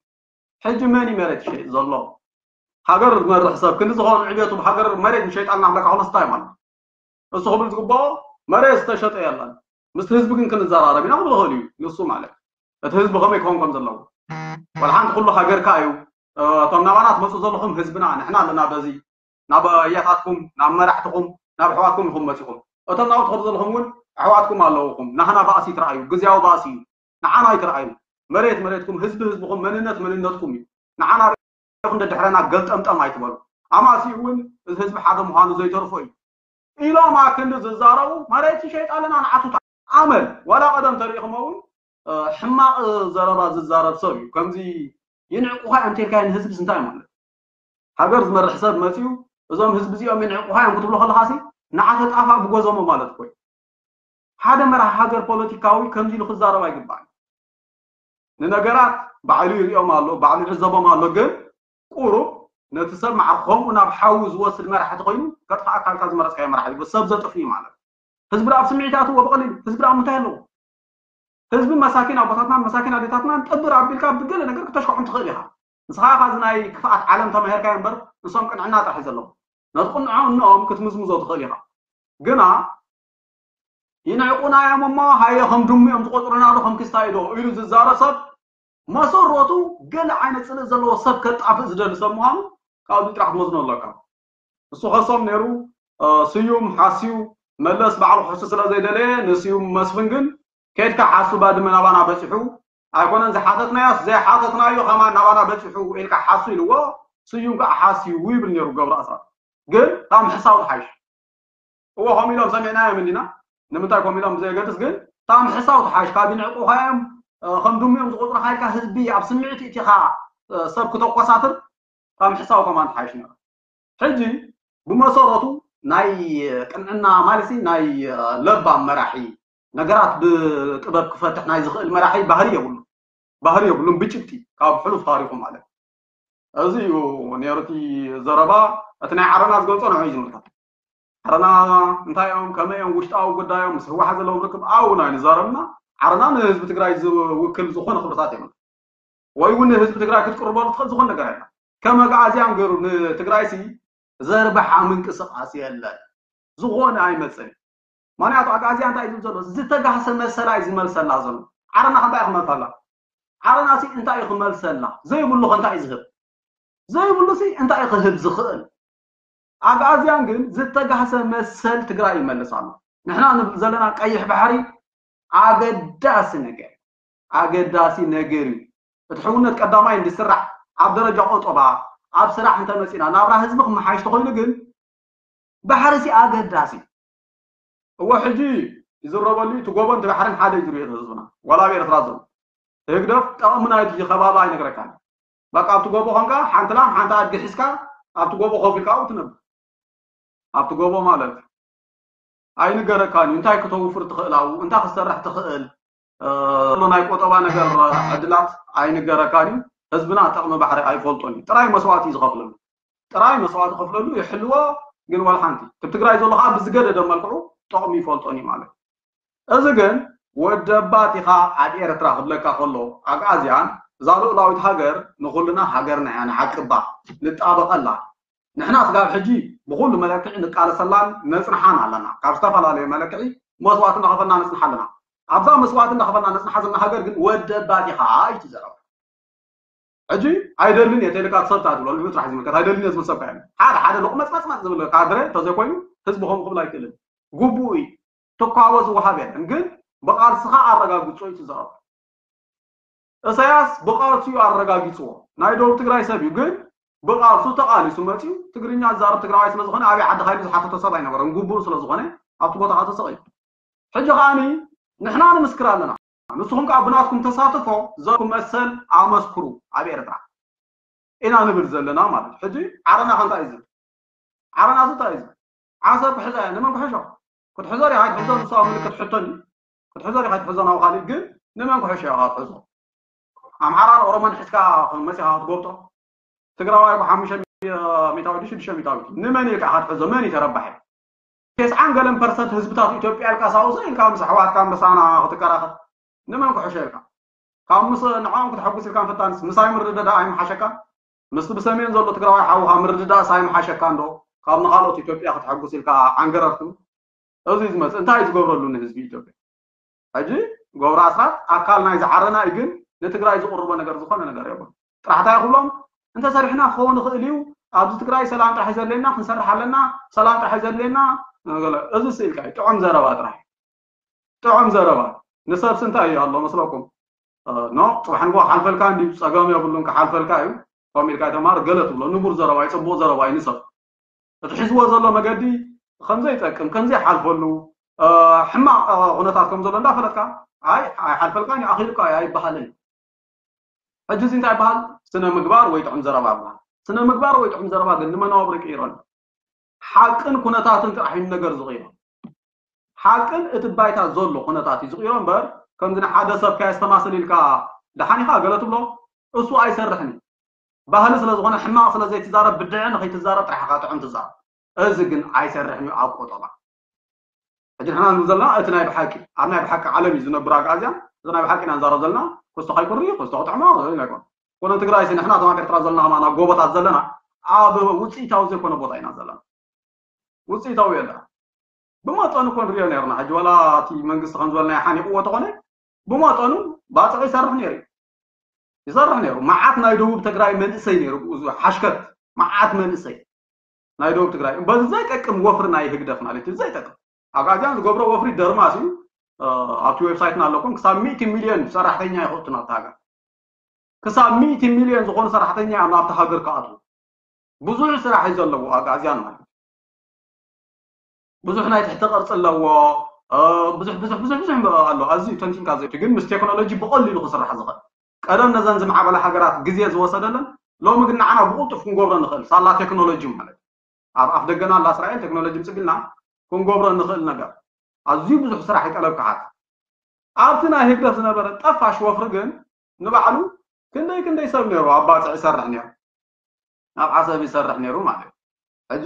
ሕጂ መን እዩ መሬት ይሸይጥ ዘሎ? ሃገር ዝመርሕ ሰብ ክንዲ ዝኾኑ ዕቤቱ ብሃገር መሬት ንሸይጣልና ክብለካ ከሎ ስታይ ማለት እዩ። እሱ ክብል ዝግባኦ መሬት ዝተሸጠ የለን። ምስቲ ህዝቢ ግን ክንዘራረብ ኢና ክብል ይኽእል እዩ ንሱ ማለት እዩ። እቲ ህዝቢ ከመይ ክኸውን ከም ዘለዎ ዋላ ሓንቲ ኩሉ ሃገርካ እዩ። እቶም ናባና ትመፁ ዘለኹም ህዝብና ንሕና ኣለና በዚ ናብ ኣያታትኩም ናብ መራሕትኹም ናብ ኣሕዋትኩም ኢኹም መፂኹም። እቶም ናብኡ ትኸዱ ዘለኹም እውን ኣሕዋትኩም ኣለውኹም። ናህና ባእሲ ትረኣዩ ግዝያዊ ባእሲ እዩ። ንዓና ኣይትረኣዩ። መሬት መሬትኩም ህዝቢ ህዝብኹም መንነት መንነትኩም እዩ። ንዓና ሪኢኹም ደድሕረና ገልጠምጠም ኣይትበሉ። ኣማሲ እውን እዚ ህዝቢ ሓደ ምዃኑ ዘይተርፎ እዩ። ኢሎም ኣክንዲ ዝዛረቡ መሬት ይሸይጥ ኣለና ንዓቱታ ኣመል ዋላ ቀደም ተሪእኹሞ እውን ሕማቕ ዘረባ ዝዛረብ ሰብ እዩ። ከምዚ ይንዕቁኻ እዮም ተልካዮ ንህዝብስ እንታይ ማለት ሃገር ዝመርሕ ሰብ መፅዩ እዞም ህዝቢ እዚኦም ይንዕቁኻ እዮም ክትብሎ ከለኻሲ ንዓተ ጣፋ ብጎዘሞ ማለት እኮ እዩ። ሓደ መራሒ ሃገር ፖለቲካዊ ከምዚ ኢሉ ክዛረብ ኣይግባእን። ንነገራት ባዕሉ ይሪኦም ኣሎ፣ ባዕሉ ይዕዘቦም ኣሎ። ግን ቁሩብ ነቲ ሰብ ማዕረ ከምኡ ናብ ሓዊ ዝወስድ መራሒ ተኮይኑ ከጥፋ ኣካልካ ዝመረፅካዮ መራሒ እዩ። ሰብ ዘጥፍ እዩ ማለት ህዝቢ ኣብ ስምዒት ኣትዎ ብቐሊሉ ህዝቢ ኣብ ምንታይ ኣለዎ? ህዝቢ መሳኪን ኣቦታትናን መሳኪን ኣዴታትናን ጥብር ኣቢልካ ብገለ ነገር ክተሽክዖም ትኽእል ኢኻ። ንስኻ ኻዚ ናይ ክፍኣት ዓለም ተማሂርካዮ እምበር ንሶም ቅንዕና ጥራሕ እዩ ዘለዎም። ነቲ ቅንዕንኦም ክትምዝምዞ ትኽእል ኢኻ። ግና ይንዕቁና እዮም እሞ ሃየ ከም ድሙ እዮም ዝቆፅሩና ዶ ከም ክስታይ ዶ ኢሉ ዝዛረብ ሰብ መሰረቱ ገለ ዓይነት ፅልእ ዘለዎ ሰብ ከጣፍእ ዝደሊ ሰብ ምዃኑ ካብዚ ጥራሕ ትወስኖ ኣለካ። እሱ ከሶም ነይሩ። ስዩም ሓስዩ፣ መለስ ባዕሉ ክሕሱ ስለ ዘይደለየ ንስዩም መስፍን ግን ከይድካ ሓሱ፣ ባድመ ናባና በፂሑ ኣይኮነን ዝሓተትናዮስ ዘይሓተትናዮ ከማን ናባና በፂሑ ኢልካ ሓሱ ኢልዎ። ስዩም ከዓ ሓስዩ ይብል ነይሩ ገብሩ ኣስራት። ግን ካብ ምሕሳው ትሓይሽ። እዎ ከምኡ ኢሎም ሰሚዕናዮም እንዲና። ንምንታይ ከምኡ ኢሎም ብዘየገድስ ግን ካብ ምሕሳው ትሓይሽ። ካብ ይንዕቁኻ እዮም፣ ከም ድሙ እዮም ዝቆፅሩኻ ኢልካ ህዝቢ ኣብ ስምዒት እቲኻ ሰብ ክተቆሳስር ካብ ምሕሳው ከማን ትሓይሽ ነይሩ። ሕጂ ብመሰረቱ ናይ ቅንዕና ማለት ናይ ለባም መራሒ፣ ነገራት ብጥበብ ክፈትሕ ናይ ዝኽእል መራሒ ባህሪ የብሉ። ባህሪ የብሉን ብጭብጢ ካብ ሕሉፍ ታሪኹ ማለት። እዚ እዩ ነይሩ እቲ ዘረባ። እቲ ናይ ዓረና ዝገልጾ ንዑ እዩ ዝምልከት። ዓረና እንታይ እዮም፣ ከመይ እዮም፣ ውሽጣዊ ጉዳዮም ምስ ህወሓት ዘለዎም ርክብ ኣብኡ ናይ ንዛረብና። ዓረና ንህዝቢ ትግራይ ዝውክል ዝኾነ ክብርታት የብሉ ወይ እውን ንህዝቢ ትግራይ ክትቅርበሉ ትኽእል ዝኾነ ነገር የለን። ከም ኣግኣዝያን ገይሩ ንትግራይ ሲ ዘርብሓ ምንቅስቃስ የለን። ዝኾነ ኣይመፅን። ምክንያቱ ኣግኣዝያ እንታይ እዩ ዝብል ዘሎ? ዝተጋህሰ መሰላ እዩ ዝመልሰላ ዘሎ። ዓረና ከ እንታይ ክመልሰላ? ዓረና ሲ እንታይ እዩ ክመልሰላ? ዘይብሉ ከ እንታይ እዩ ዝህብ? ዘይብሉ ሲ እንታይ እዩ ክህብ ዝኽእል? ኣግኣዝያን ግን ዝተጋህሰ መሰል ትግራይ ይመልስ ኣሎ። ንሕና ንብል ዘለና ቀይሕ ባሕሪ ኣገዳሲ ነገር፣ ኣገዳሲ ነገር እዩ። እቲ ሕውነት ቀዳማይ እንድስራሕ ኣብ ደረጃ ቆጠባ ኣብ ስራሕ እንተመፂና ናብራ ህዝቢ ክመሓይሽ ተኮይኑ ግን ባሕሪ ሲ ኣገዳሲ። እወ ሕጂ ይዝረበሉ እዩ፣ እቲ ጎቦን እቲ ባሕርን ሓደ እዩ ዝርእዮ ህዝብና። ዋላ ኣብ ኤርትራ ዘሎ ህግደፍ ጠቕሚ ናይቲ ከባቢ ኣይነግረካን። በቃ ኣብቲ ጎቦ ኮንካ ሓንቲ ላም ሓንቲ ኣድጊ ሒዝካ ኣብቲ ጎቦ ኮፍ ኢልካ ኣብኡ ትነብር። ኣብቲ ጎቦ ማለት ኣይንገረካን እዩ። እንታይ ክተውፍር ትኽእል ኣብኡ፣ እንታይ ክትሰርሕ ትኽእል፣ ዘሎ ናይ ቆጠባ ነገር ዕድላት ኣይንገረካን እዩ። ህዝብና ጠቕሚ ባሕሪ ኣይፈልጦን እዩ። ጥራይ መስዋእቲ እዩ ዝኸፍለሉ። ጥራይ መስዋእቲ ከፍለሉ ይሕልዎ። ግን ዋላ ሓንቲ ትብ ትግራይ ዘሎ ከዓ ብዝገደደ መልክዑ ጠቕሚ ይፈልጦን እዩ ማለት እዩ። እዚ ግን ወደባት ኢኻ ኣብ ኤርትራ ክብለካ ከሎ ኣግኣዝያን እዛ ልኡላዊት ሃገር ንኹልና ሃገርና እያ፣ ንዓቅባ፣ ንጣበቐላ። ንሕና ስጋብ ሕጂ ብኹሉ መለክዒ ንቃለሰላን ነጽንሓን ኣለና። ካብ ዝተፈላለዩ መለክዒ መስዋእቲ እናኸፈልና ነጽንሓ ኣለና። ኣብዛ መስዋእቲ እናኸፈልና ነጽንሓ ዘለና ሃገር ግን ወደባት ኢኻ እዩ እቲ ዘረባ። ሕጂ ኣይደልን እየ ተልካ ትሰብታ ትብሎ ልዑ ጥራሕ ዝምልከት ኣይደልን እየ ዝብል ሰብ ካየን ሓደ ሓደ ሎቕመጽመጽመጽ ዝብል ካድረ እንተዘይኮይኑ ህዝቢ ከምኡ ክብል ኣይክእልን። ግቡእ እዩ። ትኳቦ ዝወሃብ የለን ግን ብቓልስኻ ኣረጋግጾ እዩ ትዛረብ። እሰያስ ብቓልሱ እዩ ኣረጋጊጽዎ። ናይ ደቡብ ትግራይ ሰብ እዩ ግን ብቓልሱ ተቓሊሱ መጺኡ ትግርኛ ዝዛረብ ትግራዋይ ስለ ዝኾነ ኣበይ ዓዲ ካይሉ ዝሓተቶ ሰብ ኣይነበረን። ግቡእ ስለ ዝኾነ ኣብቲ ቦታ ተሰቒሉ። ሕጂ ከዓኒ ንሕና ንምስክር ኣለና። ንስኹም ከዓ ብናትኩም ተሳትፎ ዘኩም መሰል ኣመስክሩ ኣብ ኤርትራ ኢና ንብል ዘለና ማለት። ሕጂ ዓረና ከ እንታይ እዩ ዝብል? ዓረና እዚ እንታይ እዩ ዝብል? ዓሰብ ክሕዛ እያ። ንመን ክሕሾ? ክትሕዞ ዲኻ ኣይትሕዞ ንሱ ኣብ ምልክት ሕቶን እዩ። ክትሕዞ ዲኻ ኣይትሕዞ ናብ ካሊእ ግን ንመን ክሕሾ ኢኻ ክትሕዞ? ኣምሓራን ኦሮሞን ሒዝካ መፂኻ ክትጎብጦ? ትግራዋይ እኮ ሓሙሽተ ሚእታዊ ድዩ ሽዱሽተ ሚእታዊ ንመን ኢልካ ኢኻ ትሕዞ? መን እዩ ተረባሒ? ተስዓን ገለን ፐርሰንት ህዝብታት ኢትዮጵያ ኢልካ ሳውሰ ኢልካ ምስ ኣሕዋትካ ምሳና ክትከራኸር ንመን ክሕሾ ኢልካ ካብ ምስ ንዕኦም ክትሐጉስ ኢልካ ምፍታንስ ምሳይ ምርድዳእ ኣይምሓሸካ? ምስቲ ብሰሜን ዘሎ ትግራዋይ ሓውኻ ምርድዳእስ ኣይምሓሸካ እንዶ ካብ ንኻልኦት ኢትዮጵያ ክትሐጉስ ኢልካ ዓንገረርቱ? እዚ ዝመፅእ እንታይ እዩ ዝገብረሉ ንህዝቢ ኢትዮጵያ? ሕጂ ገብሩ ኣስራት ኣካል ናይ ዝዓረና እዩ ግን ንትግራይ ዝቕርቦ ነገር ዝኾነ ነገር የብሉ። ጥራሕ እንታይ ክብሎም እንተሰሪሕና ክኸውን ይኽእል እዩ። ኣብዚ ትግራይ ሰላም ጥራሕ ዘድልየና ክንሰርሕ ኣለና። ሰላም ጥራሕ ዘድልየና። እዚ ስኢልካ እዩ ጥዑም ዘረባ ጥራሕ ጥዑም ዘረባ። ንሰብሲ እንታይ እዩ ኣሎ መስለኩም? ኖ ፅባሕ ንግሆ ክሓልፈልካ እንዲ ፀገም የብሉን ክሓልፈልካ እዩ። ከምኡ ኢልካ ተማር ገለ ትብሎ ንቡር ዘረባ እዩ ፅቡቕ ዘረባ እዩ ንሰብ እቲ ሒዝዎ ዘሎ መገዲ ከምዘይጠቅም ከምዘይሓልፈሉ ሕማቕ ኩነታት ከም ዘሎ እንዳፈለጥካ ኣይ ኣይሓልፈልካን እዩ ኣኺሉካ እዩ ኣይበሃልን እዩ። ሕጂ እዚ እንታይ ይበሃል? ስነ ምግባር ወይ ጥዑም ዘረባ ይበሃል። ስነ ምግባር ወይ ጥዑም ዘረባ ግን ንመነባብሮ ይቅይሮ ኣሎ። ሓቅን ኩነታትን ጥራሕ እዩ ነገር ዝቕይሮ። ሓቅን እቲ ባይታ ዘሎ ኩነታት እዩ ዝቕይሮ እምበር ከምዚ ንሓደ ሰብ ከየስተማስል ኢልካ ደሓን ኢኻ ገለ ትብሎ እሱ ኣይሰርሕን እዩ። ባህሊ ስለ ዝኾነ ሕማቕ ስለ ዘይትዛረብ ብድዐ ንኸይትዛረብ ጥራሕ ኢኻ ጥዑም ትዛረብ። እዚ ግን ኣይሰርሕን እዩ ኣብ ቆጠባ። ሕጂ ንሕና ንብል ዘለና እቲ ናይ ብሓቂ ኣብ ናይ ብሓቂ ዓለም እዩ ዝነብር ኣግኣዝያን እዚ ናይ ብሓቂ ኢና ንዛረብ ዘለና። ክስቶ ከይኩሪ ክስቶ ክጥዕሞ ኣይኮን። ኮነ ትግራይ ሲ ንሕና ተማም ኤርትራ ዘለና ከማና ጎቦታት ዘለና ኣብ ውፅኢታዊ ዘይኮነ ቦታ ኢና ዘለና። ውፅኢታዊ የለና። ብመጠኑ ኮን ሪኦ ነርና ሕጂ ዋላ እቲ መንግስቲ ከም ዝበልና ሓኒቕዎ ተኾነ ብመጠኑ ባፅዕ ይሰርሕ ነይሩ ይሰርሕ ነይሩ። መዓት ናይ ደቡብ ትግራይ መንእሰይ ነይሩ ብኡ ሓሽከት መዓት መንእሰይ ናይ ደቡብ ትግራይ በዚ ዘይጠቅም ወፍሪ ናይ ህግደፍ ማለት እዩ። ዘይጠቅም ኣግኣዝያን ዝገብሮ ወፍሪ ደርማስ እዩ። ኣብቲ ዌብሳይትና ኣለኩም። ክሳብ ሚእቲ ሚልዮን ሰራሕተኛ ይኸእቱ ናብቲ ሃገር። ክሳብ ሚእቲ ሚልዮን ዝኾኑ ሰራሕተኛ እዮም ናብቲ ሃገር ክኣትዉ። ብዙሕ ስራሕ እዩ ዘለዎ ኣግኣዝያን ማለት እዩ። ብዙሕ ናይ ትሕቲ ቅርፂ ኣለዎ። ብዙሕ ብዙሕ ብዙሕ ብዙሕ ኣሎ። ኣዝዩ ተንቲንካ ዘይ ግን ምስ ቴክኖሎጂ ብቐሊሉ ክስራሕ ዝኽእል። ቀደም ነዘን ዝማዕበላ ሃገራት ግዜ ዝወሰደለን ሎሚ ግን ንዓና ብቕልጡፍ ክንገብሮ ንኽእል ሳላ ቴክኖሎጂ ማለት እዩ። ኣብ ኣፍ ደገና ኣላ እስራኤል ቴክኖሎጂ ምፅግልና ክንገብሮ ንኽእል ነገር ኣዝዩ ብዙሕ ስራሕ ይጠለብ ክሓት። ኣብቲ ናይ ህግደፍ ዝነበረ ጠፋሽ ወፍሪ ግን ንባዕሉ ክንደይ ክንደይ ሰብ ነይሩ ኣብ ባፅዕ ይሰርሕ ነይሩ፣ ኣብ ዓሰብ ይሰርሕ ነይሩ ማለት እዩ። ሕጂ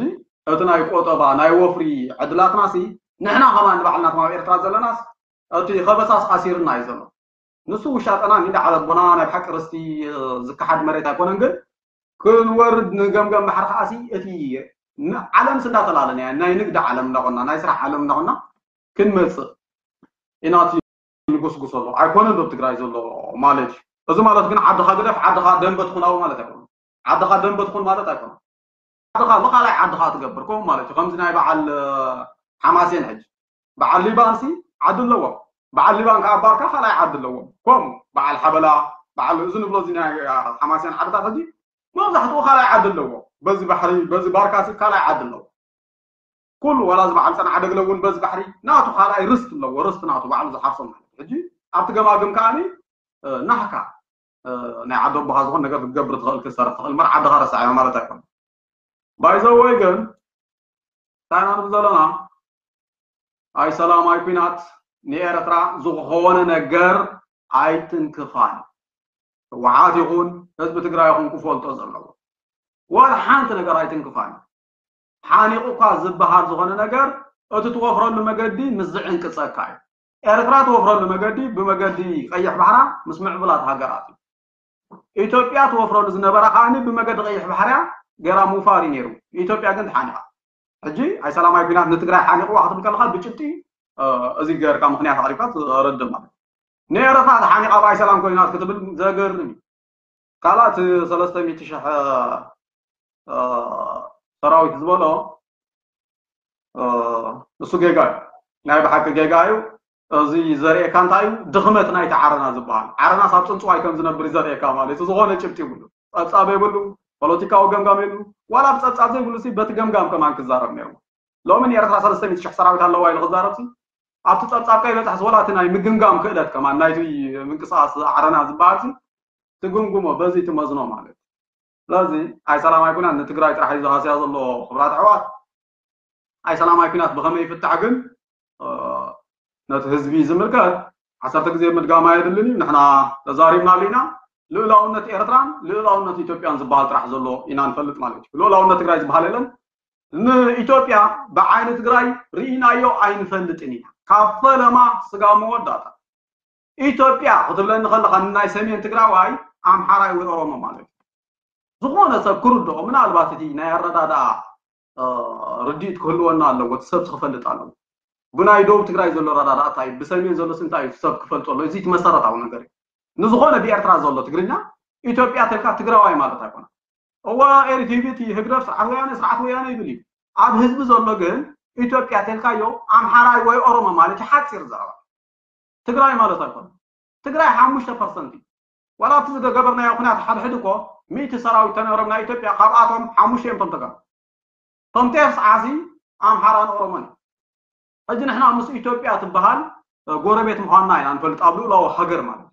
እቲ ናይ ቆጠባ ናይ ወፍሪ ዕድላትና ሲ ንሕና ከማን ንባዕልና ከም ኣብ ኤርትራ ዘለናስ እቲ ከበሳስ ኣሲርና እዩ ዘሎ። ንሱ ውሻጠና እንዳ ዓለቦና ናይ ብሓቂ ርስቲ ዝከሓድ መሬት ኣይኮነን ግን ክንወርድ ንገምገም ባሕሪ ከዓሲ እቲ ዓለም ስንዳተላለና ናይ ንግዲ ዓለም እንዳኾና ናይ ስራሕ ዓለም እንዳኾና ክንመፅእ ኢና። ንጉስጉስ ኣሎ ኣይኮነ ዶ ትግራይ ዘሎ ማለት እዩ። እዚ ማለት ግን ዓድኻ ግደፍ ዓድኻ ደንበ ትኹን ኣብኡ ማለት ኣይኮነ። ዓድኻ ደንበ ትኹን ማለት ኣይኮነ። ዓድኻ ንኻላይ ዓድኻ ትገብር ከምኡ ማለት እዩ። ከምዚ ናይ በዓል ሓማሴን ሕጂ በዓል ሊባንሲ ዓዲ ኣለዎም። በዓል ሊባን ከዓ ባርካ ካልኣይ ዓዲ ኣለዎም። ከምኡ በዓል ሓበላ በዓል እዚ ንብሎ እዚ ናይ ሓማሴን ዓድታት ሕጂ መብዛሕትኡ ካልኣይ ዓዲ ኣለዎ። በዚ ባሕሪ በዚ ባርካሲ ካልኣይ ዓዲ ኣለዎ። ኩሉ ዋላ እዚ በዓል ፀንዓ ደግለ እውን በዚ ባሕሪ ናቱ ካልኣይ ርስት ኣለዎ። ርስት ናቱ ባዕሉ ዝሓርሶ ማለት እዩ። ሕጂ ኣብቲ ገማግም ከዓኒ ናህካ ናይ ዓዲ ኣቦኻ ዝኾን ነገር ክትገብር ትኽእል ክትሰርሕ ትኽእል እምበር ዓድኻ ረሳዕዮ ማለት ኣይኮነ። ባይዘወይ ግን እንታይ ኢና ንብል ዘለና? ኣይ ሰላም ኣይ ኩናት ንኤርትራ ዝኾነ ነገር ኣይትንክፋን። ህወሓት ይኹን ህዝቢ ትግራይ ይኹን ክፈልጦ ዘለዎ ዋላ ሓንቲ ነገር ኣይትንክፋን። ሓኒቑ እኳ ዝበሃል ዝኾነ ነገር እቲ ትወፍረሉ መገዲ ምስ ዝዕንቅፀካ እዩ። ኤርትራ ትወፍረሉ መገዲ ብመገዲ ቀይሕ ባሕራ ምስ ምዕቡላት ሃገራት እዩ። ኢትዮጵያ ትወፍረሉ ዝነበራ ከዓኒ ብመገዲ ቀይሕ ባሕርያ ገይራ ምውፋር እዩ ነይሩ። ኢትዮጵያ ግን ተሓኒቓ። ሕጂ ኣይ ሰላማዊ ኩናት ንትግራይ ሓኒቕዋ ክትብል ከለኻ ብጭብጢ እዚ ገርካ ምኽንያት ኣቕሪብካ ትረድእ ማለት እዩ። ንኤረትራ ተሓኒቓ ብኣይ ሰላም ኮይናት ክትብል ዘገርም እዩ። ካልኣት ሰለስተ ሚእቲ ሽሕ ሰራዊት ዝበሎ እሱ ጌጋ እዩ። ናይ ብሓቂ ጌጋ እዩ። እዚ ዘርእየካ እንታይ እዩ ድኽመት ናይቲ ዓረና ዝበሃል? ዓረናስ ኣብ ፅንፅዋይ ከም ዝነብር እዩ ዘርእየካ ማለት እዩ። ዝኾነ ጭብጢ ይብሉ፣ ፀብፃብ የብሉ፣ ፖለቲካዊ ገምጋም የብሉ። ዋላ ብፀብፃብ ዘይብሉ ሲ በቲ ገምጋም ከማን ክዛረብ ነይሩ። ሎሚ ንኤርትራ ሰለስተ ሚእቲ ሽሕ ሰራዊት ኣለዋ ኢሉ ክዛረብ ሲ ኣብቲ ፀብፃብ ከይበፅሕ ዝወላ እቲ ናይ ምግምጋም ክእለት ከማን ናይቲ ምንቅስቃስ ዓረና ዝበሃል ሲ ትግምግሞ በዚ ትመዝኖ ማለት እዩ። ስለዚ ኣይ ሰላማዊ ኩናት ንትግራይ ጥራሕ እዩ ዝሃስያ ዘሎ ክብራት ኣሕዋት። ኣይ ሰላማዊ ኩናት ብኸመይ ይፍታሕ ግን ነቲ ህዝቢ ዝምልከት ዓሰርተ ግዜ ምድጋም ኣየድልን እዩ። ንሕና ተዛሪብናሉ ኢና። ልኡላውነት ኤርትራን ልኡላውነት ኢትዮጵያን ዝበሃል ጥራሕ ዘሎ ኢና ንፈልጥ ማለት እዩ። ልኡላውነት ትግራይ ዝበሃል የለን። ንኢትዮጵያ ብዓይኒ ትግራይ ርኢናዮ ኣይንፈልጥን ኢና። ካብ ፈለማ ስጋ መወዳእታ ኢትዮጵያ ክትብለኒ ከለኻ ንናይ ሰሜን ትግራዋይ ኣምሓራይ ወይ ኦሮሞ ማለት እዩ። ዝኾነ ሰብ ክርድኦ ምናልባት እቲ ናይ ኣረዳድኣ ርድኢት ክህልወና ኣለዎ። እቲ ሰብ ክፈልጥ ኣለዎ። ብናይ ደቡብ ትግራይ ዘሎ ኣረዳድኣ እንታይ እዩ፣ ብሰሜን ዘሎ እንታይ እዩ ሰብ ክፈልጦ ኣሎ። እዚ እቲ መሰረታዊ ነገር እዩ። ንዝኾነ ብኤርትራ ዘሎ ትግርኛ ኢትዮጵያ ተልካ ትግራዋይ ማለት ኣይኮነ። እዋ ኤሪቲቪ እቲ ህግደፍ ስርዓት ወያነ ስርዓት ወያነ ይብል እዩ። ኣብ ህዝቢ ዘሎ ግን ኢትዮጵያ ተልካዮ ኣምሓራይ ወይ ኦሮሞ ማለት እዩ። ሓፂር ዘረባ ትግራይ ማለት ኣይኮነ። ትግራይ ሓሙሽተ ፐርሰንት እዩ። ዋላ ኣብቲ ዝገበርናዮ ኩናት ሓድሕድ እኮ ሚእቲ ሰራዊት ተነብሮም ናይ ኢትዮጵያ ካብኣቶም ሓሙሽተ እዮም ቶም ተጋሩ። ቶም ቴፍ ሰዓሲ ኣምሓራን ኦሮሞን እዩ። ሕጂ ንሕና ምስ ኢትዮጵያ ትበሃል ጎረቤት ምዃንና ኢና ንፈልጥ ኣብ ልኡላዊ ሃገር ማለት እዩ።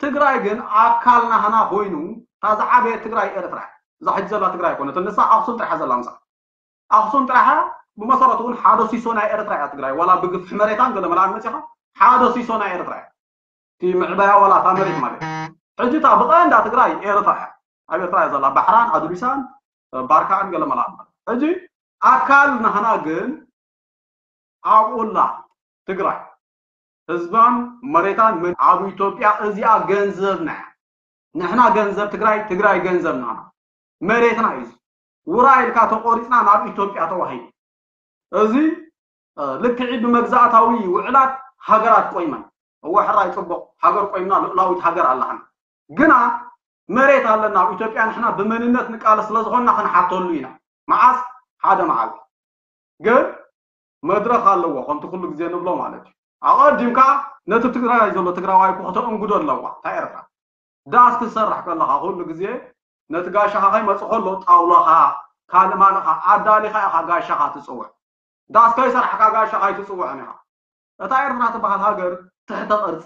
ትግራይ ግን ኣካል ናህና ኮይኑ እታ ዝዓበየት ትግራይ ኤርትራ እያ። እዛ ሕጂ ዘላ ትግራይ ኣይኮነትን ንሳ ኣኽሱም ጥራሕ ዘላ ምሳ ኣኽሱም ጥራሕ እያ። ብመሰረቱ እውን ሓደ ሲሶ ናይ ኤርትራ እያ ትግራይ ዋላ ብግፍሒ መሬታን ገለ መላን መፂኻ ሓደ ሲሶ ናይ ኤርትራ እያ። እቲ ምዕባያ ዋላ እታ መሬት ማለት እዩ። ሕጂ እታ ብቐንዳ ትግራይ ኤርትራ እያ። ኣብ ኤርትራ እያ ዘላ ባሕራን ኣዱሊሳን ባርካን ገለ መላን ማለት ሕጂ ኣካል ናህና ግን ኣብኡላ ትግራይ ህዝባን መሬታን ምን ኣብ ኢትዮጵያ እዚኣ ገንዘብና እያ። ንሕና ገንዘብ ትግራይ ትግራይ ገንዘብ ናና መሬትና እዩ። ውራ ኢልካ ተቆሪፅና ናብ ኢትዮጵያ ተዋሂዱ። እዚ ልክዒ ብመግዛእታዊ ውዕላት ሃገራት ቆይመን እወ ሕራይ ፅቡቕ ሃገር ቆይምና ልኡላዊት ሃገር ኣለሃና ግና መሬት ኣለና ኣብ ኢትዮጵያ፣ ንሕና ብመንነት ንቃለስ ስለ ዝኾንና ክንሓተሉ ኢና። መዓስ? ሓደ መዓልቲ። ግን መድረኽ ኣለዎ፣ ከምቲ ኩሉ ግዜ ንብሎ ማለት እዩ። ኣቐዲምካ ነቲ ትግራይ ዘሎ ትግራዋይ እኮ ከተእንግዶ ኣለዋ እታ ኤርትራ። ዳስ ክትሰርሕ ከለኻ ኩሉ ግዜ ነቲ ጋሻኻ ከይመጽእ ከሎ ጣውላኻ፣ ካልእ ማልኻ ኣዳሊኻ ኢኻ ጋሻኻ ትጽውዕ። ዳስ ከይሰራሕካ ጋሻኻ ኣይትጽውዕን ኢኻ። እታ ኤርትራ ትበሃል ሃገር ትሕተ ቅርጺ፣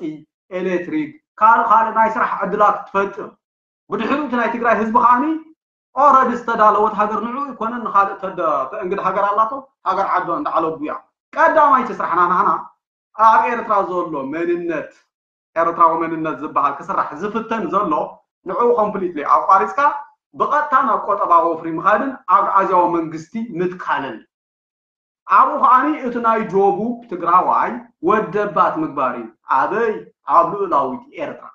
ኤሌክትሪክ፣ ካልእ ካልእ ናይ ስራሕ ዕድላት ትፈጥር። ብድሕሪኡ እቲ ናይ ትግራይ ህዝቢ ከዓኒ ኦረዲ ዝተዳለወት ሃገር ንዑ ይኮነን ንኻልእ ተደ-፣ ተእንግድ ሃገር ኣላቶ፣ ሃገር ዓዶ እንዳዓለቡ እያ። ቀዳማይቲ ስራሕና ናህና ኣብ ኤርትራ ዘሎ መንነት፣ ኤርትራዊ መንነት ዝበሃል ክስራሕ ዝፍተን ዘሎ ንዑ ኮምፕሊትሊ ኣቋሪፅካ ብቐጥታ ናብ ቆጠባዊ ወፍሪ ምኻድን ኣግዓዝያዊ መንግስቲ ምትካልን። ኣብኡ ከዓኒ እቲ ናይ ደቡብ ትግራዋይ ወደባት ምግባር እዩ። ኣበይ? ኣብ ልኡላዊት ኤርትራ።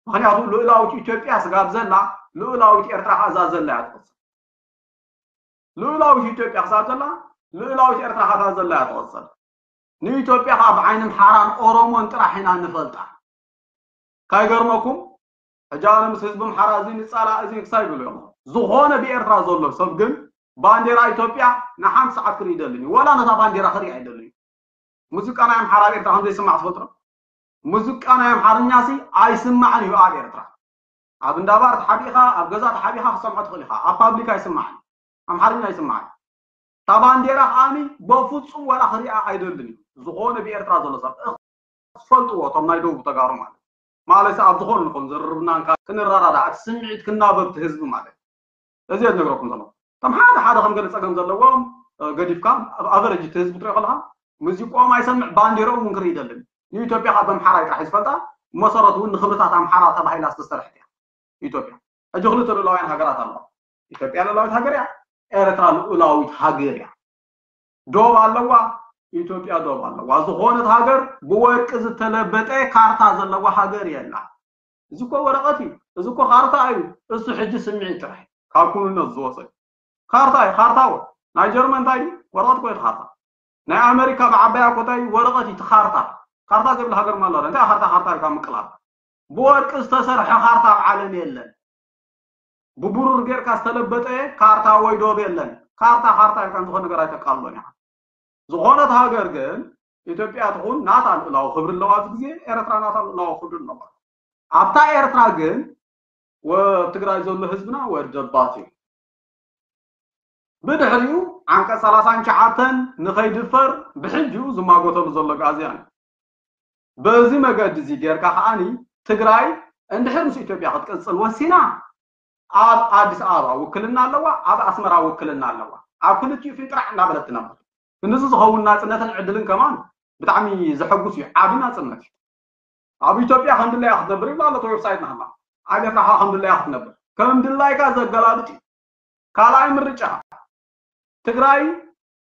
ምክንያቱ ልኡላዊት ኢትዮጵያ ስጋብ ዘላ ልኡላዊት ኤርትራ ከኣ እዛ ዘላ እያ ትቕጽል። ልኡላዊት ኢትዮጵያ ክሳብ ዘላ ልኡላዊት ኤርትራ ከኣ እዛ ዘላ እያ ትቕጽል። ንኢትዮጵያ ከኣ ብዓይኒ ኣምሓራን ኦሮሞን ጥራሕ ኢና ንፈልጣ። ካይገርመኩም ሕጂ ኣነ ምስ ህዝቢ ኣምሓራ እዚ ንጻላእ እዚ ክሳይ ይብሉ እዮም። ዝኾነ ብኤርትራ ዘሎ ሰብ ግን ባንዴራ ኢትዮጵያ ንሓንቲ ሰዓት ክርኢ ይደልን እዩ። ወላ ነታ ባንዴራ ክርኢ ኣይደልን እዩ። ሙዚቃ ናይ ኣምሓራ ኣብ ኤርትራ ከም ዘይስማዕ ትፈልጡ ዶ? ሙዚቃ ናይ ኣምሓርኛ ሲ ኣይስማዕን እዩ ኣብ ኤርትራ። ኣብ እንዳባር ተሓቢእኻ፣ ኣብ ገዛ ተሓቢእኻ ክሰምዖ ትኽእል ኢኻ። ኣብ ፓብሊክ ኣይስማዕን። ኣምሓርኛ ኣይስማዕን። እታ ባንዴራ ከዓኒ በፍጹም ወላ ክሪኣ ኣይደልን እዩ። ዝኾነ ብኤርትራ ዘሎ ሰብ። እኽ፣ ትፈልጥዎ፣ እቶም ናይ ደቡብ ተጋሩ ማለት። ማለት ኣብ ዝኾነ ንኹን ዝርርብና እንካ ክንረዳዳእ፣ እቲ ስምዒት ክናበብ እቲ ህዝቢ ማለት። እዚ እየ ዝነግረኩም ዘለኹ። እቶም ሓደ ሓደ ከም ገለ ጸገም ዘለዎም፣ እ፣ ገዲፍካ፣ ኣብ ኣቨሬጅ እቲ ህዝቢ ትሪኦ ከለኻ፣ ሙዚቃኦም ኣይሰምዕ፣ ባንዴራኦም እውን ክርኢ ይደልን። ንኢትዮጵያ ካብ ኣምሓራይ ጥራሕ እዩ ዝፈልጣ፣ መሰረቱ እውን ንክብርታት ኣምሓራ ተባሂላ ዝተሰርሐት እያ ኢትዮጵያ። ሕጂ ክልተ ልኡላውያን ሃገራት ኣለዋ። ኢትዮጵያ ልኡላዊት ሃገር እያ፣ ኤርትራ ልኡላዊት ሃገር እያ። ዶብ ኣለዋ፣ ኢትዮጵያ ዶብ ኣለዋ። ዝኾነት ሃገር ብወርቂ ዝተለበጠ ካርታ ዘለዋ ሃገር የላ። እዚ እኮ ወረቐት እዩ፣ እዚ እኮ ካርታ እዩ። እሱ ሕጂ ስምዒት ጥራሕ ካብ ኩንነት ዝወፀ እዩ። ካርታ እዩ፣ ካርታ ወ-፣ ናይ ጀርመን እንታይ እዩ? ወረቐት እኮ እዩ እቲ ካርታ። ናይ ኣመሪካ ብዓባያ እኮ እንታይ እዩ? ወረቐት እዩ እቲ ካርታ። ካርታ ዘይብላ ሃገር ማላ እንታይ ካርታ፣ ካርታ ኢልካ ምቅላብ? ብወርቂ ዝተሰርሐ ካርታ ኣብ ዓለም የለን። ብብሩር ጌርካ ዝተለበጠ ካርታ ወይ ዶብ የለን። ካርታ ካርታ ኢልካ ዝኾነ ነገር ኣይተቃልሎን ኢኻ። ዝኾነት ሃገር ግን ኢትዮጵያ ትኹን ናታ ልኡላዊ ክብሪ ኣለዋ፣ ኣብዚ ግዜ ኤርትራ ናታ ልኡላዊ ክብሪ ኣለዋ። ኣብታ ኤርትራ ግን ወ-፣ ትግራይ ዘሎ ህዝብና ወደባት እዩ። ብድሕሪኡ ዓንቀጽ ሰላሳን ትሽዓተን ንኸይድፈር ብሕጂኡ ዝማጎተሉ ዘሎ ኣግኣዝያን እዩ። በዚ መገዲ እዚ ጌርካ ከዓኒ ትግራይ እንድሕር ምስ ኢትዮጵያ ክትቅጽል ወሲና ኣብ ኣዲስ ኣበባ ውክልና ኣለዋ፣ ኣብ ኣስመራ ውክልና ኣለዋ። ኣብ ክልቲኡ ፊንጥራዕ እናበለት ትነብር። ንዚ ዝኸውን ናጽነትን ዕድልን ከማን ብጣዕሚ ዘሐጉስ እዩ፣ ዓቢ ናጽነት እዩ። ኣብ ኢትዮጵያ ከም ድላያ ክትነብር ይብላ ኣሎ እቲ ዌብሳይት ናህና። ኣብ ኤርትራ ከኣ ከም ድላያ ክትነብር። ከም ድላይካ ዘገላብጥ እዩ። ካልኣይ ምርጫ ትግራይ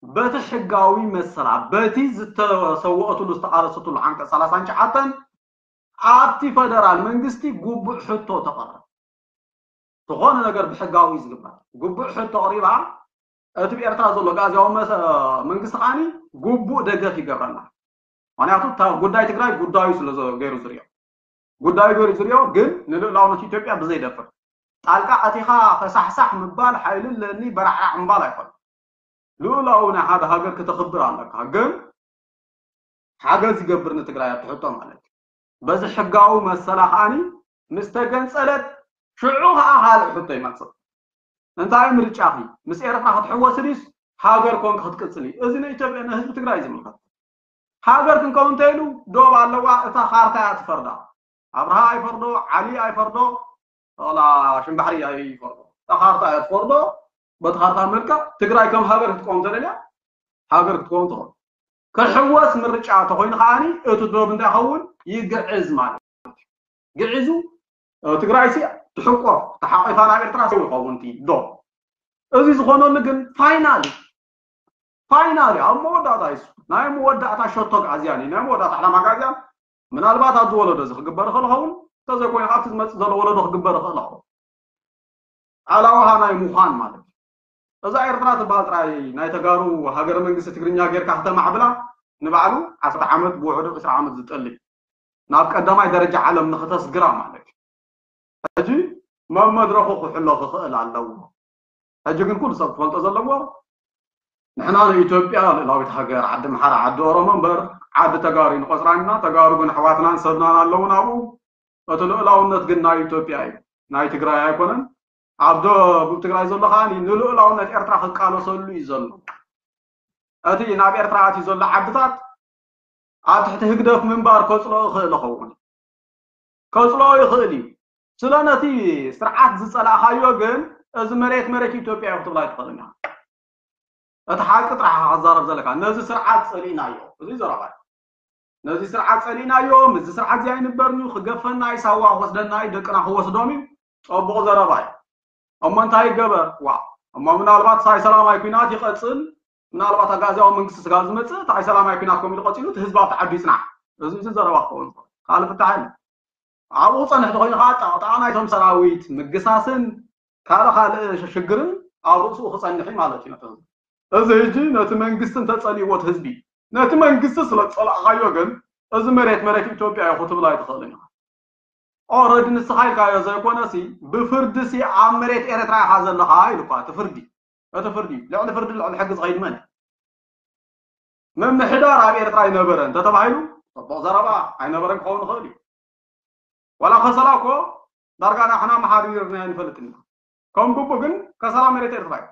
በቲ ሕጋዊ መሰላ፣ በቲ ዝተሰወአትሉ ዝተቓለሰትሉ ዓንቀጽ ሰላሳን ትሽዓተን ኣብቲ ፈደራል መንግስቲ ግቡእ ሕቶ ተቐርብ። ዝኾነ ነገር ብሕጋዊ እዩ ዝግበር። ግቡእ ሕቶ ኣቕሪባ፣ እቲ ብኤርትራ ዘሎ ኣግኣዝያዊ መሰ-፣ መንግስቲ ከዓኒ ግቡእ ደገፍ ይገብረላ። ምኽንያቱ እታ ጉዳይ ትግራይ ጉዳዩ ስለ ዘ-፣ ገይሩ ዝሪኦ። ጉዳዩ ገይሩ ዝሪኦ ግን ንልኡላውነት ኢትዮጵያ ብዘይደፍር። ጣልቃ ኣቲኻ ፈሳሕሳሕ ምባል፣ ሓይሊ ኣለኒ በራዕራዕ ምባል ኣይኮነን። ልኡላዊ ናይ ሓደ ሃገር ክተኽብር ኣለካ። ግን ሓገዝ ይገብር ንትግራይ ኣብቲ ሕቶ ማለት እዩ። በዚ ሕጋዊ መሰላ ከዓኒ ምስ ተገንጸለት ሽዑ ከኣ ካልእ ሕቶ ይመጽእ። እንታይ ምርጫኺ? ምስ ኤርትራ ክትሕወሲ ድዩስ ሃገር ኮንኪ ክትቅጽሊ? እዚ ንኢትዮጵያ ንህዝቢ ትግራይ እዩ ዝምልከት። ሃገር ክንከውን እንተኢሉ ዶብ ኣለዋ፣ እታ ካርታ እያ ትፈርዳ። ኣብርሃ ኣይፈርዶ፣ ዓሊ ኣይፈርዶ፣ ዋላ ሽምባሕሪ ኣይፈርዶ። እታ ካርታ እያ ትፈርዶ። በቲ ካርታ መልክዕ ትግራይ ከም ሃገር ክትቀውም ተደልያ፣ ሃገር ክትከውን ትኽእል። ክሕወስ ምርጫ ተኾይኑ ከዓኒ እቲ ዶብ እንታይ ይኸውን? ይግዕዝ ማለት እዩ። ግዒዙ፣ እ፣ ትግራይ ሲ ትሕቆፍ፣ ተሓቂፋ ናብ ኤርትራ ሰው ይኸውን እቲ ዶብ። እዚ ዝኾነሉ ግን ፋይናል፣ ፋይናል ኣብ መወዳእታ እዩ። ናይ መወዳእታ ሸቶ ኣግኣዝያን እዩ። ናይ መወዳእታ ዕላማ ኣግኣዝያን ምናልባት ኣብዚ ወለዶ እዚ ክግበር ይኽእል ይኸውን፣ እንተዘይኮይኑ ኣብቲ ዝመጽእ ዘሎ ወለዶ ክግበር ይኽእል ይኸውን። ኣላዋሃ ናይ ምዃን ማለት እዩ። እዛ ኤርትራ ትበሃል ጥራይ ናይ ተጋሩ ሃገረ መንግስቲ ትግርኛ ጌርካ ከተማዕብላ ንባዕሉ ዓሰርተ ዓመት ብውሕዱ ዕስራ ዓመት ዝጠሊ ናብ ቀዳማይ ደረጃ ዓለም ንኽተስግራ ማለት እዩ። ሕጂ መመድረኹ ክሕሎ ክኽእል ኣለዎ። ሕጂ ግን ኩሉ ሰብ ክፈልጦ ዘለዎ፣ ንሕና ንኢትዮጵያ ልእላዊት ሃገር፣ ዓዲ ኣምሓራ፣ ዓዲ ኦሮሞ እምበር ዓዲ ተጋሩ ንቆጽራን ኢና። ተጋሩ ግን ኣሕዋትናን ሰብናን ኣለውን ኣብኡ። እቲ ልእላውነት ግን ናይ ኢትዮጵያ እዩ፣ ናይ ትግራይ ኣይኮነን። ኣብ ደቡብ ትግራይ ዘሎ ከኣ ንልእላውነት ኤርትራ ክቃለሰሉ እዩ ዘሎ። እቲ ናብ ኤርትራ ኣትዩ ዘሎ ዓድታት ኣብ ትሕቲ ህግደፍ ምንባር ከጽልኦ ይኽእል ይኸውን፣ ከጽልኦ ይኽእል እዩ። ስለ ነቲ ስርዓት ዝጸላእኻዮ ግን፣ እዚ መሬት መሬት ኢትዮጵያ እዩ ክትብላ ኣይትኽእልን ኢኻ። እቲ ሓቂ ጥራሕ ኢኻ ክዛረብ ዘለካ። ነዚ ስርዓት ጸሊእናዮ፣ እዚ ዘረባ እዩ። ነዚ ስርዓት ጸሊእናዮ፣ ምስዚ ስርዓት እዚ ኣይንበርን እዩ፣ ክገፈና እዩ፣ ሳዋ ክወስደና እዩ፣ ደቅና ክወስዶም እዩ። ጸቡቕ ዘረባ እዩ። እሞ እንታይ ይገበር? ዋ፣ እሞ ምናልባት ሳይ ሰላማይ ኲናት ይቐጽል፣ ምናልባት ኣጋዝያዊ መንግስቲ ስጋብ ዝመጽእ፣ እቲ ኣይ ሰላማይ ኲናት ከምኡ ኢሉ ቀጺሉ፣ እቲ ህዝቢ ኣብቲ ዓዱ ይጽናሕ። እዚ፣ እዚ ዘረባ ክኸውን ይኽእል። ካልእ ፍታሕ የለን። ኣብኡ ክጸንሕ ተኾይኑ ኸዓ፣ ጣቕጣቕ ናይቶም ሰራዊት ምግሳስን ካልእ ካልእ ሽግርን ኣብ ርእስኡ ክጸንሕ እዩ ማለት እዩ ነቲ ህዝቢ። እዚ ሕጂ ነቲ መንግስቲ እንተጸሊእዎ እቲ ህዝቢ፣ ነቲ መንግስቲ ስለ ዝጸላእኻዮ ግን፣ እዚ መሬት መሬት ኢትዮጵያ እዩ ክትብል ኣይትኽእልን ኢኻ። ኦረዲ ንስኻ ኢልካዮ ዘይኮነሲ፣ ብፍርዲሲ ኣብ መሬት ኤርትራ ኢኻ ዘለኻ ኢሉ እኳ፣ እቲ ፍርዲ፣ እቲ ፍርዲ፣ ልዕሊ ፍርዲ፣ ልዕሊ ሕጊ ዝኸይድ መን እዩ? ምምሕዳር ኣብ ኤርትራ ኣይነበረን እንተተባሂሉ፣ ጽቡቕ ዘረባ፣ ኣይነበረን ክኸውን ይኽእል እዩ። ዋላ ከሰላ እኮ ዳርጋ ንሕና መሓዲርና ኣይንፈልጥን ኢና። ከም ግቡእ ግን ከሰላ መሬት ኤርትራ እዩ።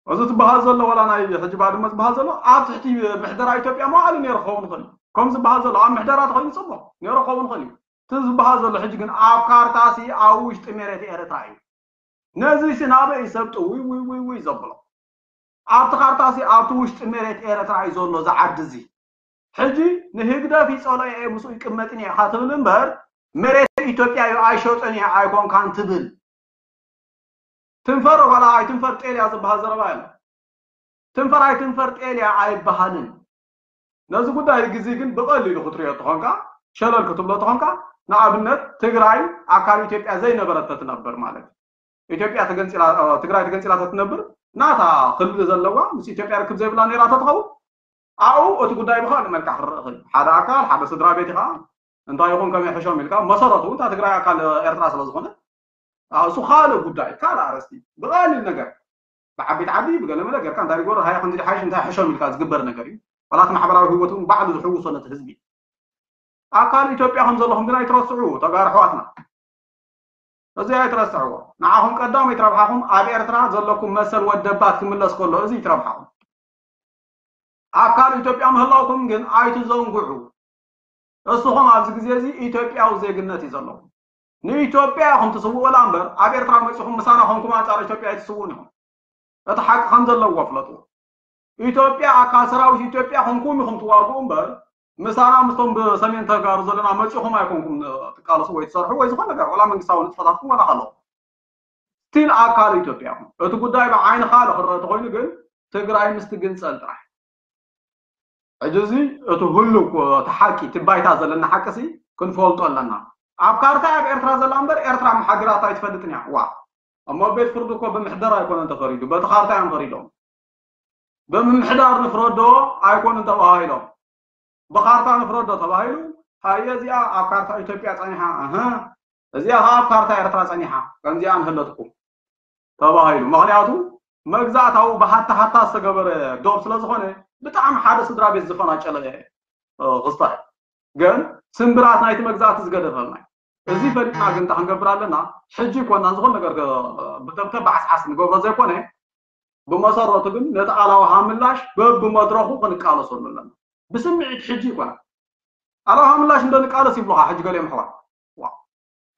እዚ ዝበሃል ዘሎ ዋላ ናይ ሕጂ ባድመ ዝበሃል ዘሎ ኣብ ትሕቲ ምሕደራ ኢትዮጵያ መዋዕሉ ነይሩ ክኸውን ይኽእል እዩ። ከም ዝበሃል ዘሎ ኣብ ምሕደራ ተኾይኑ ጽቡቕ ነይሩ ክኸውን ይኽእል እዩ። እቲ ዝበሃል ዘሎ ሕጂ ግን ኣብ ካርታሲ ኣብ ውሽጢ መሬት ኤርትራ እዩ። ነዚሲ ናበይ ሰብ ጥውይ ውይ ውይ ውይ ዘብሎ? ኣብቲ ካርታሲ ኣብቲ ውሽጢ መሬት ኤርትራ እዩ ዘሎ እዚ ዓዲ እዚ። ሕጂ ንህግደፍ ይጸልኦ እየ ምስኡ ይቅመጥን እየ ኢኻ ትብል እምበር፣ መሬት ኢትዮጵያ እዩ ኣይሸጦን እየ ኣይኮንካን ትብል። ትንፈር ዋላ ኣይትንፈር ጤል እያ ዝበሃል ዘረባ የለን። ትንፈር ኣይትንፈር ጤል እያ ኣይበሃልን። ነዚ ጉዳይ ግዜ ግን ብቐሊሉ ክትሪኦ ተኾንካ፣ ሸለል ክትብሎ ተኾንካ፣ ንኣብነት ትግራይ ኣካል ኢትዮጵያ ዘይነበረት ተትነብር ማለት እዩ። ኢትዮጵያ ተገንፂላ፣ እ፣ ትግራይ ተገንፂላ ተትነብር፣ ናታ ክልል ዘለዋ፣ ምስ ኢትዮጵያ ርክብ ዘይብላ ነይራ ተትኸውን፣ ኣብኡ እቲ ጉዳይ ብኻልእ መልክዕ ክረአ ይኽእል። ሓደ ኣካል፣ ሓደ ስድራ ቤት ኢኻ፣ እንታይ ይኹን ከመይ ሕሾም ኢልካ፣ መሰረቱ እታ ትግራይ ኣካል ኤርትራ ስለ ዝኾነ፣ እሱ ካልእ ጉዳይ፣ ካልእ ኣርእስቲ፣ ብቐሊል ነገር፣ ብዓበይቲ ዓዲ፣ ብገለ መለ ጌርካ፣ እንታይ ይጎር፣ ሃይ ከምዚ ሓይሽ፣ እንታይ ሕሾም ኢልካ ዝግበር ነገር እዩ። ዋላ እቲ ማሕበራዊ ህይወት እውን ባዕሉ ዝሕውሶ ነቲ ህዝቢ። ኣካል ኢትዮጵያ ከም ዘለኹም ግን ኣይትረስዑ፣ ተጋሩ ኣሕዋትና። እዚ ኣይትረስዕዎ። ንዓኹም ቀዳመይቲ ረብሓኹም ኣብ ኤርትራ ዘለኩም መሰል ወደባት ክምለስ ከሎ፣ እዚ እዩ እቲ ረብሓኹም። ኣካል ኢትዮጵያ ምህላውኩም ግን ኣይትዘንግዑ። እስኹም ኣብዚ ግዜ እዚ ኢትዮጵያዊ ዜግነት እዩ ዘለኹም። ንኢትዮጵያ ኢኹም ትስውኡላ እምበር፣ ኣብ ኤርትራ መጺኹም ምሳና ኮንኩም ኣንጻር ኢትዮጵያ ኣይትስውኡን ኢኹም። እቲ ሓቂ ከም ዘለዎ ፍለጥዎ። ኢትዮጵያ ኣካል ሰራዊት ኢትዮጵያ ኮንኩም ኢኹም ትዋግኡ እምበር፣ ምሳና ምስቶም ብሰሜን ተጋሩ ዘለና መጺኹም ኣይኮንኩም ትቃለሱ ወይ ትሰርሑ ወይ ዝኾነ ነገር፣ ዋላ መንግስታዊ ንጥፈታትኩም ዋላ ከለኹም። ስቲል ኣካል ኢትዮጵያ ኢኹም። እቲ ጉዳይ ብዓይኒ ካልእ ክረአ ተኾይኑ ግን፣ ትግራይ ምስ ትግንጸል ጥራሕ። ሕጂ እዚ እቲ ህሉው እኮ፣ እቲ ሓቂ፣ እቲ ባይታ ዘለና ሓቂ ሲ ክንፈልጦ ኣለና። ኣብ ካርታ ኣብ ኤርትራ ዘላ እምበር፣ ኤርትራ መሓዲራታ ኣይትፈልጥን እያ። ዋ። እሞ ቤት ፍርዲ እኮ ብምሕደራ ኣይኮነን ተፈሪዱ፣ በቲ ካርታ እዮም ፈሪዶም። ብምምሕዳር ንፍረዶ ኣይኮኑን ተባሂሎም። ብካርታ ንፍረዶ ተባሂሉ፣ ሃየ እዚኣ ኣብ ካርታ ኢትዮጵያ ጸኒሓ፣ እህ፣ እዚኣ ኸዓ ኣብ ካርታ ኤርትራ ጸኒሓ፣ ከምዚኣ ንህለትኩም ተባሂሉ። ምኽንያቱ መግዛእታዊ ብሃታ ሃታ ዝተገበረ ዶብ ስለ ዝኾነ፣ ብጣዕሚ ሓደ ስድራ ቤት ዝፈናጨለ፣ እ፣ ክስታይ። ግን ስምብራት ናይቲ መግዛእቲ ዝገደፈልና እዩ። እዚ ፈሊጥና ግን እንታይ ክንገብር ኣለና? ሕጂ ይኮና ዝኾነ ነገር ከ-፣ ብተብተብ ብዓስዓስ ንገብሮ ዘይኮነ፣ ብመሰረቱ ግን ነቲ ኣላውሃ ምላሽ በብመድረኹ ክንቃለሰሉ ኣለና። ብስምዒት ሕጂ ይኮና። ኣላውሃ ምላሽ እንደ ንቃለስ ይብሉኻ ሕጂ ገሊኦም ኣሕዋት። ዋ።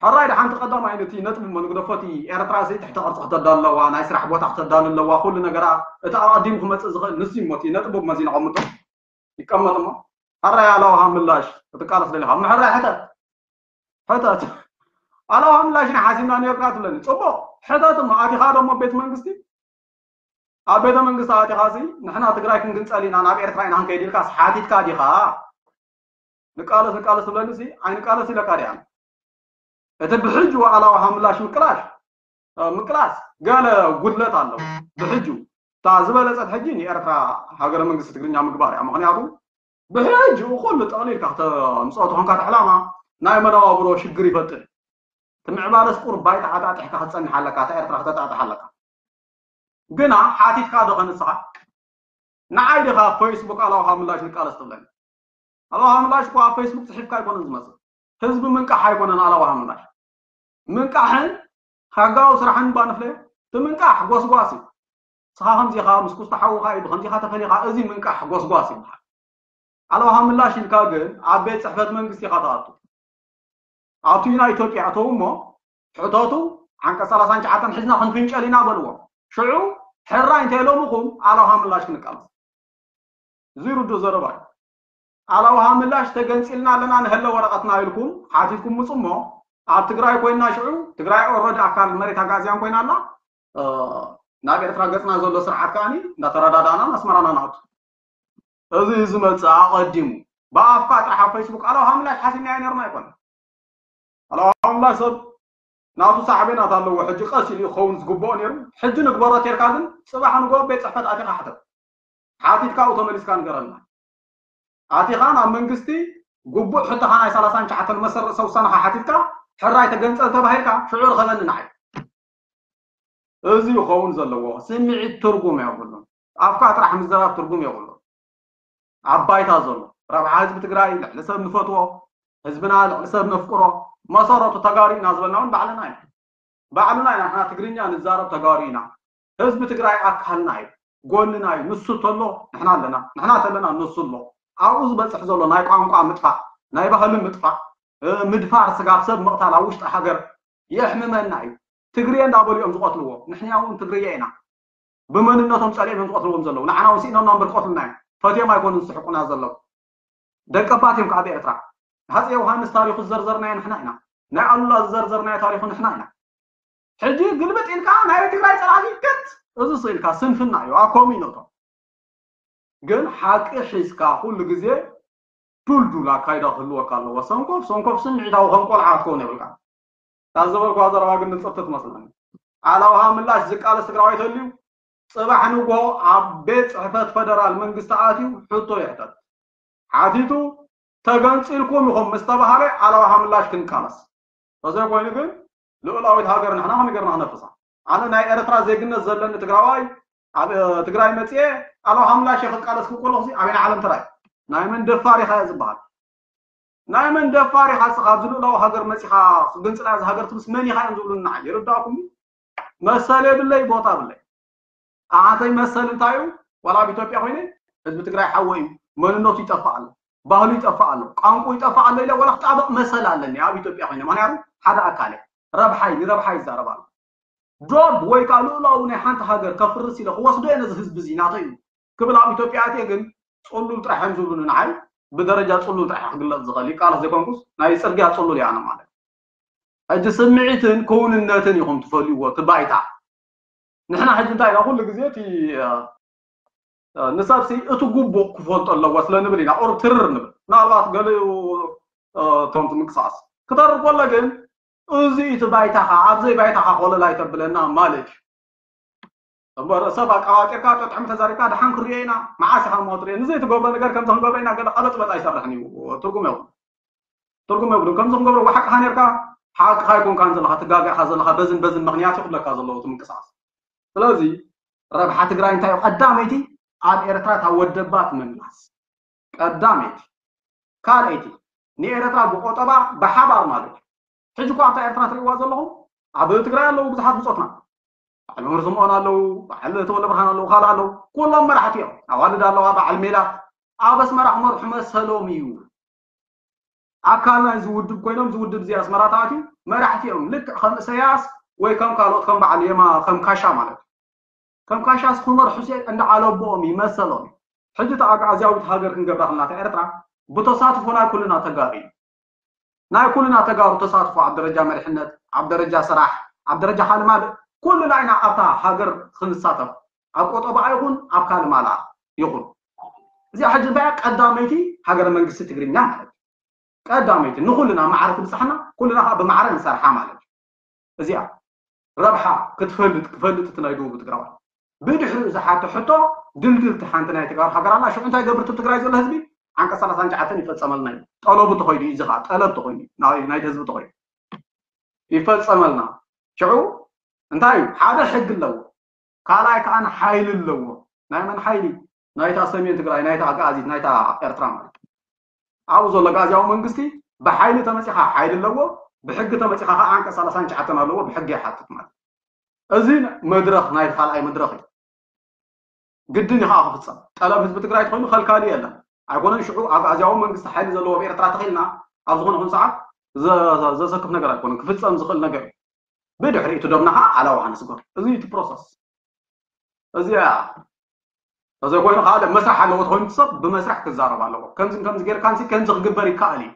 ሕራይ ደሓንቲ ቀዳማይ ነቲ ነጥቢ እሞ ንግደፎ፣ እቲ ኤርትራ ሲ ትሕቲ ቅርጺ ክተዳሉ ኣለዋ፣ ናይ ስራሕ ቦታ ክተዳሉ ኣለዋ፣ ኩሉ ነገራ እቲ ኣቐዲሙ ክመጽእ ዝኽእል ንሱ እዩ እሞ እቲ ነጥቢ እሞ እዚ ነቐምጦ። ይቀመጥ እሞ። ሕራይ ኣላውሃ ምላሽ ክትቃለስ ደሊኻ እሞ ሕራይ ሕተት። ሕተት። ኣላውሃ ምላሽ ኢና ሓሲብና ነይርና ትብለኒ። ጽቡቕ። ሕተት እሞ ኣቲኻ ዶ እሞ ቤት መንግስቲ? ኣብ ቤተ መንግስቲ ኣቲኻ ሲ ንሕና ትግራይ ክንግንጸል ኢና፣ ናብ ኤርትራ ኢና ክንከይድ ኢልካስ ሓቲትካ ዲኻ? ንቃለስ፣ ንቃለስ ትብለኒ ሲ ኣይንቃለስ ኢለካ ዲኣ። እቲ ብሕጂ ዋዕላ ውሃ ምላሽ ምቅላሽ፣ እ፣ ምቅላስ ገለ ጉድለት ኣለዎ። ብሕጂ እታ ዝበለጸት ሕጂ ንኤርትራ ሃገረ መንግስቲ ትግርኛ ምግባር እያ። ምኽንያቱ ብሕጂ ኩሉ ጠቕሊልካ ክተምጽኦ ተኾንካ እቲ ዕላማ ናይ መነባብሮ ሽግር ይፈጥር። እቲ ምዕባለስ ቁሩብ ባይታ ዓጣጢሕካ ክትጸንሕ ኣለካ፣ እታ ኤርትራ ክተጣጥሕ ኣለካ። ግና ሓቲትካ ዶ ከንስኻ? ንዓይ ዲኻ ኣብ ፌስቡክ ኣላውሃ ምላሽ ንቃለስ ትብለኒ? ኣላውሃ ምላሽ እኮ ኣብ ፌስቡክ ጽሒፍካ ኣይኮነን ዝመጽእ። ህዝቢ ምንቃሕ ኣይኮነን ኣላውሃ ምላሽ። ምንቃሕን ሕጋዊ ስራሕን ባንፍለ፣ እቲ ምንቃሕ ጎስጓስ እዩ። ንስኻ ከምዚ ኢኻ፣ ምስ ኩስታ ሓውኻ እዩ፣ ብኸምዚ ኢኻ ተፈሊኻ፣ እዚ ምንቃሕ ጎስጓስ ይበሃል። ኣላውሃ ምላሽ ኢልካ ግን ኣብ ቤት ጽሕፈት መንግስቲ ኢኻ ትኣቱ። ኣብቲ ናይ ኢትዮጵያ እተው እሞ፣ ሕተቱ፣ ዓንቀጽ ሰላሳን ትሽዓተን ሒዝና ክንፍንጨል ኢና በልዎ። ሽዑ፣ ሕራይ እንተ ኢሎምኹም፣ ኣላውሃ ምላሽ ክንቃለስ። እዚ ርዱእ ዘረባ እዩ። ኣላውሃ ምላሽ ተገንጺልና ኣለና ንሀለ ወረቐትና ኢልኩም ሓቲትኩም ምጹ እሞ፣ ኣብ ትግራይ ኮይንና ሽዑ፣ ትግራይ ኦልረዲ ኣካል መሬት ኣጋዚያን ኮይና ኣላ፣ እ፣ ናብ ኤርትራ ገጽና ዘሎ ስርዓት ከኣኒ እንዳተረዳዳእና ኣስመራና ንኣቱ። እዚ እዩ ዝመጽእ ኣቐዲሙ። ብኣፍካ ጥራሕ ኣብ ፌስቡክ ኣላውሃ ምላሽ ሓሲብናዮ ነርና ኣይኮነን። ኣላውሃ ምላሽ ሰብ ናቱ ሳዕቤናት ኣለዎ። ሕጂ ቀስ ኢሉ ክኸውን ዝግብኦ ነይሩ። ሕጂ ንግበሮ ቴርካ ግን ጽባሕ ንግሆ ቤት ጽሕፈት ኣቲኻ ሕተት። ሓቲትካ ኣብኡ ተመሊስካ ንገረና። ኣቲኻ ናብ መንግስቲ ግቡእ ሕቶኻ ናይ ሰላሳን ትሽዓተን መሰል ርእሰ ውሳነኻ ሓቲትካ ሕራይ ተገንጸል ተባሂልካ ሽዑ ርኸበኒ ንዓይ። እዚ ክኸውን ዘለዎ ስምዒት ትርጉም የብሉን። ኣፍካ ጥራሕ ምዝራብ ትርጉም የብሉን። ኣብ ባይታ ዘሎ ረብሓ ህዝቢ ትግራይ ልዕሊ ሰብ ንፈትዎ፣ ህዝብና ልዕሊ ሰብ ነፍቅሮ፣ መሰረቱ ተጋሩ ኢና ዝበልና እውን ባዕልና ኢና። ባዕልና ኢና፣ ንሕና ትግርኛ ንዛረብ ተጋሩ ኢና። ህዝቢ ትግራይ ኣካልና እዩ፣ ጎንና እዩ። ንሱ ተሎ ንሕና ኣለና፣ ንሕና ተለና ንሱ ኣሎ። ኣብኡ ዝበፅሕ ዘሎ ናይ ቋንቋ ምጥፋእ፣ ናይ ባህሊ ምጥፋእ፣ እ፣ ምድፋር ስጋብ ሰብ ምቕታል ኣብ ውሽጢ ሃገር የሕምመና እዩ። ትግርየ እንዳበሉ እዮም ዝቐትልዎ። ንሕና እውን ትግርየ ኢና። ብመንነቶም ጸሊኦም እዮም ዝቐትልዎም ዘለዉ። ንዓና እውን ስኢኖምና እምበር ክቐትሉና እዮም። ፈትዮም ኣይኮኑን ዝስሕቁና ዘለዉ። ደቀባት እዮም ከዓ ኣብ ኤርትራ። ሃፀይ ዮሃንስ ታሪኹ ዝዘርዘርናዮ ንሕና ኢና። ናይ ኣሉላ ዝዘርዘርናዮ ታሪኹ ንሕና ኢና። ሕጂ ግልብጥ ኢልካ ናይ ትግራይ ጸላእቲ ገት፣ እዚ ስኢልካ ስንፍና እዩ። ኣብ ከምኡ ይነቶም። ግን ሓቂ ሒዝካ ኩሉ ግዜ ዱልዱል ኣካይዳ ክህልወካ ኣለዎ። ሰንኮፍ ሰንኮፍ ስምዒታዊ ከም ቆልዓ ክትከውን የብልካ። ካብ ዝበልኳ ዘረባ ግን ንጽብቲ ትመስለኒ። ኣላውሃ ምላሽ ዝቃለስ ትግራዋይ ተልዩ ጽባሕ ንግሆ ኣብ ቤት ጽሕፈት ፈደራል መንግስቲ ኣትዩ ሕቶ ይሕተት። ሓቲቱ ተገንጺልኩም ኢኹም ምስ ተባሃለ ኣላውሃ ምላሽ ክንቃለስ። ተዘይኮይኑ ግን ልኡላዊት ሃገር ንሕና ከመይ ጌርና ክነፍሳ? ኣነ ናይ ኤርትራ ዜግነት ዘለኒ ትግራዋይ ኣብ፣ እ፣ ትግራይ መጽየ ኣላውሃ ምላሽ ክቃለስ ክብል ከለኹ ኣበየናይ ዓለም ተራእየ? ናይ መን ደፋር ኢኻ እየ ዝበሃል? ናይ መን ደፋር ኢኻ ንስኻ ኣብዚ ልኡላዊ ሃገር መጺኻ ክግንጽላ እዛ ሃገር ትብልስ መን ኢኻ እዮም ዝብሉኒ ንዓይ? ይርዳእኩም? መሰል የብለይ፣ ቦታ የብለይ። ኣሓተይ መሰል እንታይ እዩ? ዋላ ኣብ ኢትዮጵያ ኮይነ ህዝቢ ትግራይ ሓወይ እዩ፣ መንነቱ ይጠፍእ ኣሎ፣ ባህሉ ይጠፍእ ኣሎ፣ ቋንቋ ይጠፍእ ኣሎ ኢለ ዋላ ክጣበቕ መሰል ኣለኒ ኣብ ኢትዮጵያ ኮይነ፣ ምኽንያቱ ሓደ ኣካል እየ። ረብሓይ፣ ንረብሓይ ይዛረብ ኣሎ። ዶብ ወይ ከዓ ልኡላዊ ናይ ሓንቲ ሃገር ከፍርስ ኢለ ክወስዶ እየ ነዚ ህዝቢ እዚ ናተይ እዩ ክብል ኣብ ኢትዮጵያ ኣትየ ግን ጽሉል ጥራሕ እዮም ዝብሉኒ ንዓይ። ብደረጃ ጽሉል ጥራሕ ክግለጽ ዝኽእል ይቃለስ ዘይኮንኩስ ናይ ጽርግያ ጽሉል እየ ኣነ ማለት። ሕጂ ስምዒትን ክውንነትን ኢኹም ትፈልይዎ እቲ ባይታ። ንሕና ሕጂ እንታይ ኢና ኩሉ ግዜ እቲ፣ እ፣ እ፣ ንሰብሲ እቲ ግቡእ ክፈልጦ ኣለዎ ስለ ንብል ኢና ቁሩብ ትርር ንብል። ምናልባት ገሊኡ፣ እ፣ እቶም እቲ ምንቅስቃስ ክተርር ከሎ ግን እዚ እቲ ባይታኻ፣ ኣብዘይ ባይታኻ ኮለል ኣይተብለና ማለት እዩ። እምበር ሰብ ኣቃባጢርካ፣ ጠጥዕሚ ተዛሪብካ፣ ደሓን ክሪኦ ኢና፣ መዓስ ኢኻ እሞ ትሪኦ? ንዘይትገብሮ ነገር ከምዚ ክንገብሮ ኢና፣ ገለ ቀበጥበጥ ኣይሰርሕን እዩ። ትርጉም የብሉን። ትርጉም የብሉን። ከምዚ ክንገብሮ፣ ሓቅኻ ኔርካ፣ ሓቅኻ ኣይኮንካን ዘለኻ፣ ትጋገ ኢኻ ዘለኻ፣ በዝን በዝን ምኽንያት እዩ ክብለካ ዘለዎ እቲ ምንቅስቃስ። ስለዚ ረብሓ ትግራይ እንታይ እዩ? ቀዳመይቲ ኣብ ኤርትራ እታ ወደባ ትምምላስ። ቀዳመይቲ። ካልኣይቲ፣ ንኤርትራ ብቆጠባ ብሓባር ማለት እዩ። ሕጂ እኮ ኣብታ ኤርትራ ትሪእዋ ዘለኹም፣ ኣብ ትግራይ ኣለዉ ብዙሓት ብጾትና። በዓል መምህር ስምኦን ኣለዉ፣ በዓል ተወልደ ብርሃን ኣለዉ፣ ካልእ ኣለዉ። ኩሎም መራሕቲ እዮም። ኣዋልድ ኣለዋ፣ በዓል ሜላት። ኣብ ኣስመራ ክመርሑ መሰሎም እዩ። ኣካል ናይዚ ውድብ ኮይኖም፣ እዚ ውድብ እዚ ኣስመራ ተኣትዩ መራሕቲ እዮም። ልክዕ ከም እሰያስ ወይ ከም ካልኦት፣ ከም በዓል የማ፣ ከም ካሻ ማለት እዩ። ከም ካሻስ ክመርሑ ሲ እንዳ ዓለቦኦም እዩ፣ መሰሎም እዩ። ሕጂ እቲ ኣግኣዝያዊት ሃገር ክንገብራ ከለና እታ ኤርትራ ብተሳትፎ ናይ ኩልና ተጋሩ እዩ። ናይ ኩልና ተጋሩ ተሳትፎ ኣብ ደረጃ መሪሕነት፣ ኣብ ደረጃ ስራሕ፣ ኣብ ደረጃ ካልእ ማልእ ኩልና ኢና ኣብታ ሃገር ክንሳተፍ። ኣብ ቆጠባ ይኹን ኣብ ካልእ ማልኣ ይኹን። እዚኣ ሕጂ እንታይ እያ? ቀዳመይቲ ሃገረ መንግስቲ ትግርኛ ማለት እዩ። ቀዳመይቲ ንኩልና ማዕረ ትብጽሓና፣ ኩልና ከዓ ብማዕረ ንሰርሓ ማለት እዩ። እዚኣ ረብሓ ክትፈልጥ፣ ክፈልጥ እቲ ናይ ደቡብ ትግራዋይ። ብድሕሪኡ ዝሓቶ ሕቶ ድልድልቲ ሓንቲ ናይ ተጋሩ ሃገር ኣላ። ሽዑ እንታይ ገብር እቲ ትግራይ ዘሎ ህዝቢ? ዓንቀጽ ሰላሳን ትሽዓተን ይፈጸመልና እዩ። ጠለቡ ተኾይኑ እዩ፣ እዚ ከዓ ጠለብ ተኾይኑ እዩ፣ ናይ፣ ናይቲ ህዝቢ ተኾይኑ። ይፈጸመልና። ሽዑ እንታይ እዩ? ሓደ ሕጊ ኣለዎ፣ ካልኣይ ከዓ ሓይሊ ኣለዎ። ናይ መን ሓይሊ? ናይታ ሰሜን ትግራይ፣ ናይታ ኣግኣዚት፣ ናይታ ኤርትራ ማለት እዩ። ኣብኡ ዘሎ ኣግኣዝያዊ መንግስቲ ብሓይሊ ተመፂኻ ሓይሊ ኣለዎ፣ ብሕጊ ተመፂኻ ከዓ ዓንቀፅ ሰላሳን ትሽዓተን ኣለዎ፣ ብሕጊ ይሓትት ማለት እዩ። እዚ መድረኽ ናይ ካልኣይ መድረኽ እዩ። ግድን እዩ ከዓ ክፍፀም። ጠለብ ህዝቢ ትግራይ ተኮይኑ ከልካሊ የለን። ኣይኮነን ሽዑ ኣግኣዝያዊ መንግስቲ ሓይሊ ዘለዎ ኣብ ኤርትራ ተኺልና ኣብ ዝኾነ ይኹን ሰዓት ዘ- ዘ- ዘሰክፍ ነገር ኣይኮነን፣ ክፍፀም ዝኽእል ነገር እዩ። ብድሕሪኡ እቲ ደብና ከዓ ኣላው ሃንስጎር። እዚ እዩ እቲ ፕሮሰስ። እዚኣ ተዘይኮይኑ ከዓ መስራሕ ኣለዎ ተኮይኑ እቲ ሰብ ብመስራሕ ክዛረብ ኣለዎ። ከምዚ ከምዚ ጌርካ ንሲ ከምዚ ክግበር ይከኣል እዩ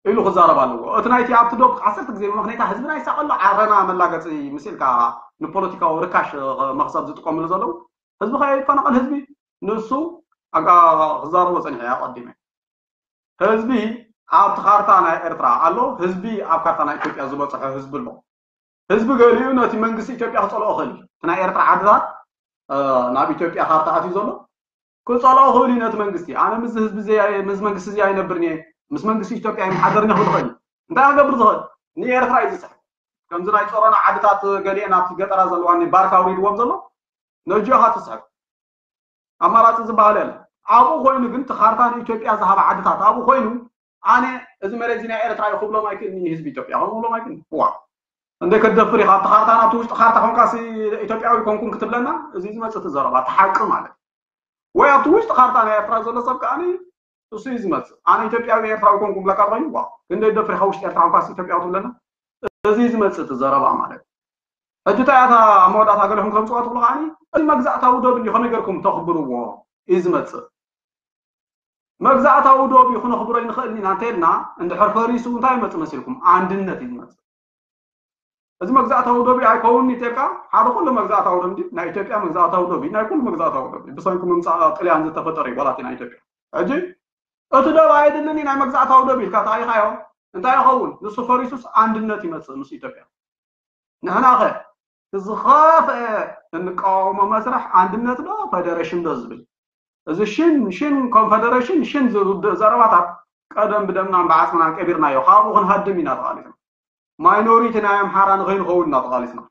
ኢሉ ክዛረብ ኣለዎ። እቲ ናይቲ ኣብቲ ዶብ ዓሰርተ ግዜ ብምኽንያታ ህዝብና ይሳቐሎ ዓረና መላገፂ ምስ ኢልካ ንፖለቲካዊ ርካሽ መኽሰብ ዝጥቀምሉ ዘለዉ ህዝቢ ከይፈናቐል ህዝቢ ንሱ ኣጋ ክዛረቦ ፀኒሐ ኣቐዲመ። ህዝቢ ኣብቲ ካርታ ናይ ኤርትራ ኣሎ፣ ህዝቢ ኣብ ካርታ ናይ ኢትዮጵያ ዝበፅሖ ህዝቢ ኣሎ። ህዝቢ ገሊኡ ነቲ መንግስቲ ኢትዮጵያ ክፀልኦ ይኽእል እዩ። እቲ ናይ ኤርትራ ዓድታት እ፣ ናብ ኢትዮጵያ ካርታ ኣትዩ ዘሎ ክፀልኦ ይኽእል እዩ ነቲ መንግስቲ። ኣነ ምስዚ ህዝቢ እዚ ኣይ- ምስ መንግስቲ እዚ ኣይነብርን እየ፣ ምስ መንግስቲ ኢትዮጵያ ኣይመሓደርን እየ ክብል ይኽእል እዩ። እንታይ ክገብር ዝኽእል? ንኤርትራ እዩ ዝስሕብ። ከምዚ ናይ ጾሮና ዓድታት ገሊአን ኣብቲ ገጠራ ዘለዋ እኒ ባርካ ኣውሪድዎም ዘሎ ነጂኻ ትስሕብ። ኣማራፂ ዝበሃል የለ። ኣብኡ ኮይኑ ግን እቲ ካርታ ንኢትዮጵያ ዝሃበ ዓድታት ኣብኡ ኮይኑ ኣነ እዚ መሬት እዚ ናይ ኤርትራ እዩ ክብሎም ኣይክእልን እዩ ህዝቢ ኢትዮጵያ ከምኡ ክብሎም ኣይክእልን። ዋ እንደ ከደፍር ኢኻ ኣብቲ ካርታ ናብቲ ውሽጢ ካርታ ኮንካሲ ኢትዮጵያዊ ኮንኩን ክትብለና እዚ ዝመፅእ እቲ ዘረባ እቲ ሓቂ ማለት እዩ። ወይ ኣብቲ ውሽጢ ካርታ ናይ ኤርትራ ዘሎ ሰብ ከዓኒ እሱ እዩ ዝመፅእ። ኣነ ኢትዮጵያዊ ኤርትራዊ ኮንኩ ብለካ ኮይኑ ዋ ክንደይ ደፍር ኢኻ ውሽጢ ኤርትራ ኮንካሲ ኢትዮጵያዊ ትብለና እዚ እዩ ዝመፅእ እቲ ዘረባ ማለት እዩ። ሕጂ እንታይ እያ እታ ኣብ መወዳእታ ገለኹም ከምፅዋ ትብሉ ከዓኒ እዚ መግዛእታዊ ዶብ እንዲ ከመይ ገርኩም ተኽብርዎ እዩ ዝመፅእ። መግዛእታዊ ዶብ እዩ ክነኽብሮ ይንኽእል ኢና እንተልና እንድሕር ፈሪሱ እንታይ ይመፅእ መሲልኩም? ኣንድነት እዩ ዝመፅእ። እዚ መግዛእታዊ ዶብ እዩ ኣይከውን ይተካ ሓደ ኩሉ መግዛእታዊ ዶብ እንዲ ናይ ኢትዮጵያ መግዛእታዊ ዶብ እዩ ናይ ኩሉ መግዛእታዊ ዶብ እዩ ብሰንኪ ምምፃእ ጥልያን ዝተፈጠረ እዩ ዋላት ናይ ኢትዮጵያ። ሕጂ እቲ ዶብ ኣይድልን እዩ ናይ መግዛእታዊ ዶብ ኢልካ ተኣይኻዮ እንታይ ይኸውን? ንሱ ፈሪሱስ ኣንድነት ይመፅእ ምስ ኢትዮጵያ። ንሕና ኸ እቲ ዝኸፍአ እንቃወሞ መስርሕ ኣንድነት ዶ ፈደረሽን ዶ ዝብል እዚ ሽን ሽን ኮንፈደረሽን ሽን ዝውድእ ዘረባታት ቀደም ብደምናን ብዓፅምናን ቀቢርናዮ ካብኡ ክንሃድም ኢና ተቓሊስና። ማይኖሪቲ ናይ ኣምሓራ ንኸይንኸውን ኢና ተቓሊስና።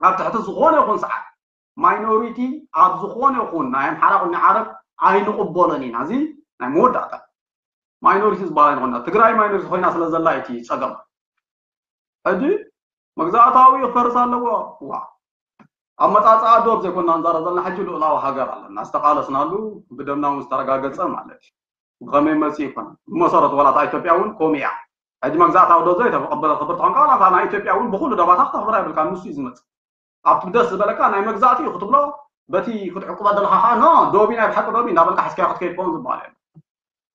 ኣብ ትሕቲ ዝኾነ ይኹን ሰዓት ማይኖሪቲ ኣብ ዝኾነ ይኹን ናይ ኣምሓራ ኹን ዓረብ ኣይንቕበሎን ኢና። እዚ ናይ መወዳእታ ማይኖሪቲ ዝበሃል ኣይንኾና። ትግራይ ማይኖሪቲ ኮይና ስለ ዘላ እቲ ፀገም ሕጂ መግዛእታዊ ክፈርስ ኣለዎ። ዋ ኣብ መፃፃኣ ዶብ ዘይኮና ንዛረብ ዘለና ሕጂ ልኡላዊ ሃገር ኣለና ዝተቃለስናሉ ብደምና እውን ዝተረጋገፀ ማለት እዩ። ብኸመይ መፂ ይኮን ብመሰረቱ ዋላ እታ ኢትዮጵያ እውን ከምኡ እያ። ሕጂ መግዛእታዊ ዶ ዘይተቐበለ ክብርቲ ኮንካ ዋላ እታ ናይ ኢትዮጵያ እውን ብኩሉ ደባታ ክተኽብራ ይብልካ ንሱ እዩ ዝመፅእ። ኣብቲ ደስ ዝበለካ ናይ መግዛእቲ እዩ ክትብሎ በቲ ክትዕቁባ ዘለካ ከዓ ኖ ዶቢ ናይ ብሓቂ ዶቢ እንዳበልካ ሓስኪያ ክትከይድ ከውን ዝበሃል እዩ።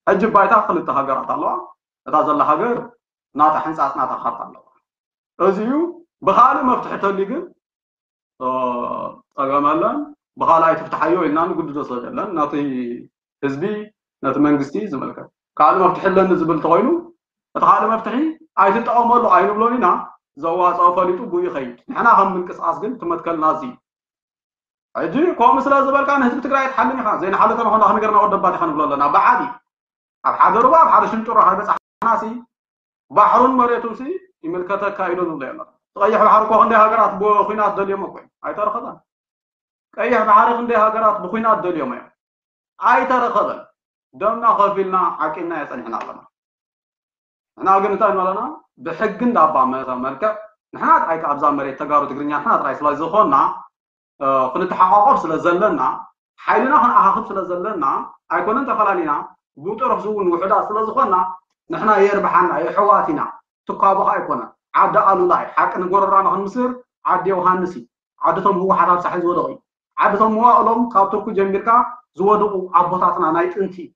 ሕጂ ባይታ ክልተ ሃገራት ኣለዋ። እታ ዘላ ሃገር ናታ ሕንፃፅ ናታ ካርታ ኣለዋ። እዚ እዩ ብካልእ መፍትሒ ተልዩ ግን ጸገም ኣለን ብካልኣይ ትፍትሓዮ ኢልና ንግድዶ ሰብ የለን። ነቲ ህዝቢ ነቲ መንግስቲ ዝምልከት ካልእ መፍትሒ ኣለኒ ዝብል እንተኮይኑ እቲ ካልእ መፍትሒ ኣይትጠቐመሉ ኣይንብሎን ኢና። ዘዋፅኦ ፈሊጡ ብኡ ይኸይድ። ንሕና ከም ምንቅስቃስ ግን ትመትከልና እዚ ሕጂ ከምኡ ስለ ዝበልካ ንህዝቢ ትግራይ ትሓልም ኢኻ ዘይንሓልፈ ንኾና ክንገርና ወደባት ኢኻ ንብሎ ኣለና ብዓቢ ኣብ ሓደ ሩባ ኣብ ሓደ ሽንጥሮ ሃይበፃሕና ሲ ባሕሩን መሬቱን ሲ ይምልከተካ ኢሉ ዝብሎ የለን። ቀይሕ ባሕሪ እኮ ክንደይ ሃገራት ብኩናት ደልዮሞ እኮ እዩ። ኣይተረኸበን። ቀይሕ ባሕሪ ክንደይ ሃገራት ብኩናት ደልዮሞ እዮም። ኣይተረኸበን። ደምና ከፊልና ዓቂብና የፀኒሕና ኣለና። ንሕና ግን እንታይ ንበለና ብሕጊ እንዳባ መ- መልክዕ ንሕና ጥራይ ኣብዛ መሬት ተጋሩ ትግርኛ ንሕና ጥራይ ስለ ዝኾንና ክንተሓቋቆፍ ስለ ዘለና ሓይልና ክንኣኻኽብ ስለ ዘለና ኣይኮነን ተፈላሊና ብጥሩፍ እውን ውሕዳት ስለ ዝኾንና ንሕና የርብሓና የሕዋት ኢና። ትኳቦ ከዓ ኣይኮነን። ዓዲ ኣሉላ እዩ ሓቂ ንጎረራና ክንምስር ዓዲ ዮሃንስ እዩ። ዓድቶም ህወሓት ኣብ ሳሕል ዝወደቑ እዩ። ዓድቶም መዋእሎም ካብ ቱርኪ ጀሚርካ ዝወደቑ ኣቦታትና ናይ ጥንቲ እዩ።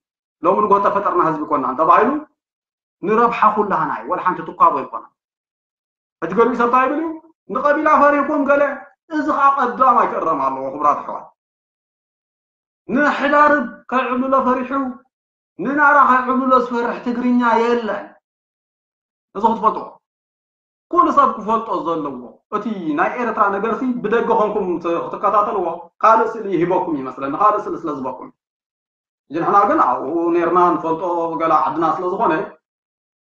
ሎሚ ንጎ ተፈጠርና ህዝቢ ኮና እንተባሂሉ ንረብሓ ኩላህና እዩ። ወላ ሓንቲ ትኳቦ ኣይኮነን። ሕጂ ገሊኡ ሰብ እንታይ ይብል እዩ ንቀቢላ ፈሪህኩም ገለ እዚ ከዓ ቀዳማይ ክእረም ኣለዎ ክቡራት ኣሕዋት። ንሕዳርብ ከይዕብልሎ ፈሪሑ ንናራ ከይዕብልሎ ዝፈርሕ ትግርኛ የለን። እዚ ክትፈልጥዎ ኩሉ ሰብ ክፈልጦ ዘለዎ እቲ ናይ ኤርትራ ነገርሲ ብደገ ኮንኩም ክትከታተልዎ ካልእ ስእሊ ይህበኩም ይመስለኒ ካልእ ስእሊ ስለ ዝበኩም ንሕና ግን ኣብኡ ነርና ንፈልጦ ገላ ዓድና ስለ ዝኾነ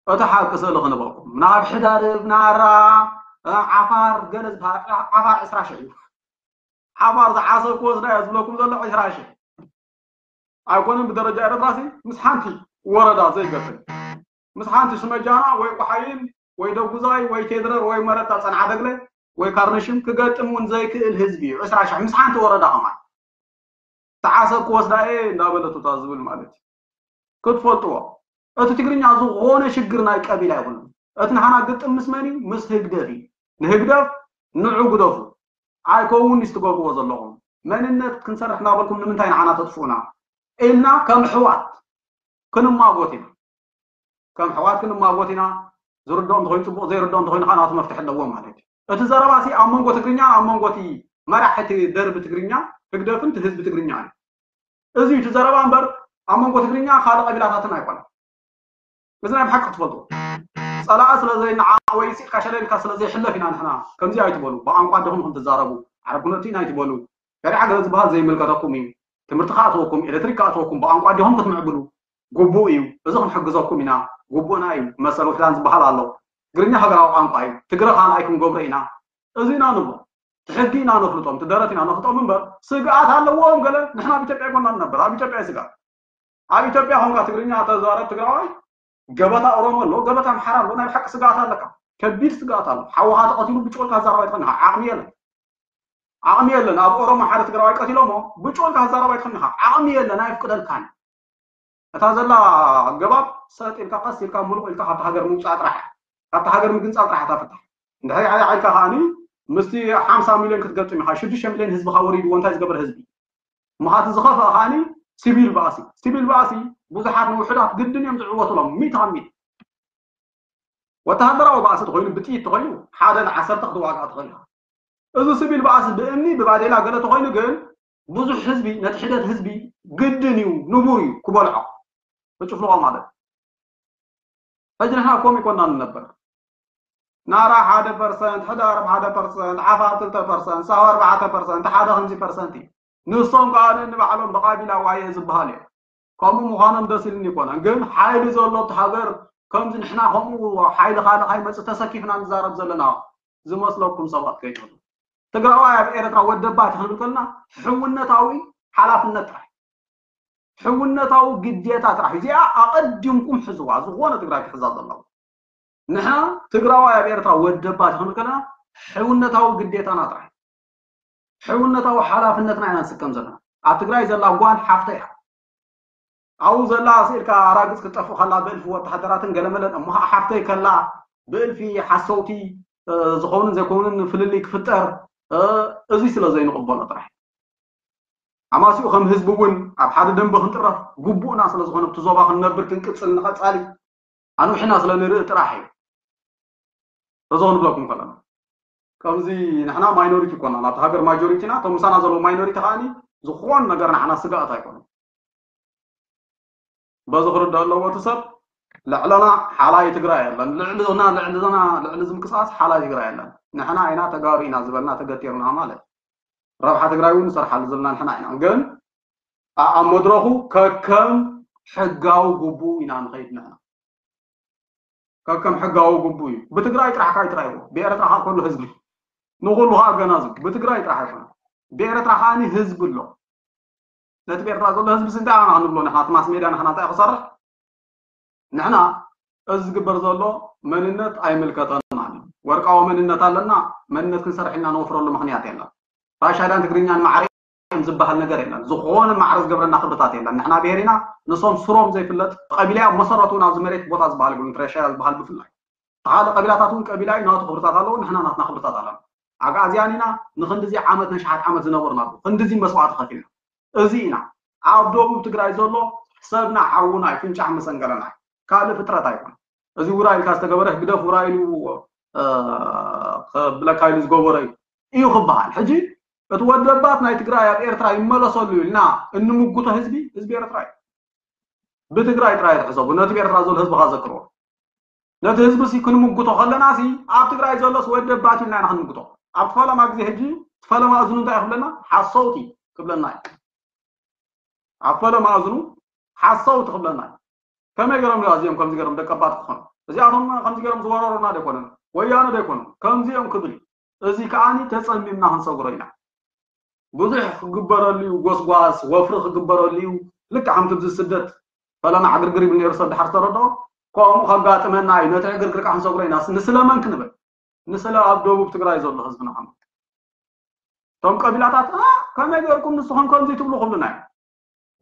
እቲ ሓቂ ስእሊ ክንበልኩም ናብ ሕዳርብ ናራ ዓፋር ገለ ዝበሃል ዓፋር ዕስራ ሽሕ እዩ። ዓፋር ዝዓሰብ ክወስዳ እያ ዝብለኩም ዘሎ ዕስራ ሽሕ ኣይኮነን። ብደረጃ ኤረትራሲ ምስ ሓንቲ ወረዳ ዘይገጥም ምስ ሓንቲ ስመጃና ወይ ቆሓይን ወይ ደጉዛይ ወይ ቴድረር ወይ መረታ ጸንዓ ደግለ ወይ ካርነሽም ክገጥም እውን ዘይክእል ህዝቢ እዩ። ዕስራ ሽሕ ምስ ሓንቲ ወረዳ ከማን ተዓሰብ ክወስዳ እየ እንዳበለቱታ ዝብል ማለት እዩ። ክትፈልጥዎ እቲ ትግርኛ ዝኾነ ሽግር ናይ ቀቢላ ይኹን እቲ ንሓና ግጥም ምስ መን እዩ? ምስ ህግደፍ እዩ። ንህግደፍ ንዑ ግደፉ ኣይከውን ስትገብርዎ ዘለኹም መንነት ክንሰርሕ እናበልኩም ንምንታይ ንዓና ተጥፍኡና ኢልና ከም ሕዋት ክንማጎት ኢና። ከም ሕዋት ክንማጎት ኢና። ዝርድኦም ተኮይኑ ፅቡቅ ዘይርድኦም ተኮይኑ ከዓ ናቱ መፍትሒ ኣለዎ ማለት እዩ። እቲ ዘረባ ሲ ኣብ መንጎ ትግርኛ ኣብ መንጎ እቲ መራሒ እቲ ደርቢ ትግርኛ ህግደፍን እቲ ህዝቢ ትግርኛ እዩ። እዚ እዩ እቲ ዘረባ እምበር ኣብ መንጎ ትግርኛ ካልእ ቀቢላታትን ኣይኮነን። እዚ ናይ ብሓቂ ክትፈልጡ ፀላኢ ስለ ዘይነዓ ወይ ኢልካ ሸለልካ ስለ ዘይሕለፍ ኢና ንሕና ከምዚ ኣይትበሉ ብቋንቋ ኣደኹም ኢኹም ትዛረቡ ዓረብ ኩነቱ ኢና ኣይትበሉ ሸሪዓ ገለ ዝበሃል ዘይምልከተኩም እዩ ትምህርቲ ከኣትወኩም ኤሌክትሪክ ከኣትወኩም ብቋንቋ ኣደኹም ክትምዕብሉ ግቡእ እዩ እዚ ክንሕግዘኩም ኢና ግቡእና እዩ መሰል ውሕዳን ዝበሃል ኣሎ ትግርኛ ሃገራዊ ቋንቋ እዩ ትግረ ካልኣይ ክንገብሮ ኢና እዚ ኢና ንብሎ እቲ ሕጊ ኢና ነፍልጦም እቲ ደረት ኢና ነፍልጦም እምበር ስግኣት ኣለዎም ገለ ንሕና ኣብ ኢትዮጵያ ይኮና ንነብር ኣብ ኢትዮጵያ ስግኣት ኣብ ኢትዮጵያ ኮንካ ትግርኛ ተዛረብ ትግራዋይ ገበታ ኦሮሞ ኣሎ ገበታ ኣምሓራ ኣሎ ናይ ብሓቂ ስግኣት ኣለካ ከቢድ ስግኣት ኣሎ ሓወኻ ተቐቲሉ ብጭወልካ ተዛረብ ኣይትኽእልን ኢኻ ዓቕሚ የለን ዓቕሚ የለን ኣብ ኦሮሞ ሓደ ትግራዋይ ቀቲሎሞ ብጭወልካ ተዛረብ ኣይትኽእልን ኢኻ ዓቕሚ የለን ኣይፍቅደልካን እታ ዘላ ኣገባብ ሰጥ ኢልካ ቀስ ኢልካ ምሉቕ ኢልካ ካብቲ ሃገር ምውፃእ ጥራሕ እያ። ካብቲ ሃገር ምግንፃል ጥራሕ እታ ፍታሕ። እንድሕር ኢልካ ከዓኒ ምስቲ ሓምሳ ሚልዮን ክትገጥም ኢኻ። ሽዱሽተ ሚልዮን ህዝብኻ ወሪድዎ እንታይ ዝገበረ ህዝቢ? እሞ እቲ ዝኸፍአ ከዓኒ ሲቪል ባእሲ። ሲቪል ባእሲ ብዙሓት ንውሑዳት ግድን እዮም ዝዕወቱሎም ሚእቲ ካብ ሚእቲ። ወተሃደራዊ ባእሲ ተኾይኑ ብጥይት ተኾይኑ ሓደ ንዓሰርተ ክትዋጋእ ትኽእል ኢኻ። እዚ ስቢል ባእሲ ብእምኒ ብባዴላ ገለ ተኾይኑ ግን ብዙሕ ህዝቢ ነቲ ሒደት ህዝቢ ግድን እዩ ንቡር እዩ ክበልዖ ክጭፍልቖ ማለት ሕጂ ንሕና ኮም ይኮና ንነበር ናራ ሓደ ፐርሰንት ሕዳርብ ሓደ ፐርሰንት ዓፋር ክልተ ፐርሰንት ሳዋ ኣርባዕተ ፐርሰንት ሓደ ከምዚ ፐርሰንት እዩ ንሶም ከዓ ንባዕሎም ብቃቢላ ዋየ ዝበሃል እዮም ከምኡ ምዃኖም ደስ ኢልኒ ይኮነን ግን ሓይሊ ዘሎ እቲ ሃገር ከምዚ ንሕና ከምኡ ሓይሊ ካልእ ካይመፅእ ተሰኪፍና ንዛረብ ዘለና ዝመስለኩም ሰባት ከይትህሉ ትግራዋይ ኣብ ኤረትራ ወደባቲ ክንብል ከለና ሕውነታዊ ሓላፍነት ጥራሕ ሕውነታዊ ግዴታ ጥራሕ እዚኣ ኣቐዲምኩም ሕዝዋ ዝኾነ ትግራይ ክሕዛ ዘለዎ ንሕና ትግራዋይ ኣብ ኤረትራ ወደባቲ ክንብል ከለና ሕውነታዊ ግዴታና ጥራሕ ሕውነታዊ ሓላፍነትና ኢና ንስከም ዘለና ኣብ ትግራይ ዘላ ጓል ሓፍተ እያ ኣብኡ ዘላ ስኢልካ ኣራግፅ ክትጠፍእ ከላ ብእልፊ ወተሃደራትን ገለመለን እሞ ሓፍተይ ከላ ብእልፊ ሓሰውቲ ዝኾኑን ዘይኮኑን ፍልልይ ክፍጠር እዚ ስለ ዘይንቕበሎ ጥራሕ ኣማሲኡ ከም ህዝቢ እውን ኣብ ሓደ ደንበ ክንጥረፍ ግቡእና ስለ ዝኾነ ብቲ ዞባ ክንነብር ክንቅፅል ንቐፃሊ ኣንውሕና ስለ ንርኢ ጥራሕ እዩ እዚ ክንብለኩም ከለና ከምዚ ንሕና ማይኖሪቲ ይኮና ናብቲ ሃገር ማጆሪቲና እቶም ምሳና ዘለዉ ማይኖሪቲ ከዓኒ ዝኾን ነገር ንዓና ስጋኣት ኣይኮኑ በዚ ክርዳእ ኣለዎ እቲ ሰብ ልዕለና ሓላይ ትግራይ የለን ልዕልና ልዕልና ልዕሊ ዝምቅሳስ ሓላይ ትግራይ የለን ንሕና ኢና ተጋሩ ኢና ዝበልና ተገቲርና ማለት ረብሓ ትግራይ እውን ንሰርሓሉ ዘለና ንሕና ኢና ግን ኣብ መድረኹ ከከም ሕጋዊ ግቡኡ ኢና ንኸይድ ንሕና ከከም ሕጋዊ ግቡእ እዩ ብትግራይ ጥራሕ ካይትራይዎ ብኤረትራ ከዓ ከሉ ህዝቢ ንኩሉ ከዓ ኣገናዝብ ብትግራይ ጥራሕ ኣይኮነ ብኤረትራ ከዓ ህዝቢ ኣሎ ነቲ ብኤርትራ ዘሎ ህዝቢ ስንታይ ኣና ክንብሎ ንሕና እቲ ማስ ሜድያ ንሕና እንታይ ክሰርሕ ንሕና እዚ ዝግበር ዘሎ መንነት ኣይምልከተና ወርቃዊ መንነት ኣለና መንነት ክንሰርሕ ኢና ንወፍረሉ ምክንያት የለን ራሻዳን ትግርኛን ማዕረ እዮም ዝበሃል ነገር የለን ዝኾነ ማዕረ ዝገብረና ክብርታት የለን ንሕና ብሄር ኢና ንሶም ስሮም ዘይፍለጥ ቀቢላ ኣብ መሰረቱ ናብዚ መሬት ቦታ ዝበሃል ይብሉ ራሻዳ ዝበሃል ብፍላይ ተኻለ ቀቢላታት እውን ቀቢላ እዩ ናቱ ክብርታት ኣለዎ ንሕና ናትና ክብርታት ኣለና ኣግኣዝያን ኢና ንክንድዚ ዓመት ነሽሓት ዓመት ዝነበርና ክንድዚ መስዋዕቲ ከፊልና እዚ ኢና ኣብ ደቡብ ትግራይ ዘሎ ሰብና ሓውና እዩ ፍንጫሕ መሰንገለና እዩ ካልእ ፍጥረት ኣይኮን እዚ ውራ ኢልካ ዝተገበረ ህግደፍ ውራ ኢሉ ብለካ ኢሉ ዝገበረ እዩ እዩ ክበሃል ሕጂ እቲ ወደባት ናይ ትግራይ ኣብ ኤርትራ ይመለሰሉ ኢልና እንምጉቶ ህዝቢ ህዝቢ ኤርትራ እዩ ብትግራይ ጥራይ ትሕሰቡ ነቲ ብኤርትራ ዘሎ ህዝቢ ካዘክርዎ ነቲ ህዝቢ ሲ ክንምጉቶ ከለና ሲ ኣብ ትግራይ ዘሎስ ወደባት ኢልና ኢና ክንምጉቶ ኣብ ፈለማ ግዜ ሕጂ ፈለማ እዝኑ እንታይ ክብለና ሓሰውቲ ክብለና እዩ ኣብ ፈለማ እዝኑ ሓሰውቲ ክብለና እዩ ከመይ ገሮም ዶ ኣዚኦም ከምዚ ገሮም ደቀባት ክኾኑ እዚኣቶም ከምዚ ገይሮም ዝወረሩና ዶ ኣይኮነን? ወያነ ዶ ኣይኮኑን? ከምዚ እዮም ክብል እዩ። እዚ ከዓኒ ተጸሚምና ክንሰግሮ ኢና። ብዙሕ ክግበረሉ እዩ፣ ጎስጓስ ወፍሪ ክግበረሉ እዩ። ልክዕ ከምቲ ኣብዚ ስደት ፈለማ ዕግርግር ይብል ነይሩ ሰብ ድሓር ዝተረድኦ፣ ከምኡ ከጋጥመና እዩ። ነቲ ዕግርግር ከዓ ክንሰግሮ ኢና። ንስለ መን ክንብል? ንስለ ኣብ ደቡብ ትግራይ ዘሎ ህዝብና ክንብል። እቶም ቀቢላታት "ኣ፣ ከመይ ገይርኩም ንስኹም ከምዚ ትብሉ?" ክብሉና እዮም።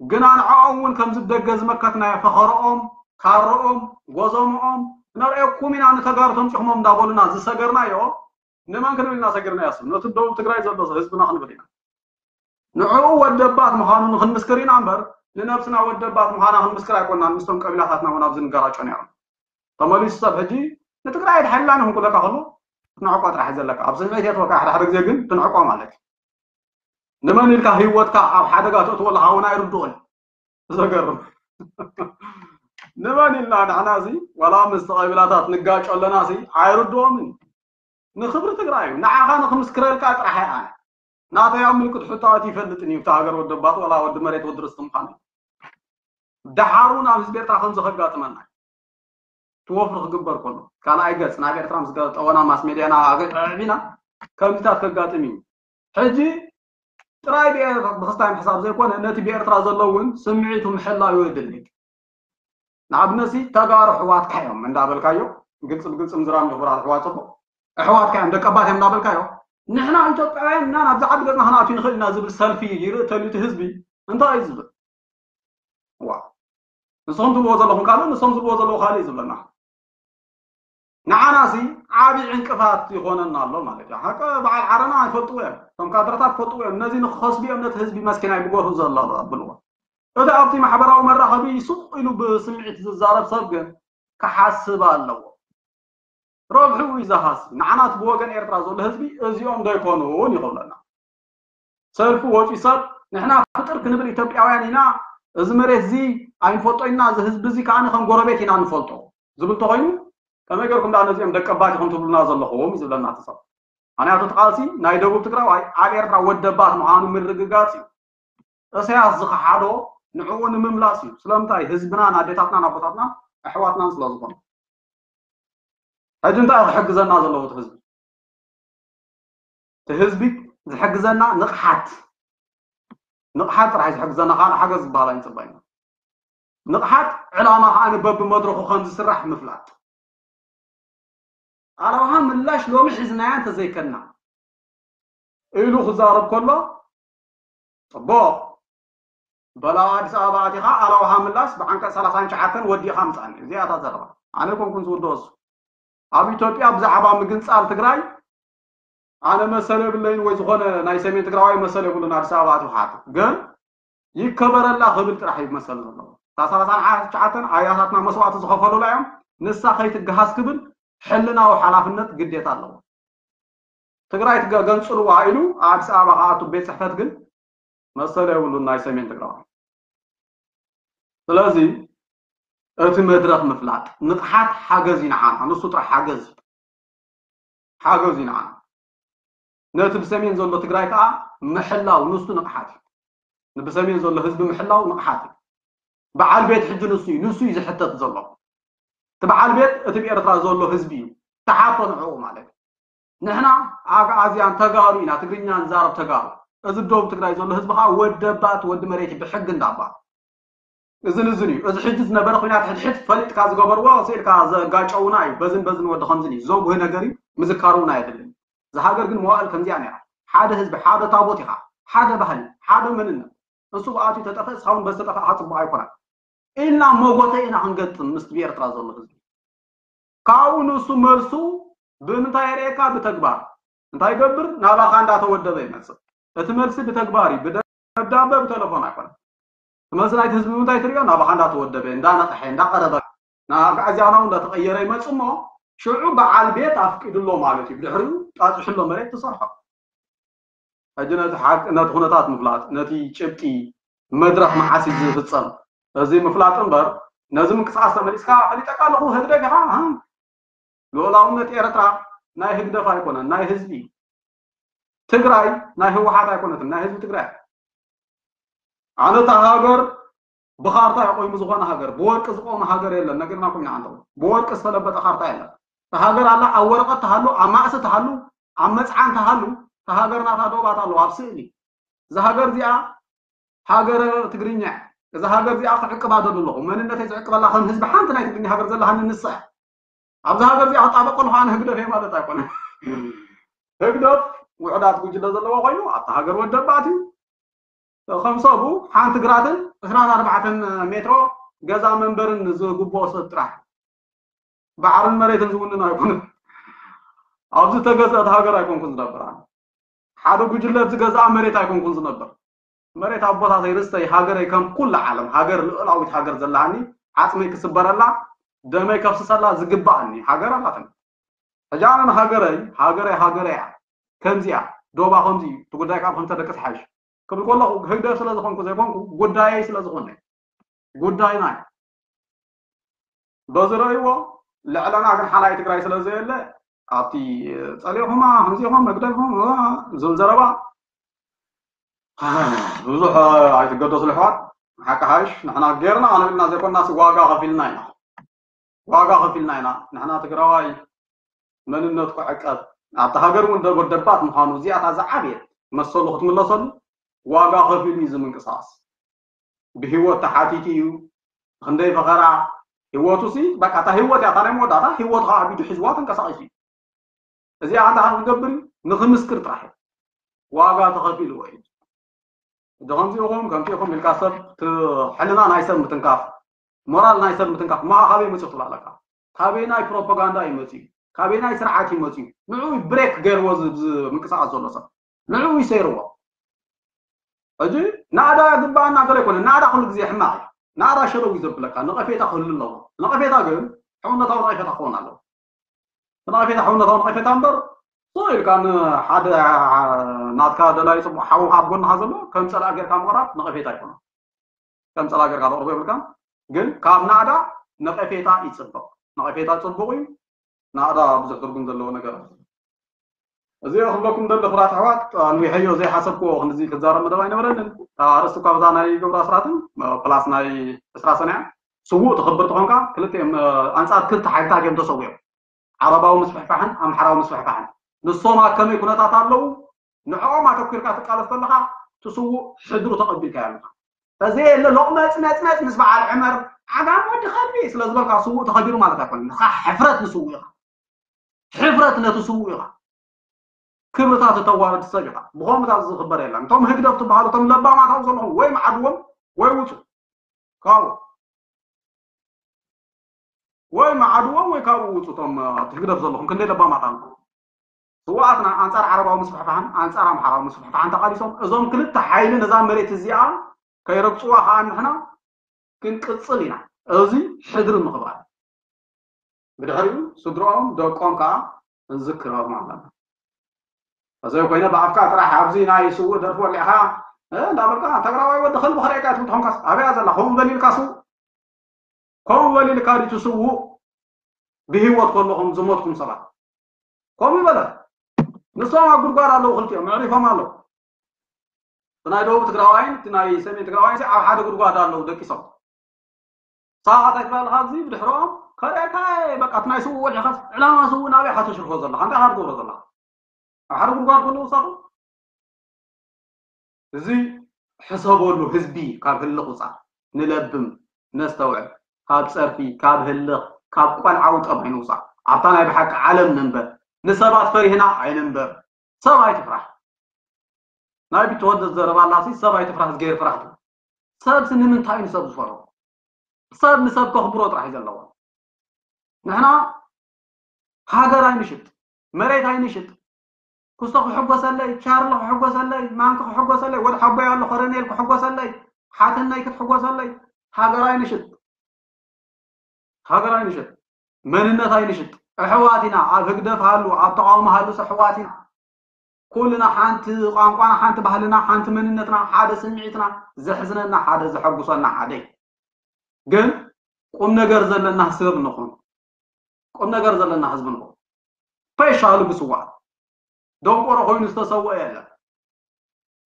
ግና ንዕኦም እውን ከምዚ ብደገ ዝመከትናዮ ፈኸርኦም፣ ካርኦም፣ ጎዞምኦም ነርእየኩም ኢና፣ ንተጋሩ ተምፂኹሞም እንዳበሉና ዝሰገርናዮ ንመን ክንብል ኢና ሰጊርናዮ? ነቲ ደቡብ ትግራይ ዘሎ ህዝብና ክንብል ኢና። ንዕኡ ወደባት ምዃኑ ንክንምስክር ኢና እምበር፣ ንነብስና ወደባት ምዃና ክንምስክር ኣይኮንናን። ምስቶም ቀቢላታትና እውን ኣብዚ ንጋራጮ ነይሮም። ተመሊሱ ሰብ ሕጂ ንትግራይ ኣይትሓልላን ኢኹም ክብለካ ከሎ፣ ክትንዕቆ ጥራሕ እዩ ዘለካ። ኣብ ስምዒት የእትወካ፣ ሓደ ሓደ ግዜ ግን ትንዕቆ ማለት እዩ። ንመን ኢልካ ህይወትካ ኣብ ሓደጋ ተእትዎ ኣለኻ እውን ኣይርድኦን። ዘገርም። ንመን ኢልና ንሕና እዚ፣ ዋላ ምስ ቀቢላታት ንጋጮ ኣለና ሲ፣ ኣይርድኦምን። ንኽብሪ ትግራይ እዩ። ንዓኻ ንኽምስክረልካ ጥራሕ እየ ኣነ። ናተይ ኣብ ምልክት ሕቶ ኣትዩ ይፈልጥን እዩ፣ እታ ሃገር ወዲ ኣባት ዋላ ወዲ መሬት ወዲ ርስቲ ምዃኑ። ደሓር እውን ኣብ ህዝቢ ኤርትራ ከምዚ ከጋጥመና እዩ። እቲ ወፍሪ ክግበር ከሎ፣ ካልኣይ ገጽ ናብ ኤርትራ ምስ ገ-፣ ጠወና ማስ ሜድያና ኣገ-፣ ኣዕቢና ከምዚታት ከጋጥም እዩ። ሕጂ ጥራይ ብኤ-፣ ብክስታይ ምሕሳብ ዘይኮነ፣ ነቲ ብኤርትራ ዘሎ እውን ስምዒቱ ምሕላው የድሊ። ንኣብነት ሲ፣ ተጋሩ ኣሕዋትካ እዮም እንዳበልካዮ፣ ግልፂ ብግልፂ ምዝራብ ንኽቡራት ኣሕዋት፣ ፅቡቕ ኣሕዋትካ እዮም፣ ደቀባት እዮም እንዳበልካዮ፣ ንሕና ኢትዮጵያውያን ኢና፣ ናብዚ ዓዲ ገፅና ክንኣቱ ንኽእል ኢና ዝብል ሰልፊ ይርኢ ተልዩ እቲ ህዝቢ እንታይ እዩ ዝብል? ዋ፣ ንስኹም ትብልዎ ዘለኹም ካልእ፣ ንሶም ዝብልዎ ዘለዉ ካልእ እዩ ዝብለና። ንዓና ሲ ዓቢ ዕንቅፋት ይኾነና ኣሎ ማለት እዩ። ሓቂ በዓል ዓረና ይፈልጥዎ እዮም። እቶም ካድረታት ይፈልጥዎ እዮም። ነዚ ንክኸስቡ እዮም ነቲ ህዝቢ መስኪናይ ብጎሁ ዘሎ ኣብልዎ። እቲ ኣብቲ ማሕበራዊ መራኸቢ ሱቕ ኢሉ ብስምዒት ዝዛረብ ሰብ ግን ክሓስብ ኣለዎ። ረብሕኡ እዩ ዝሃሲ። ንዓና እቲ ብወገን ኤርትራ ዘሎ ህዝቢ እዚኦም ዶ ኣይኮኑን ይኸብለና። ሰልፊ ወፂኡ ሰብ ንሕና ፍጥር ክንብል ኢትዮጵያውያን ኢና፣ እዚ መሬት እዚ ኣይንፈልጦ ኢና፣ እዚ ህዝቢ እዚ ከዓ ከም ጎረቤት ኢና ንፈልጦ ዝብል ተኾይኑ ከመይ ገርኩም ደኣ ነዚኦም ደቀባት ኢኹም ትብሉና ዘለኹም እዩ ዝብለና እቲ ሰብ። ምኽንያቱ እቲ ቃልሲ ናይ ደቡብ ትግራዋይ ኣብ ኤርትራ ወደባት ምዃኑ ምርግጋፅ እዩ። እሰያስ ዝኸሓዶ ንዕኡ ንምምላስ እዩ። ስለምንታይ? ህዝብናን ኣዴታትናን ኣቦታትናን ኣሕዋትናን ስለ ዝኾኑ። ሕጂ እንታይ እዩ ክሕግዘና ዘለዎ እቲ ህዝቢ? እቲ ህዝቢ ዝሕግዘና ንቕሓት፣ ንቕሓት ጥራሕ እዩ ዝሕግዘና፣ ካልእ ሓገዝ ዝበሃል ኣይንፅበይና። ንቕሓት ዕላማ ከዓ በብመድረኹ ከም ዝስራሕ ምፍላጥ። ኣለውሃ ምላሽ ሎሚ ሒዝናያ እንተዘይከና ኢሉ ክዛረብ ከሎ፣ ፅቡቕ፣ በላ ኣዲስ ኣበባ ኣቲኻ ኣለውሃ ምላሽ ብዓንቀፅ ሰላሳን ትሽዓተን ወዲእኻ ምፃኒ። እዚኣ እታ ዘረባ። ኣነ ኮንኩን ዝውድኦ እሱ። ኣብ ኢትዮጵያ ብዛዕባ ምግንፃል ትግራይ ኣነ መሰል የብለይን ወይ ዝኾነ ናይ ሰሜን ትግራዋይ መሰል የብሉን ኣዲስ ኣበባ ኣቲኻ። ግን ይከበረላ ክብል ጥራሕ እዩ መሰል ዘለዎ። እታ ሰላሳን ትሽዓተን ኣያታትና መስዋእቲ ዝኸፈሉላ እዮም። ንሳ ከይትገሃስ ክብል ሕልናዊ ሓላፍነት ግዴታ ኣለዎ። ትግራይ ትገ-፣ ገንጽልዋ ኢሉ ኣዲስ ኣበባ ክኣቱ ቤት ጽሕፈት ግን መሰል የብሉን ናይ ሰሜን ትግራዋይ። ስለዚ እቲ መድረኽ ምፍላጥ ንቕሓት ሓገዝ እዩ ንዓና፣ ንሱ ጥራሕ ሓገዝ እዩ። ሓገዝ እዩ ንዓና። ነቲ ብሰሜን ዘሎ ትግራይ ከዓ ምሕላው ንሱ ንቕሓት እዩ። ንብሰሜን ዘሎ ህዝቢ ምሕላው ንቕሓት እዩ። በዓል ቤት ሕጂ ንሱ እዩ፣ ንሱ እዩ ዝሕተት ዘሎ። እቲ በዓል ቤት እቲ ብኤርትራ ዘሎ ህዝቢ እዩ። ተሓቶ ንዕኡ ማለት እዩ። ንሕና ኣግኣዝያን ተጋሩ ኢና፣ ትግርኛ ንዛረብ ተጋሩ። እዚ ደቡብ ትግራይ ዘሎ ህዝቢ ከዓ ወደባት ወዲ መሬት እዩ ብሕጊ እንዳባ። እዝን እዝን እዩ። እዚ ሕጂ ዝነበረ ኩናት ሕድሕድ ፈሊጥካ ዝገበርዎ፣ ስኢልካ ዘጋጨውና እዩ። በዝን በዝን ወዲ ከምዝን እዩ። ዘጉህ ነገር እዩ። ምዝካር እውን ኣየድልን። እዛ ሃገር ግን መዋእል ከምዚኣ ነይራ። ሓደ ህዝቢ፣ ሓደ ታቦት ኢኻ፣ ሓደ ባህሊ፣ ሓደ መንነት። እሱ ብኣትዩ ተጠፍእ፣ እስኻ እውን በዚ ተጠፋእካ ጽቡቕ ኣይኮነን። ኢልና መጎተ ኢና ክንገጥም ምስቲ ብኤርትራ ዘሎ ህዝቢ። ካብኡ ንሱ መልሱ ብምንታይ የርእየካ? ብተግባር። እንታይ ይገብር? ናባኻ እንዳተወደበ ይመጽእ። እቲ መልሲ ብተግባር እዩ። ብደብዳበ፣ ብቴሌፎን ኣይኮነን። እቲ መልሲ ናይቲ ህዝቢ ብምንታይ ትርእዮ? ናባኻ እንዳተወደበ፣ እንዳነቕሐ፣ እንዳቐረበ፣ ንኣግኣዝያናው እንዳተቐየረ ይመጽእ እሞ፣ ሽዑ በዓል ቤት ኣፍቂድሎ ማለት እዩ። ብድሕሪኡ ጣጢሕሎ መሬት ትሰርሖ። ሕጂ ነቲ ሓቂ፣ ነቲ ኩነታት ምፍላጥ፣ ነቲ ጭብጢ መድረኽ መዓስ እዩ ዝፍጸም፣ እዚ ምፍላጥ እምበር፣ ነዚ ምንቅስቃስ ተመሊስካ ፈሊጠካ ኣለኹ፣ ህግደፍ ኢኻ፣ ሃ? ልኡላውነት ኤርትራ ናይ ህግደፍ ኣይኮነን፣ ናይ ህዝቢ እዩ። ትግራይ ናይ ህወሓት ኣይኮነትን፣ ናይ ህዝቢ ትግራይ። ኣነ እታ ሃገር ብኻርታ ይቆይሙ ዝኾነ ሃገር፣ ብወርቂ ዝቆመ ሃገር የለን። ነጊርናኩም ኢና። ብወርቂ ዝተለበጠ ካርታ የለን። እታ ሃገር ኣላ፣ ኣብ ወረቐት ትሃሉ፣ ኣብ ማእሲ ትሃሉ፣ ኣብ መጽዓን ትሃሉ፣ እታ ሃገር ናታ ዶባት ኣለዋ ኣብ ስእሊ። እዛ ሃገር እዚኣ ሃገረ ትግርኛ እያ። እዛ ሃገር እዚኣ ክዕቅባ ደሉ ኣለኹ። መንነተይ ዝዕቅበላ ከም ህዝቢ ሓንቲ ናይ ትግርኛ ሃገር ዘለሃኒ ንሳ እያ። ኣብዚ ሃገር እዚኣ ክጣበቅ ከለኹ ኣነ ህግደፍ እየ ማለት ኣይኮነን። ህግደፍ ውሕዳት ጉጅለ ዘለዎ ኮይኑ ኣብታ ሃገር ወደባት እዩ። ከም ሰቡ ሓንቲ ግራትን ዕስራን ኣርባዕተን ሜትሮ ገዛ መንበርን ዝግብኦ ሰብ ጥራሕ። ባሕርን መሬትን ዝውንን ኣይኮነን። ኣብዚ ተገዝአት ሃገር ኣይኮንኩን ዝነብር ኣነ። ሓደ ጉጅለ ዝገዝኣ መሬት ኣይኮንኩን ዝነብር። መሬት ኣቦታተይ ርስተይ ሃገረይ ከም ኩሉ ዓለም ሃገር ልኡላዊት ሃገር ዘላሃኒ ዓጽመይ ክስበረላ ደመይ ከፍስሰላ ዝግባኣኒ ሃገር ኣላትኒ። ሕጂ ኣነ ንሃገረይ ሃገረይ ሃገረይ እያ ከምዚኣ ዶባ ከምዚ እዩ እቲ ጉዳይ ካብ ከምተ ደቂ ተሓይሽ ክብል ከለኹ ህግደፍ ስለ ዝኾንኩ ዘይኮንኩ ጉዳየይ ስለ ዝኾነ ጉዳይና እዩ። በዚ ረእይዎ ልዕለና ግን ሓላይ ትግራይ ስለ ዘየለ ኣብቲ ጸሊኹማ ከምዚኹም መግደልኩም ዝብል ዘረባ ብዙሕ ኣይትገደሱ ልሕዋት ሓቂ ሓይሽ ንሕና ጌርና ኣነብልና ዘይኮናስ ዋጋ ከፊልና ኢና ዋጋ ከፊልና ኢና ንሕና ትግራዋይ መንነቱ ክዕቀብ ኣብቲ ሃገር እውን ደጎ ደባት ምዃኑ እዚኣታ ዝዓብየት መሰሉ ክትምለሰሉ ዋጋ ከፊሉ እዩ ዝምንቅስቃስ ብህይወት ተሓቲቱ እዩ ክንደይ ፈኸራ ህይወቱ ሲ በቃ እታ ህይወት እያ እታ ናይ መወዳእታ ህይወቱ ከዓ ቢዱ ሒዝዋ ተንቀሳቂሱ እዩ እዚኣ እንታይ ከም ክገብር እዩ ንክምስክር ጥራሕ እዩ ዋጋ ተኸፊልዎ እዩ እዚ ከምዚ ኢኹም ከምቲ ኢኹም ኢልካ ሰብ ሕልና ናይ ሰብ ምትንካፍ ሞራል ናይ ሰብ ምትንካፍ ማዓ ካበይ መፅኡ ትብላለካ ካበይ ናይ ፕሮፓጋንዳ እዩ መፅኡ ካበይ ናይ ስርዓት እዩ መፅኡ ንዑ ብሬክ ገይርዎ ምንቅሳቀስ ዘሎ ሰብ ንዑ ይሰይርዎ ሕጂ ናዳ ግባኣና ገለ ይኮነ ናዳ ኩሉ ግዜ ሕማቅ እዩ ናዳ ሸለው እዩ ዘብለካ ነቀፌታ ክህሉ ኣለዎ ነቀፌታ ግን ሕውነታዊ ነቀፌታ ክኸውን ኣለዎ ነቀፌታ ሕውነታዊ ነቀፌታ እምበር ሶ ኢልካ ንሓደ ናትካ ደላይ ፅቡቅ ሓውካ ኣብ ጎንካ ዘሎ ከም ፀላእ ጌርካ ምቅራብ ነቀፌታ ይኮነ ከም ፀላ ገርካ ተቅርቦ የብልካ ግን ካብ ናዕዳ ነቀፌታ ይፅብቅ ነቀፌታ ፅቡቅ እዩ ናዕዳ ብዙሕ ትርጉም ዘለዎ ነገር እዚ ክብለኩም ደለ ክራት ኣሕዋት ንዊሐዮ ዘይሓሰብክዎ ክንዚ ክዛረብ መደብ ኣይነበረንን ኣርእስቲ እኳ ብዛ ናይ ግብር ኣስራትን ፕላስ ናይ ዕስራ ሰንያ ስዉእ ትኽብር ተኾንካ ክልተ ኣንፃር ክልተ ሓይልታት እዮም ተሰዊኦም ዓረባዊ ምስፍሕፋሕን ኣምሓራዊ ምስፍሕፋሕን ንሶም ኣብ ከመይ ኩነታት ኣለዉ ንዕኦም ኣተኲርካ ትቃለስ ከለኻ እቲ ስዉእ ሕድሩ ተቐቢልካዮ ኣለኻ ተዘየለ ሎቕመጽመጽመጽ ምስ በዓል ዕመር ዓጋም ወዲ ከልቢ ስለ ዝበልካ ስዉእ ተኸቢሩ ማለት ኣይኮነ ንኻ ሕፍረት ንስዉእ ኢኻ ሕፍረት ነቲ ስዉእ ኢኻ ክብርታት እተዋርድ ሰብ ኢኻ ብኸምታት ዝኽበር የለን እቶም ህግደፍ ትበሃሉ እቶም ለባማት ኣብ ዘለኹም ወይ መዓድዎም ወይ ውፁ ካብኡ ወይ መዓድዎም ወይ ካብኡ ውፁ እቶም ኣብቲ ህግደፍ ዘለኹም ክንደይ ለባማት ኣለኹም ስውኣትና ኣንፃር ዓረባዊ ምስፍሕፋሕን ኣንፃር ኣምሓራዊ ምስፍሕፋሕን ተቓሊሶም እዞም ክልተ ሓይሊ ነዛ መሬት እዚኣ ከይረግፅዋ ከዓ ንሕና ክንቅፅል ኢና እዚ ሕድሪ ምኽባር ብድሕሪኡ ስድሮኦም ደቆም ከዓ ክንዝክሮም ኣለና እዘይ ኮይነ ብኣፍካ ጥራሕ ኣብዚ ናይ ስውእ ደርፊ ወሊዕኻ እንዳበልካ ተግራዋይ ወዲ ከልቢ ክርእየካ ትብል ተኾንካስ ኣበያ ዘላ ከምኡ በሊልካ ስውእ ከምኡ በሊልካ ድዩ ትስውእ ብህይወት ከለኹም ዝሞትኩም ሰባት ከምኡ ይበለ ንሶም ኣብ ጉድጓድ ኣለዉ ክልቲኦም መዕሪፎም ኣለዉ እቲ ናይ ደቡብ ትግራዋይን እቲ ናይ ሰሜን ትግራዋይን ኣብ ሓደ ጉድጓድ ኣለዉ ደቂሶም ሳባት ኣይትበልካ ኣብዚ ብድሕሮም ከርእየካ በቃ እቲ ናይ ስውእ ወሊዕካ ዕላማ ስውእ ናበይ ሓተሽርፎ ዘለካ እንታይ ካብ ትገብሮ ዘለካ ኣብ ሓደ ጉድጓድ ከለዉ ሳቱ እዚ ሕሰበሉ ህዝቢ ካብ ህልኽ ውፃእ ንለብም ነስተውዕል ካብ ፀርፊ ካብ ህልኽ ካብ ቆልዓ ውጠብ ኣይንውፃእ ኣብታ ናይ ብሓቂ ዓለም ንንበር ንሰባት ፈሪህና ኣይንንበር ሰብ ኣይትፍራሕ ናይ ቢትወደድ ዘረባ ኣላሲ ሰብ ኣይትፍራሕ ዝገይር ፍራሕ ትብል ሰብሲ ንምንታይ እዩ ንሰብ ዝፈርሆ ሰብ ንሰብ ከኽብሮ ጥራሕ እዩ ዘለዎ ንሕና ሃገር ኣይንሽጥ መሬት ኣይንሽጥ ክስቶ ክሕጎሰለይ ቻርሎ ክሕጎሰለይ ማንኪ ክሕጎሰለይ ወዲ ሓቦይ ኣሎ ኮረኔል ክሕጎሰለይ ሓትነይ ክትሕጎሰለይ ሃገር ኣይንሽጥ ሃገር ኣይንሽጥ መንነት ኣይንሽጥ ኣሕዋት ኢና ኣብ ህግደፍ ሃሉ ኣብ ተቃውሞ ሃሉስ ኣሕዋት ኢና ኩልና ሓንቲ ቋንቋና ሓንቲ ባህልና ሓንቲ መንነትና ሓደ ስምዒትና ዘሕዝነና ሓደ ዘሐጉሰና ሓደ ግን ቁም ነገር ዘለና ሰብ ንኹን ቁም ነገር ዘለና ህዝቢ ንኹን ስፔሻሊ ብስዋእ ደንቆሮ ኮይኑ ዝተሰወአ የለን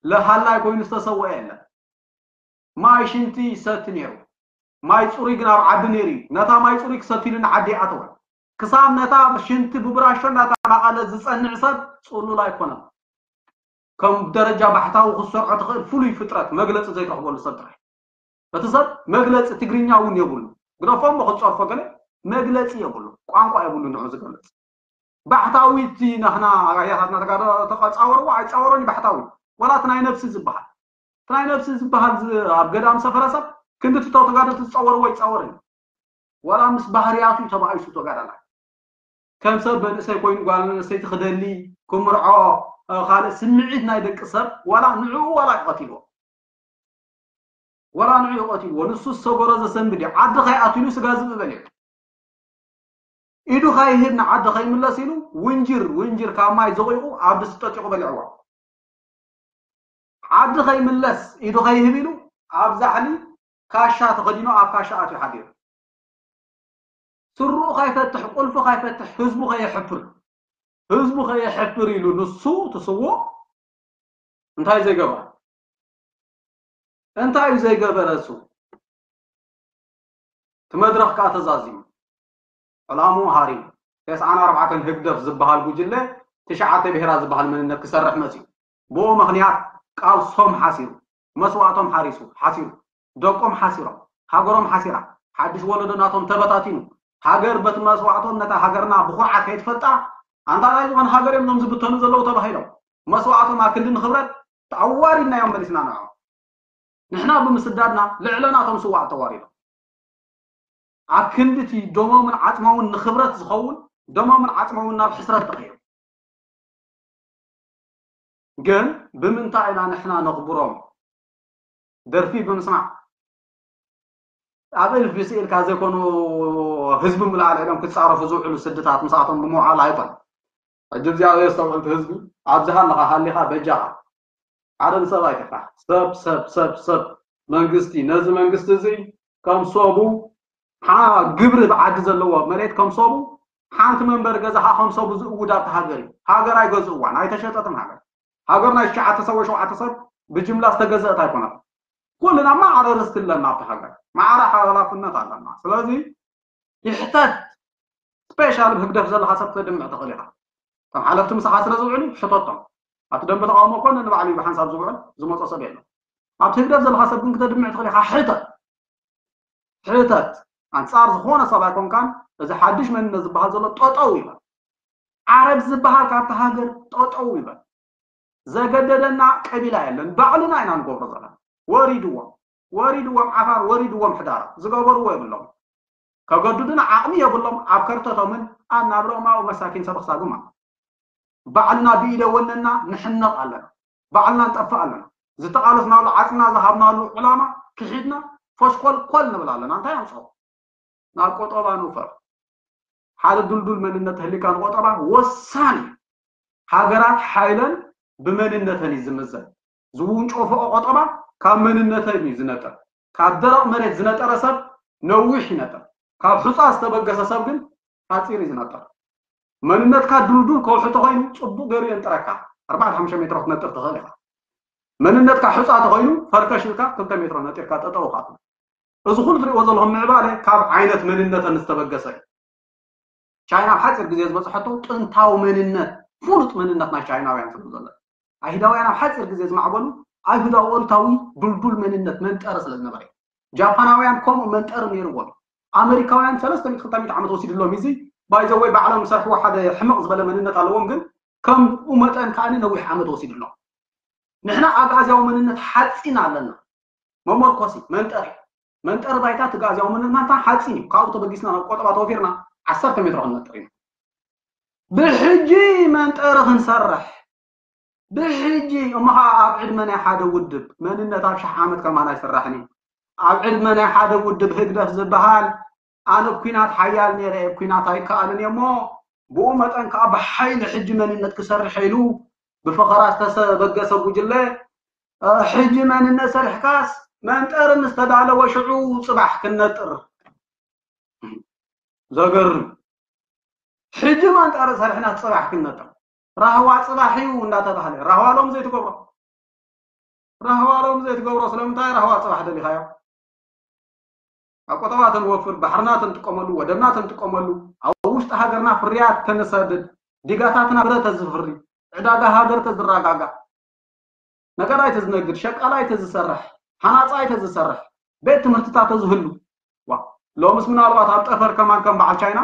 ለሃላይ ኮይኑ ዝተሰወአ የለን ማይ ሽንቲ ይሰቲ ነይሩ ማይ ፅሩይ ግን ኣብ ዓዲ ነይሩ እዩ። ነታ ማይ ፅሩይ ክሰትይሉ ንዓዲ ይኣተወ። ክሳብ ነታ ሽንቲ ብብራሾ እናተባቐለ ዝፀንዕ ሰብ ፅሉል ኣይኮነን። ከም ደረጃ ባሕታዊ ክትሰርዖ ትኽእል ፍሉይ ፍጥረት መግለፂ ዘይትረኽበሉ ሰብ ጥራይ። እቲ ሰብ መግለፂ ትግርኛ እውን የብሉ። ግደፎ እሞ ክትፀርፎ ገለ መግለፂ የብሉ። ቋንቋ የብሉ ንዑ ዝገልፅ። ባሕታዊ እቲ ናህና ኣያታትና ተጋዶ ተፃወርዎ ኣይፃወሮን እዩ ባሕታዊ። ዋላ እቲ ናይ ነብሲ ዝበሃል። እቲ ናይ ነብሲ ዝበሃል ዝ-፣ ኣብ ገዳም ሰፈረ ሰብ ክንዲ ትተው ተጋዶ ትፃወርዎ ኣይፃወርን እዩ። ዋላ ምስ ባህርያቱ እዩ ተባኢሱ ተጋዳላይ። ከም ሰብ መንእሰይ ኮይኑ ጓል ኣንስተይቲ ክደሊ፣ ክምርዖ፣ እ፣ ካልእ ስምዒት ናይ ደቂ ሰብ ዋላ ንዕኡ ዋላ ይቐትልዎ። ዋላ ንዕኡ ይቐትልዎ። ንሱ ዝሰገሮ ዘሰንብድ እዩ። ዓዲ ከይኣትሉ ስጋ ዝብኢ በሊዑ። ኢዱ ከይህብ ንዓዲ ከይምለስ ኢሉ ውንጅር፣ ውንጅር ካብ ማይ ዘቑይቑ ኣብ ድስቲ ጠጢቑ በሊዕዋ። ዓዲ ከይምለስ ኢዱ ከይህብ ኢሉ ኣብ ዛሕሊ ካሻ ተኸዲኑ ኣብ ካሻ ኣትዩ ሓዲሩ። ስርኡ ከይፈትሕ፣ ቁልፉ ከይፈትሕ፣ ህዝቡ ከየሕፍር፣ ህዝቡ ከየሕፍር ኢሉ ንሱ ትስዎ እንታይ ዘይገበረ? እንታይ እዩ ዘይገበረ እሱ? እቲ መድረኽ ከኣ ተዛዚሙ። ዕላምኡ ሃሪሙ። ተስዓን ኣርባዕተን ህግደፍ ዝበሃል ጉጅለ ትሽዓተ ብሄራት ዝበሃል መንነት ክሰርሕ መጺኡ። ብኡ ምኽንያት ቃልሶም ሓሲሩ፣ መስዋእቶም ሓሪሱ፣ ሓሲሩ፣ ደቆም ሓሲሮም፣ ሃገሮም ሓሲራ፣ ሓድሽ ወለዶ ናቶም ተበታቲኑ፣ ሃገር በቲ መስዋእቶም ነታ ሃገርና ብኹርዓት ከይትፈልጣ፣ ኣንታ ናይ ዝኾነ ሃገር እዮም እዞም ዝብተኑ ዘለዉ ተባሂሎም። መስዋእቶም ኣክንዲ ንኽብረት ኣዋሪድናዮም መሊስና ንዕኦም። ንሕና ብምስዳድና ልዕለ ናቶም ስዋኣት ተዋሪዶም። ኣብ ክንዲ እቲ ደሞምን ዓጽሞምን ንኽብረት ዝኸውን ደሞምን ዓጽሞምን ናብ ሕስረት ተቐይሩ። ግን ብምንታይ ኢና ንሕና ነኽብሮም? ደርፊ ብምስማዕ ኣብ እልፊ ስኢልካ ዘይኮኑ ህዝቢ ምልኣል ኢሎም ክጻረፉ ዝውዕሉ ስድታት ምስኣቶም ብምውዓል ኣይኮን። ሕጂ እግዚኣብሔር ዝተውዕልቲ ህዝቢ ኣብዚ ሃለኻ ሃሊኻ በጃኻ ሓደ ንሰብ ኣይትፍራሕ። ሰብ ሰብ ሰብ ሰብ መንግስቲ ነዚ መንግስቲ እዚ ከም ሰቡ ሓ-፣ ግብሪ ብዓዲ ዘለዎ መሬት ከም ሰቡ ሓንቲ መንበሪ ገዛ ከዓ ከም ሰቡ ዝእውድ ኣብቲ ሃገር እዩ። ሃገር ኣይገዝእዋን ኣይተሸጠትን። ሃገር ሃገር ናይ ትሽዓተ ሰብ ወይ ሸውዓተ ሰብ ብጅምላ ዝተገዘእት ኣይኮነትን። ኩልና ማዕረ ርስቲ ኣለና ኣብቲ ሃገር፣ ማዕረ ሓላፍነት ኣለና። ስለዚ ይሕተት። ስፔሻል ብህግደፍ ዘለካ ሰብ ክተድምዕ ትኽእል ኢኻ። ከም ሓለፍቲ ምሳኻ ስለ ዝውዕሉ ሕተቶም። ኣብቲ ደንበ ተቃውሞ ኮነ ንባዕሉ ብሓንሳብ ዝውዕል ዝመጾ ሰብ የለን። ኣብቲ ህግደፍ ዘለካ ሰብ ግን ክተድምዕ ትኽእል ኢኻ። ሕተት። ሕተት። ኣንጻር ዝኾነ ሰብ ኣይኮንካን። እዚ ሓድሽ መንነት ዝበሃል ዘሎ ጠጠው ይበል። ዓረብ ዝበሃል ካብቲ ሃገር ጠጠው ይበል። ዘገደደና ቀቢላ የለን። ባዕልና ኢና ንገብሮ ዘለና። ወሪድዎም። ወሪድዎም ዓፋር፣ ወሪድዎም ሕዳር። ዝገበርዎ የብሎም። ከገድዱና ዓቕሚ የብሎም። ኣብ ከርተቶምን ኣብ ናብረኦም ኣብኡ መሳኪን ሰብ ክሳጉማ። ባዕልና ብኢደ ወነና ንሕነቕ ኣለና። ባዕልና ንጠፍእ ኣለና። ዝተቓለስናሉ ዓጽምና ዝሃብናሉ ዕላማ ክሒድና ፈሽኮልኮል ንብል ኣለና። እንታይ ኣምጽኦ? ናብ ቆጠባ ንውፈር። ሓደ ድልዱል መንነት ህሊካ ንቆጠባ ወሳኒ። ሃገራት ሓይለን ብመንነተን እዩ ዝምዘን። ዝውንጨፈኦ ቆጠባ ካብ መንነተን እዩ ዝነጥር። ካብ ደረቕ መሬት ዝነጠረ ሰብ ነዊሕ ይነጥር። ካብ ሑፃ ዝተበገሰ ሰብ ግን ሓፂር እዩ ዝነጥር። መንነትካ ድልዱል ከውሒ ተኮይኑ ፅቡቅ ገይሩ የንጥረካ። ኣርባዕተ ሓሙሽተ ሜትሮ ክትነጥር ትኽእል ኢኻ። መንነትካ ሑፃ ተኮይኑ ፈርከሽ ኢልካ ክልተ ሜትሮ ነጢርካ ጠጠው ኢኻ ትብል። እዚ ኩሉ ትሪእዎ ዘለኹም ምዕባለ ካብ ዓይነት መንነተን ዝተበገሰ እዩ። ቻይና ኣብ ሓፂር ግዜ ዝበፅሐቶ ጥንታዊ መንነት፣ ፍሉጥ መንነት ናይ ቻይናውያን ስለ ዘሎ። ኣይሁዳውያን ኣብ ሓፂር ግዜ ዝማዕበሉ ኣይሁዳዊ ኦሪታዊ ድልዱል መንነት መንጠሪ ስለ ዝነበረ እዩ። ጃፓናውያን ከምኡ መንጠሪ ነይርዎም። ኣመሪካውያን ሰለስተ ሚእቲ ክልተ ሚእቲ ዓመት ወሲድሎም። እዚ ባይዘወይ ባዕሎም ዝሰርሕዎ ሓደ ሕምቕ ዝበለ መንነት ኣለዎም፣ ግን ከምኡ መጠን ከኣ ነዊሕ ዓመት ወሲድሎም። ንሕና ኣግኣዝያዊ መንነት ሓፂን ኣለና። መመርኮሲ መንጠሪ መንጠሪ ባይታ እቲ ኣግኣዝያዊ መንነትና ሓፂን እዩ። ካብኡ ተበጊስና ናብ ቆጠባ ተወፊርና ዓሰርተ ሜትሮ ክንነጥር ኢና። ብሕጂ መንጠሪ ክንሰርሕ ብሕጂ እሞ ኸዓ ኣብ ዕድመ ናይ ሓደ ውድብ መንነት ኣብ ሽሕ ዓመት ከማን ኣይስራሕን እዩ። ኣብ ዕድመ ናይ ሓደ ውድብ ህግደፍ ዝበሃል ኣነ ኲናት ሓያል ነይረ እየ፣ ኲናት ኣይከኣልን እየ እሞ ብኡ መጠን ከዓ ብሓይሊ ሕጂ መንነት ክሰርሕ ኢሉ ብፈኸራ ዝተሰበገሰ ጉጅለ እ፣ ሕጂ መንነት ሰሪሕካስ መንጠሪ ምስ ተዳለወ ሽዑ ፅባሕ ክንነጥር። ዘገርም። ሕጂ መንጠሪ ሰሪሕና ፅባሕ ክንነጥር። ራህዋ ፅባሕ እዩ እንዳተባህለ ራህዋ ሎም ዘይትገብሮ። ራህዋ ሎም ዘይትገብሮ ስለምንታይ ራህዋ ፅባሕ ደሊኻዮ? ኣብ ቆጠባ ተንወፍር፣ ባሕርና ተንጥቀመሉ፣ ወደብና ተንጥቀመሉ፣ ኣብ ውሽጢ ሃገርና ፍርያት ተንሰድድ፣ ዲጋታትና ፍረ ተዝፍሪ፣ ዕዳጋ ሃገር ተዝረጋጋእ፣ ነጋዳይ ተዝነግድ፣ ሸቃላይ ተዝሰርሕ፣ ሃናፃይ ተዝሰርሕ፣ ቤት ትምህርትታት ተዝህሉ። ዋ ሎምስ ምናልባት ኣብ ጠፈር ከማን ከም በዓል ቻይና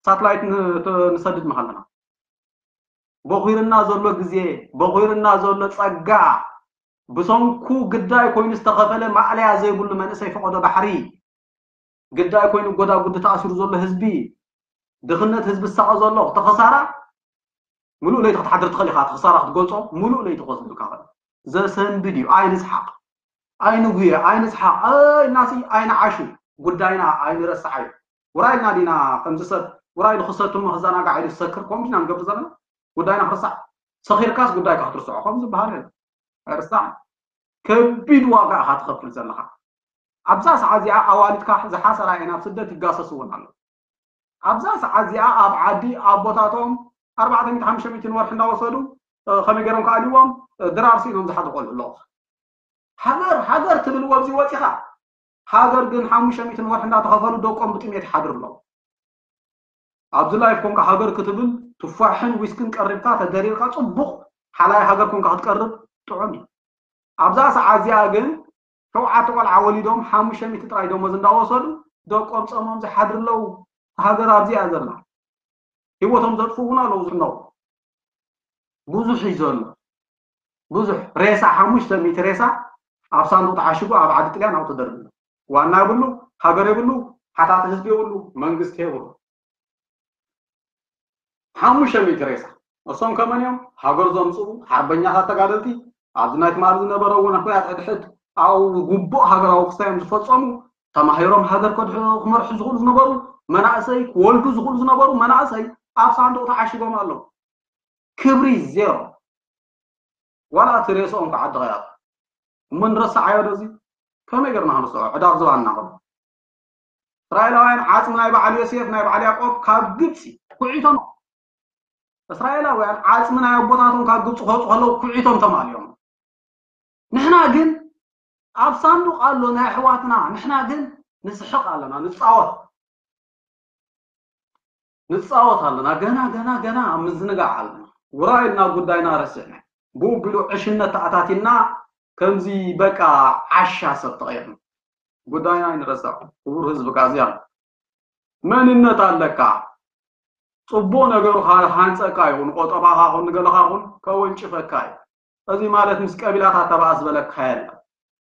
ሳትላይት ን- ተ- ንሰድድ ምሃለና። በኺርና ዘሎ ግዜ፣ በኺርና ዘሎ ጸጋ፣ ብሰንኩ ግዳይ ኮይኑ ዝተኸፈለ ማእለያ ዘይብሉ መንእሰይ ፈቐዶ ባሕሪ፣ ግዳይ ኮይኑ ጎዳጉዲ ተኣሲሩ ዘሎ ህዝቢ፣ ድኽነት ህዝቢ ዝሳቐ ዘሎ ተኸሳራ፣ ምሉእ ለይቲ ክትሓድር ትኽእል ኢኻ። እቲ ክሳራ ክትገልጾ ምሉእ ለይቲ ክወስደልካ ይኽእል። ዘሰንብድ እዩ። ኣይንስሓቕ፣ ኣይንጉየ፣ ኣይንስሓቕ፣ ኣይናሲ ኣይንዓሹ። ጉዳይና ኣይንረስዓዩ። ውራይ ኢልና ዲና ከምዚ ሰብ ውራይ ኢሉ ክሰትም ክዘናጋዕ ኢሉ ዝሰክር ከምኡ ዲና ንገብር ዘለና? ጉዳይና ክርሳዕ? ሰኺርካስ ጉዳይካ ክትርስዖ ከም ዝበሃል የለን። ኣይርሳዕን። ከቢድ ዋጋ ኢኻ ትኸፍል ዘለኻ። ኣብዛ ሰዓት እዚኣ ኣዋልድካ ዝሓሰራ እየን ኣብ ስደት ይጋሰሱ እውን ኣለዉ። ኣብዛ ሰዓት እዚኣ ኣብ ዓዲ ኣቦታቶም ኣርባዕተ ሚእቲ ሓሙሽተ ሚእቲ ንወርሒ እንዳወሰዱ እ፣ ከመይ ገይሮም ክኣልይዎም እ፣ ድራር ስኢኖም ዝሓድሩ ቆልዑ ኣለዉ። ሃገር ሃገር ትብል ወብዚ ወፂኻ ሃገር ግን ሓሙሽተ ሚእቲ ንወርሒ እንዳተኸፈሉ ደቆም ብጥሜት ይሓድሩ ኣለዉ። ኣብዚ ላይፍ ኮንካ ሃገር ክትብል ቱፋሕን ዊስክን ቀሪብካ ተደሪርካ ፅቡቕ ሓላይ ሃገር ኮንካ ክትቀርብ ጥዑም እዩ። ኣብዛ ሰዓት እዚኣ ግን ሸውዓተ ቆልዓ ወሊዶም ሓሙሽተ ሚእቲ ጥራይ ደሞዝ እንዳወሰዱ ደቆም ጸሞም ዝሓድሩ ኣለዉ። ሃገር ኣብዚኣ ዘላ ህይወቶም ዘጥፍኡ እውን ኣለዉ ዝነው ብዙሕ እዩ ዘሎ። ብዙሕ ሬሳ ሓሙሽተ ሚእቲ ሬሳ ኣብ ሳንዱቕ ተዓሽጉ ኣብ ዓዲ ጥልያን ኣብኡ ተደርቢሉ። ዋና የብሉ፣ ሃገር የብሉ፣ ሓታቲ ህዝቢ የብሉ፣ መንግስቲ የብሉ። ሓሙሽተ ሚእቲ ሬሳ እሶም ከመን እዮም ሃገር ዘምፅኡ ሓርበኛታት ተጋደልቲ ኣብዚ ናይ ትማሊ ዝነበረ እውን ኩናት ሕድሕድ ኣብኡ ግቡእ ሃገራዊ ክስታዮም ዝፈፀሙ ተማሂሮም ሃገር ከድሑ ክመርሑ ዝኽእሉ ዝነበሩ መናእሰይ ክወልዱ ዝኽእሉ ዝነበሩ መናእሰይ ኣብ ሳንዱቕ ተዓሽጎም ኣለዉ። ክብሪ ዜሮ። ዋላ እቲ ሬስኦም ከዓ ድኸያት እሞ ንረስዓዮ ዶ እዚ? ከመይ ገርና ክንርስዖ ዕዳር ዝባና ከሎ እስራኤላውያን ዓፅሚ ናይ በዓል ዮሴፍ ናይ በዓል ያዕቆብ ካብ ግብፂ ኩዒቶም እስራኤላውያን ዓፅሚ ናይ ኣቦታቶም ካብ ግብፂ ከውፁ ከለዉ ኩዒቶም ተማልዮም። ንሕና ግን ኣብ ሳንዱቕ ኣሎ ናይ ኣሕዋትና ንሕና ግን ንስሕቕ ኣለና ንፃወት ንፃወት ኣለና ገና ገና ገና ኣብ ምዝንጋዕ ኣለና። ውራይ ኢልና ጉዳይና ረሲዕና ብኡ ቢሉ ዕሽነት ተኣታቲና ከምዚ በቃ ዓሻ ሰብ ተቐይርና ጉዳይና ኣይንረሳዕ። ክቡር ህዝቢ ካዚያ መንነት ኣለካ። ፅቡቅ ነገሩ ሃንፀካ ይኹን ቆጠባኻ ኹን ንገለኻ ኹን ከወንጭፈካ እዩ። እዚ ማለት ምስ ቀቢላታት ተባእ ዝበለካ የለን።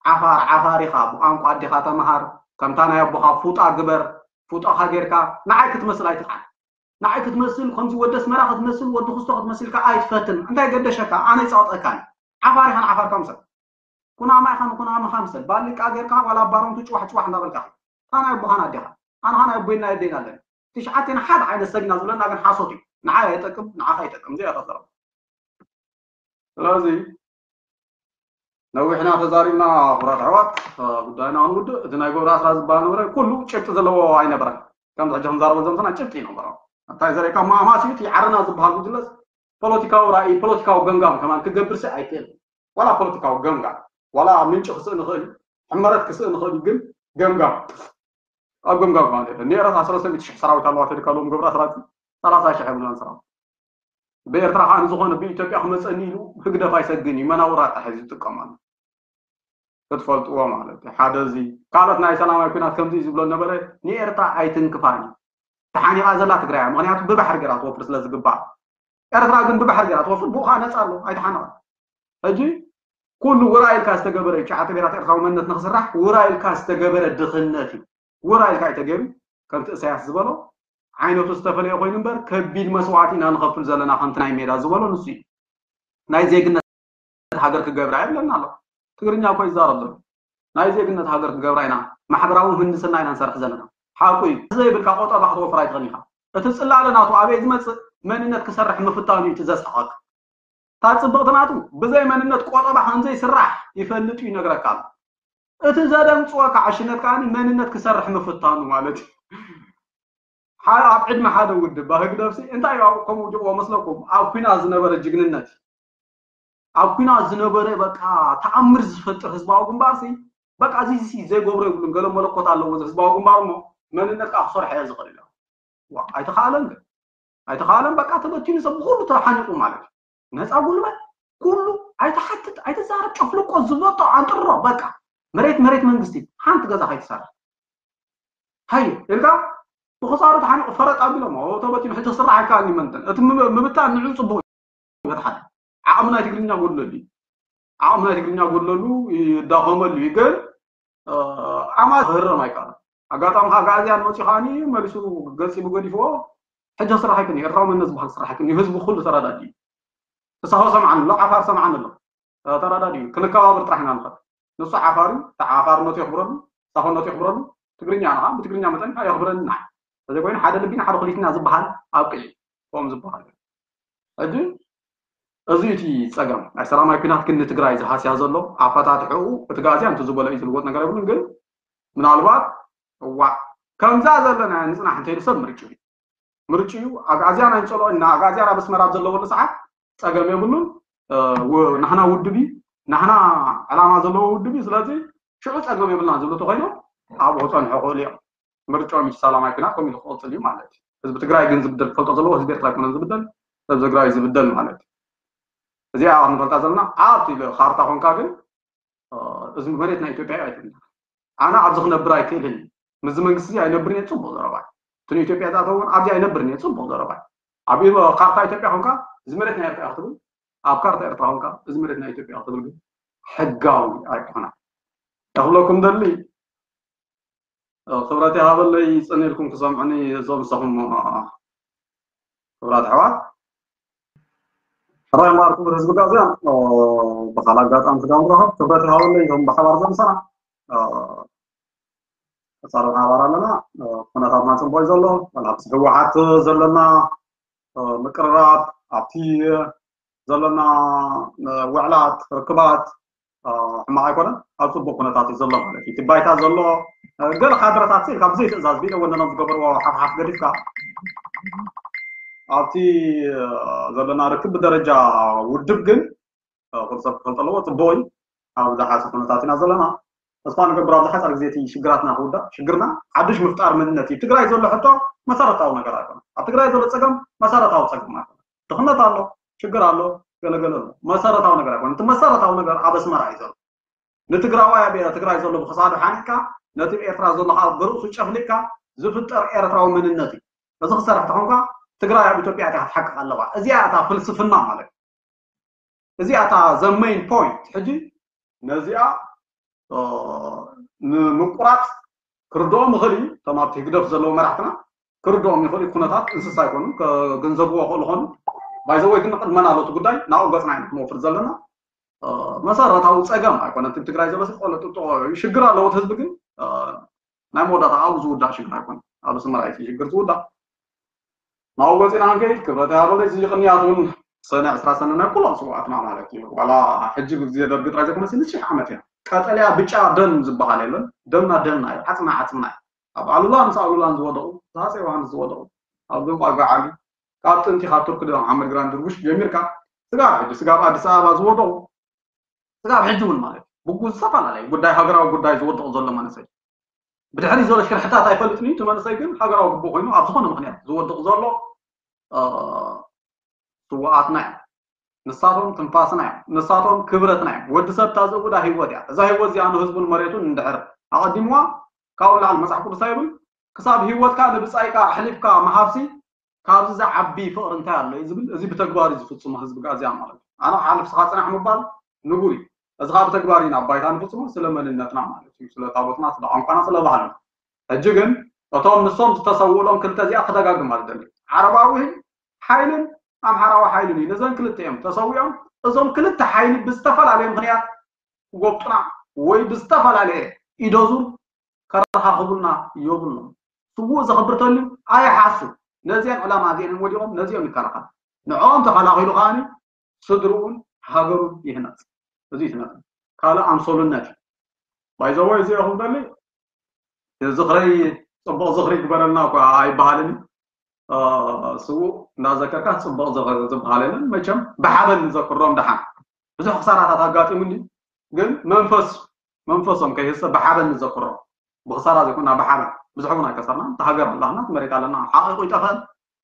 ዓፋር ዓፋር ኢኻ፣ ብቋንቋ ኣዴኻ ተምሃር፣ ከምታ ናይ ኣቦኻ ፉጣ ግበር፣ ፉጣኻ ጌርካ ንዓይ ክትመስል ኣይትኽዓል። ንዓይ ክትመስል ከምዚ ወዲ ኣስመራ ክትመስል ወዲ ክስቶ ክትመስልካ ኣይትፈትን። እንታይ ገደሸካ? ኣነ ይፃወጠካን ዓፋር ኢኻን ዓፋርካ ምሰል ኩናማ ኢኻ ንኩናማኻ ምሰል ባሊቃ ጌርካ ዋላ ባሮንቱ ጭዋሕ ጭዋሕ እንዳበልካ። ታና ኣቦኻን ኣዴኻ ኣንኻ ናይ ኣቦይና የደይና ኣለኒ ትሽዓቴና ሓደ ዓይነት ሰብ ኢና ዝብለና ግን ሓሶት እዩ። ንዓይ ኣይጠቅም ንዓኻ ኣይጠቅም እዚኣ እያ ዘረባ። ስለዚ ነዊሕና ተዛሪብና ኩራት ኣሕዋት ጉዳይና ክንውድእ እቲ ናይ ገብረ ኣስራት ዝበሃል ነበረ ኩሉ ጭብጢ ዘለዎ ኣይነበረን። ከምዚ ሕጂ ክንዛረቦ ዘምሰና ጭብጢ ይነበሮ እንታይ ዘርእካ ማማስ እዩ እቲ ዓረና ዝበሃል ጉጅለስ ፖለቲካዊ ራእይ ፖለቲካዊ ገምጋም ከማን ክገብር ሲ ኣይክእል ዋላ ፖለቲካዊ ገምጋም ዋላ ምንጭ ክስእ ንኽእል ሕመረት ክስእ ንኽእል ግን ገምጋም ኣብ ገምጋም ማለት እዩ። ንኤረትራ ሰለስተ ሚእቲ ሽሕ ሰራዊት ኣለዋ ተልካ ሎም ገብረ ኣስራት ሰላሳ ሽሕ የብሉናን ሰራዊት ብኤርትራ ከዓ ንዝኾነ ብኢትዮጵያ ክመፀኒ ኢሉ ህግደፍ ኣይሰግን እዩ መናውራ ጥራሕ እዩ ዝጥቀመሉ ክትፈልጥዎ ማለት እዩ ሓደ እዚ ካልኦት ናይ ሰላማዊ ኩናት ከምዚ እዩ ዝብሎ ነበረ ንኤርትራ ኣይትንክፋን እዩ ተሓኒቓ ዘላ ትግራይ ምክንያቱ ብባሕሪ ገራ ትወፍር ስለ ዝግባእ ኤርትራ ግን ብባሕሪ ገራ ትወፍር ብኡ ከዓ ነፃ ኣሎ ኣይተሓነቐ ሕጂ ኩሉ ውራ ኢልካ ዝተገበረ እዩ ሸዓተ ብሄራት ኤርትራዊ መንነት ንክስራሕ ውራ ኢልካ ዝተገበረ ድኽነት እዩ ውራ ኢልካ እዩ ተገይሩ ከምቲ እሳያስ ዝበሎ ዓይነቱ ዝተፈለየ ኮይኑ እምበር ከቢድ መስዋእቲ ኢና ንኸፍል ዘለና ከምቲ ናይ ሜዳ ዝበሎ ንሱ እዩ ናይ ዜግነት ሃገር ክገብራ የብለና ኣሎ ትግርኛ እኮ ይዛረብ ዘሎ ናይ ዜግነት ሃገር ክገብራ ኢና ማሕበራዊ ምህንድስና ኢና ንሰርሕ ዘለና ሓቁ እዩ ዘይብልካ ቆጠባ ክትወፍር ኣይትኽእል ኢኻ እቲ ፅላለ ናቱ ኣበይ ዝመፅእ መንነት ክሰርሕ ምፍታኑ እዩ እቲ ዘስሕቐካ እታ ፅብቕቲ ናቱ ብዘይ መንነት ቆጠባ ከምዘይስራሕ ይፈልጥ እዩ ይነግረካ ኣሎ እቲ ዘደንፅወካ ዕሽነት ከዓ መንነት ክሰርሕ ምፍታኑ ማለት እዩ ኣብ ዕድመ ሓደ ውድብ ህግደፍሲ እንታይ ከምኡ ጅቕዎ መስለኩም ኣብ ኩናት ዝነበረ ጅግንነት ኣብ ኩናት ዝነበረ በቃ ተኣምር ዝፈጥር ህዝባዊ ግንባርሲ በቃ እዚ እዚ ዘይገብሮ የብሉን፣ ገለ መለኮት ኣለዎ እዚ ህዝባዊ ግንባር እሞ መንነት ከዓ ክሰርሖ እየ ዝኽእል ኢሎም። ዋ፣ ኣይተኻእለን ግን። ኣይተኻእለን፣ በቃ ተበቲኑ ሰብ ብኹሉ ተሓኒቑ ማለት እዩ። ነፃ ጉልበት ኩሉ ኣይተሓትት ኣይተዛረብ፣ ጨፍልቆ ዝበጦ ኣንጥሮ በቃ። መሬት መሬት መንግስቲ ሓንቲ ገዛ ከይትሰርሕ ሃየ ኢልካ ብኽሳሩ ተሓኒቑ ፈረጥ ኣቢሎም ተበቲኑ ሕጂ ክስራሕ ኣይከኣልን ይመንተን። እቲ ምብታን ንዑ ፅቡቅ ይበትሓል። ዓቕሚ ናይ ትግርኛ ጎድለሉ እዩ። ዓቕሚ ናይ ትግርኛ ጎድለሉ ይዳኸመሉ እዩ። ግን ኣማ ክህረም ኣይከኣልን። ኣጋጣሚ ከዓ ጋእዝያን መፂኡ ከዓኒ መሊሱ ገፂቡ ገዲፍዎ። ሕጂ ስራሕ ኣይኮነ፣ ኤርትራዊ መንነት ዝበሃል ስራሕ ኣይኮነ። ህዝቢ ኩሉ ተረዳዲ እዩ። ተሳሆ ሰምዓን ኣሎ፣ ዓፋር ሰምዓን ኣሎ። ተረዳዲ እዩ። ክንከባበር ጥራሕ ኢና ንኽእል። ንሱ ዓፋር እዩ፣ ዓፋርነቱ የኽብረሉ፣ ሳሆነቱ የኽብረሉ። ትግርኛ ንኻ ብትግርኛ መጠን የኽብረኒ ንዓይ። ተዘይኮይኑ ሓደ ልቢና ሓደ ኩሊትና ዝበሃል ኣብቅዒ። ከምኡ ዝበሃል ሕጂ እዚ እቲ ፀገም ናይ ሰላማዊ ኩናት ግን ንትግራይ ዝሃስያ ዘሎ ኣፈታትሕኡ እቲ ጋዝያ እንተ ዝበሎ እዩ ዝልወጥ ነገር የብሉን። ግን ምናልባት እዋዕ ከምዛ ዘለና ንፅናሕ እንተይሉ ሰብ ምርጭ እዩ ምርጭ እዩ። ኣግኣዝያን ኣይንፀልኦ እና ኣግኣዝያን ኣብ ኣስመራ ኣብ ዘለወሉ ሰዓት ፀገም የብሉን። ናህና ውድብ እዩ፣ ናህና ዕላማ ዘለዎ ውድብ እዩ። ስለዚ ሽዑ ፀገም የብልና ዝብሉ ተኮይኖም ኣብኡ ክፀንሑ ክእሉ እዮም። ምርጫኦም እዩ ሰላማዊ ኩናት ከምኡ ኢሉ ክቕፅል እዩ ማለት እዩ። ህዝቢ ትግራይ ግን ዝብደል ክፈልጦ ዘለዎ ህዝቢ ኤርትራ ኣይኮነን ዝብደል፣ ህዝቢ ትግራይ እዩ ዝብደል ማለት እዩ። እዚኣ ክንፈልጣ ዘለና ኣብቲ ካርታ ኮንካ ግን እዚ መሬት ናይ ኢትዮጵያ እዩ ኣይትብል። ኣነ ኣብዚ ክነብር ኣይክእልን፣ ምስዚ መንግስቲ እዚ ኣይነብርን እየ፣ ፅቡቅ ዘረባ እዩ። እቲ ንኢትዮጵያ ዝኣተወ እውን ኣብዚ ኣይነብርን እየ፣ ፅቡቅ ዘረባ እዩ። ኣብ ኢሞ-፣ ካርታ ኢትዮጵያ ኮንካ እዚ መሬት ናይ ኤርትራ እዩ ክትብል፣ ኣብ ካርታ ኤርትራ ኮንካ እዚ መሬት ናይ ኢትዮጵያ እዩ ክትብል ግን ሕጋዊ ኣይኮነን። ክብለኩም ደሊ ክብረት ይሃበለይ፣ ጽን ኢልኩም ክሰምዑኒ እዞም ንስኹም ክብራት ኣሕዋት። ሕራይ እምበኣር ክቡር ህዝቢ ጋዝያን ብኻል ኣጋጣሚ ስጋ ንረኸብ። ክብረት ይሃበለይ እዞም ብሓባር ዘምሰና ቀጻሊ ሓባር ኣለና። ኩነታትና ጽቡቅ እዩ ዘሎ። ዋላ ምስ ህወሓት ዘለና ምቅርራብ ኣብቲ ዘለና ውዕላት ርክባት ሕማቕ ኣይኮነን። ኣብ ጽቡቅ ኩነታት እዩ ዘሎ ማለት እዩ። እቲ ባይታ ዘሎ ገለ ካድረታት ካብ ብዘይ ትእዛዝ ቢለ ወነኖም ዝገበርዎ ሓፍሓፍ ገዲፍካ ኣብቲ ዘለና ርክብ ብደረጃ ውድብ ግን ኩሉ ሰብ ክፈልጦ ኣለዎ። ጽቡቅ እዩ። ኣብ ዝሓሰ ኩነታት ኢና ዘለና። ተስፋ ንገብር ኣብ ዝሓፀር ግዜ እቲ ሽግራትና ክውዳእ። ሽግርና ሓድሽ ምፍጣር መንነት እዩ። ትግራይ ዘሎ ሕቶ መሰረታዊ ነገር ኣይኮነን። ኣብ ትግራይ ዘሎ ፀገም መሰረታዊ ፀገም ኣይኮነን። ድኽነት ኣሎ፣ ሽግር ኣሎ፣ ገለገለ ኣሎ። መሰረታዊ ነገር ኣይኮነን። እቲ መሰረታዊ ነገር ኣብ ኣስመራ እዩ ዘሎ። ንትግራዋይ ኣብ ትግራይ ዘሎ ብክሳዱ ሓኒቕካ ነቲ ኤርትራ ዘሎ ከዓ ብርእሱ ጨፍሊቕካ ዝፍጠር ኤርትራዊ መንነት እዩ። እዚ ክሰርሕ ተኾንካ ትግራይ ኣብ ኢትዮጵያ እቲያ ክትሓቅቕ ኣለዋ። እዚኣ እታ ፍልስፍና ማለት እዩ። እዚኣ እታ ዘ ሜን ፖይንት። ሕጂ ነዚኣ ንምቁራፅ ክርድኦም ይኽእል እዩ። እቶም ኣብቲ ህግደፍ ዘለዉ መራሕትና ክርድኦም ይኽእል እዩ። ኩነታት እንስሳ ኣይኮኑን፣ ከገንዘብዎ ክእሉ ኾኑ። ባይዘወይ ግን ቅድመና ኣሎ እቲ ጉዳይ ናብኡ ገፅና ኢና ክንወፍር ዘለና። መሰረታዊ ፀገም ኣይኮነን። እቲ ትግራይ ዘሎ ቆለጥጦ ሽግር ኣለዎ እቲ ህዝቢ ግን ናይ መወዳእታ ኣብኡ ዝውዳእ ሽግር ኣይኮነን። ኣብ ኣስመራ እዩ ሽግር ዝውዳእ። ናብኡ ገፂና ክንከይድ ክብረት ይሃበለይ። እዚ ቅንያት እውን ሰነ ዕስራ ሰነ ናይ ኩሎም ስውኣትና ማለት እዩ። ዋላ ሕጂ ብግዜ ደርጊ ጥራይ ዘይኮነስ ንሽሕ ዓመት እያ። ቀጠልያ ብጫ ደም ዝበሃል የለን። ደምና ደምና እዩ፣ ዓፅምና ዓፅምና እዩ። ኣብ ኣሉላ ምስ ኣሉላን ዝወደቑ፣ ሃፀይ ዮሃንስ ዝወደቑ፣ ኣብ ደንቋ ጋዓሊ፣ ካብ ጥንቲ ካብ ቱርኪ ዶ መሓመድ ግራንድ ድርቡሽ ጀሚርካ ስጋብ ሕጂ ስጋብ ኣዲስ ኣበባ ዝወደቑ ስጋብ ሕጂ እውን ማለት እዩ ብጉ ዝተፈላለየ ጉዳይ ሃገራዊ ጉዳይ ዝወደቑ ዘሎ መንእሰይ ብድሕሪ ዘሎ ሽርሕታት ኣይፈልጥን እዩ። እቲ መንእሰይ ግን ሃገራዊ ግቡእ ኮይኑ ኣብ ዝኾነ ምክንያት ዝወድቕ ዘሎ ስውኣትና እዮም። ንሳቶም ትንፋስና እዮም። ንሳቶም ክብረትና እዮም። ወዲ ሰብ እታ ዝእውዳ ህይወት እያ። እዛ ህይወት እዚኣ ንህዝቡን መሬቱን እንድሕር ኣቐዲምዋ ካብኡ ላዕሊ መፅሓፍ ቅዱስ ይብል ክሳብ ህይወትካ ንብፃይካ ኣሕሊፍካ ምሃብሲ ካብዚ ዝዓቢ ፍቕሪ እንታይ ኣሎ እዩ ዝብል፣ እዚ ብተግባር እዩ ዝፍጽሞ ህዝቢ ጋዝያ ማለት እዩ። ኣነ ክሓልፍ ስኻ ጽናሕ ምባል ንቡር እዩ። እዚ ኸዓ ብተግባር ኢና ኣብ ባይታ ንፍጽሞ ስለ መንነትና ማለት እዩ፣ ስለ ታቦትና፣ ስለ ቋንቋና፣ ስለ ባህልና። ሕጂ ግን እቶም ንሶም ዝተሰውእሎም ክልተ እዚኣ ክደጋግም ማለት ደሊ። ዓረባዊ ሓይልን ኣምሓራዊ ሓይልን እዩ። ነዘን ክልተ እዮም ተሰዊኦም። እዞም ክልተ ሓይሊ ብዝተፈላለየ ምኽንያት ክጎብጡና ወይ ብዝተፈላለየ ኢዶዙር ከረኻኽቡልና የብሎም። ስዉእ ዘኽብር ተልዩ ኣይሓሱ። ነዚአን ዕላማ እዚአን ወዲቖም ነዚኦም ይከላኸል። ንዕኦም ተኸላኺሉ ከዓኒ ስድርኡን ሃገሩን ይህነፅ። እዚ ይትነፅ ካልእ ኣምሶሉነት እዩ። ባይዘወይ እዚ ኢኹም ደሊ ዝኽረይ ፅቡቕ ዝኽሪ ግበረልና እኳ ኣይበሃልን። ስዉእ እንዳዘከርካ ፅቡቕ ዝበሃል የለን። መቸም ብሓበን ንዘክሮም ደሓን ብዙሕ ክሳራታት ኣጋጢሙኒ ግን መንፈስ መንፈሶም ከይህሰ ብሓበን ንዘክሮም። ብኽሳራ ዘይኮና ብሓበን። ብዙሕ እውን ኣይከሰርናን። እታ ሃገር ኣላትና፣ መሬት ኣለና፣ ሓቒቑ ይጠፍአን።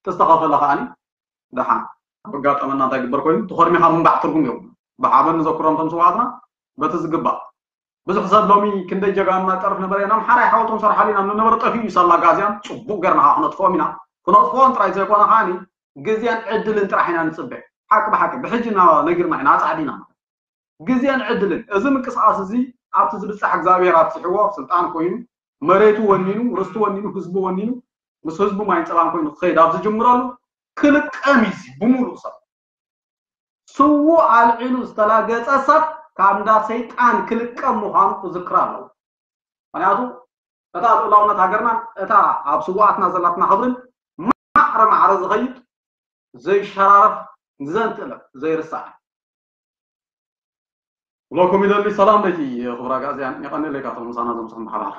ተስተኸፈለ ከኣኒ ደሓን። ኣብ ኣጋጠመና እንታይ ግበር ኮይኑ፣ ተኾርሚኻ ምንባዕ ትርጉም የብሉን። ብሓበን ንዘክሮም እቶም ስውኣትና በቲ ዝግባእ። ብዙሕ ሰብ ሎሚ ክንደይ ጀጋኑና ጠርፍ ነበረ፣ ኢና ኣምሓራይ ሓወልቶም ሰርሓሉ ኢና፣ ንነበረ ጠፊኡ እዩ ሳላ ጋዝያን፣ ጽቡቕ ገርና ከዓ ክነጥፍኦም ኢና። ክነጥፍኦም ጥራይ ዘይኮነ ከኣኒ፣ ግዜን ዕድልን ጥራሕ ኢና ንጽበ። ሓቂ ብሓቂ፣ ብሕጂ እና ነጊርና ኢና፣ ኣጻዕዲና። ግዜን ዕድልን። እዚ ምንቅስቓስ እዚ ኣብቲ ዝብጻሕ እግዚኣብሔር ኣብጽሕዎ፣ ስልጣን ኮይኑ፣ መሬቱ ወኒኑ፣ ርስቱ ወኒኑ፣ ህዝቡ ወኒኑ፣ ምስ ህዝቡ ማይን ጸባን ኮይኑ ክኸይድ ኣብ ዝጅምረሉ፣ ክልቀም እዩ እዚ ብምሉእ ሰብ። ስዉእ ኣልዒሉ ዝተላገጸ ሰብ ካብ እንዳ ሰይጣን ክልቀም ምዃኑ ክዝክር ኣለዎ። ምኽንያቱ እታ ልኡላውነት ሃገርናን እታ ኣብ ስውኣትና ዘላትና ክብርን ማዕረ ማዕረ ዝኸይድ ዘይሸራረፍ ንዘንትእለም ዘይርሳዕ። ኩለኩም ይደሊ ሰላም ለኪ ክቡር ኣግኣዝያን፣ የቐንየለይ ካብቶም ምሳና ዘምስኹም ብሓባር።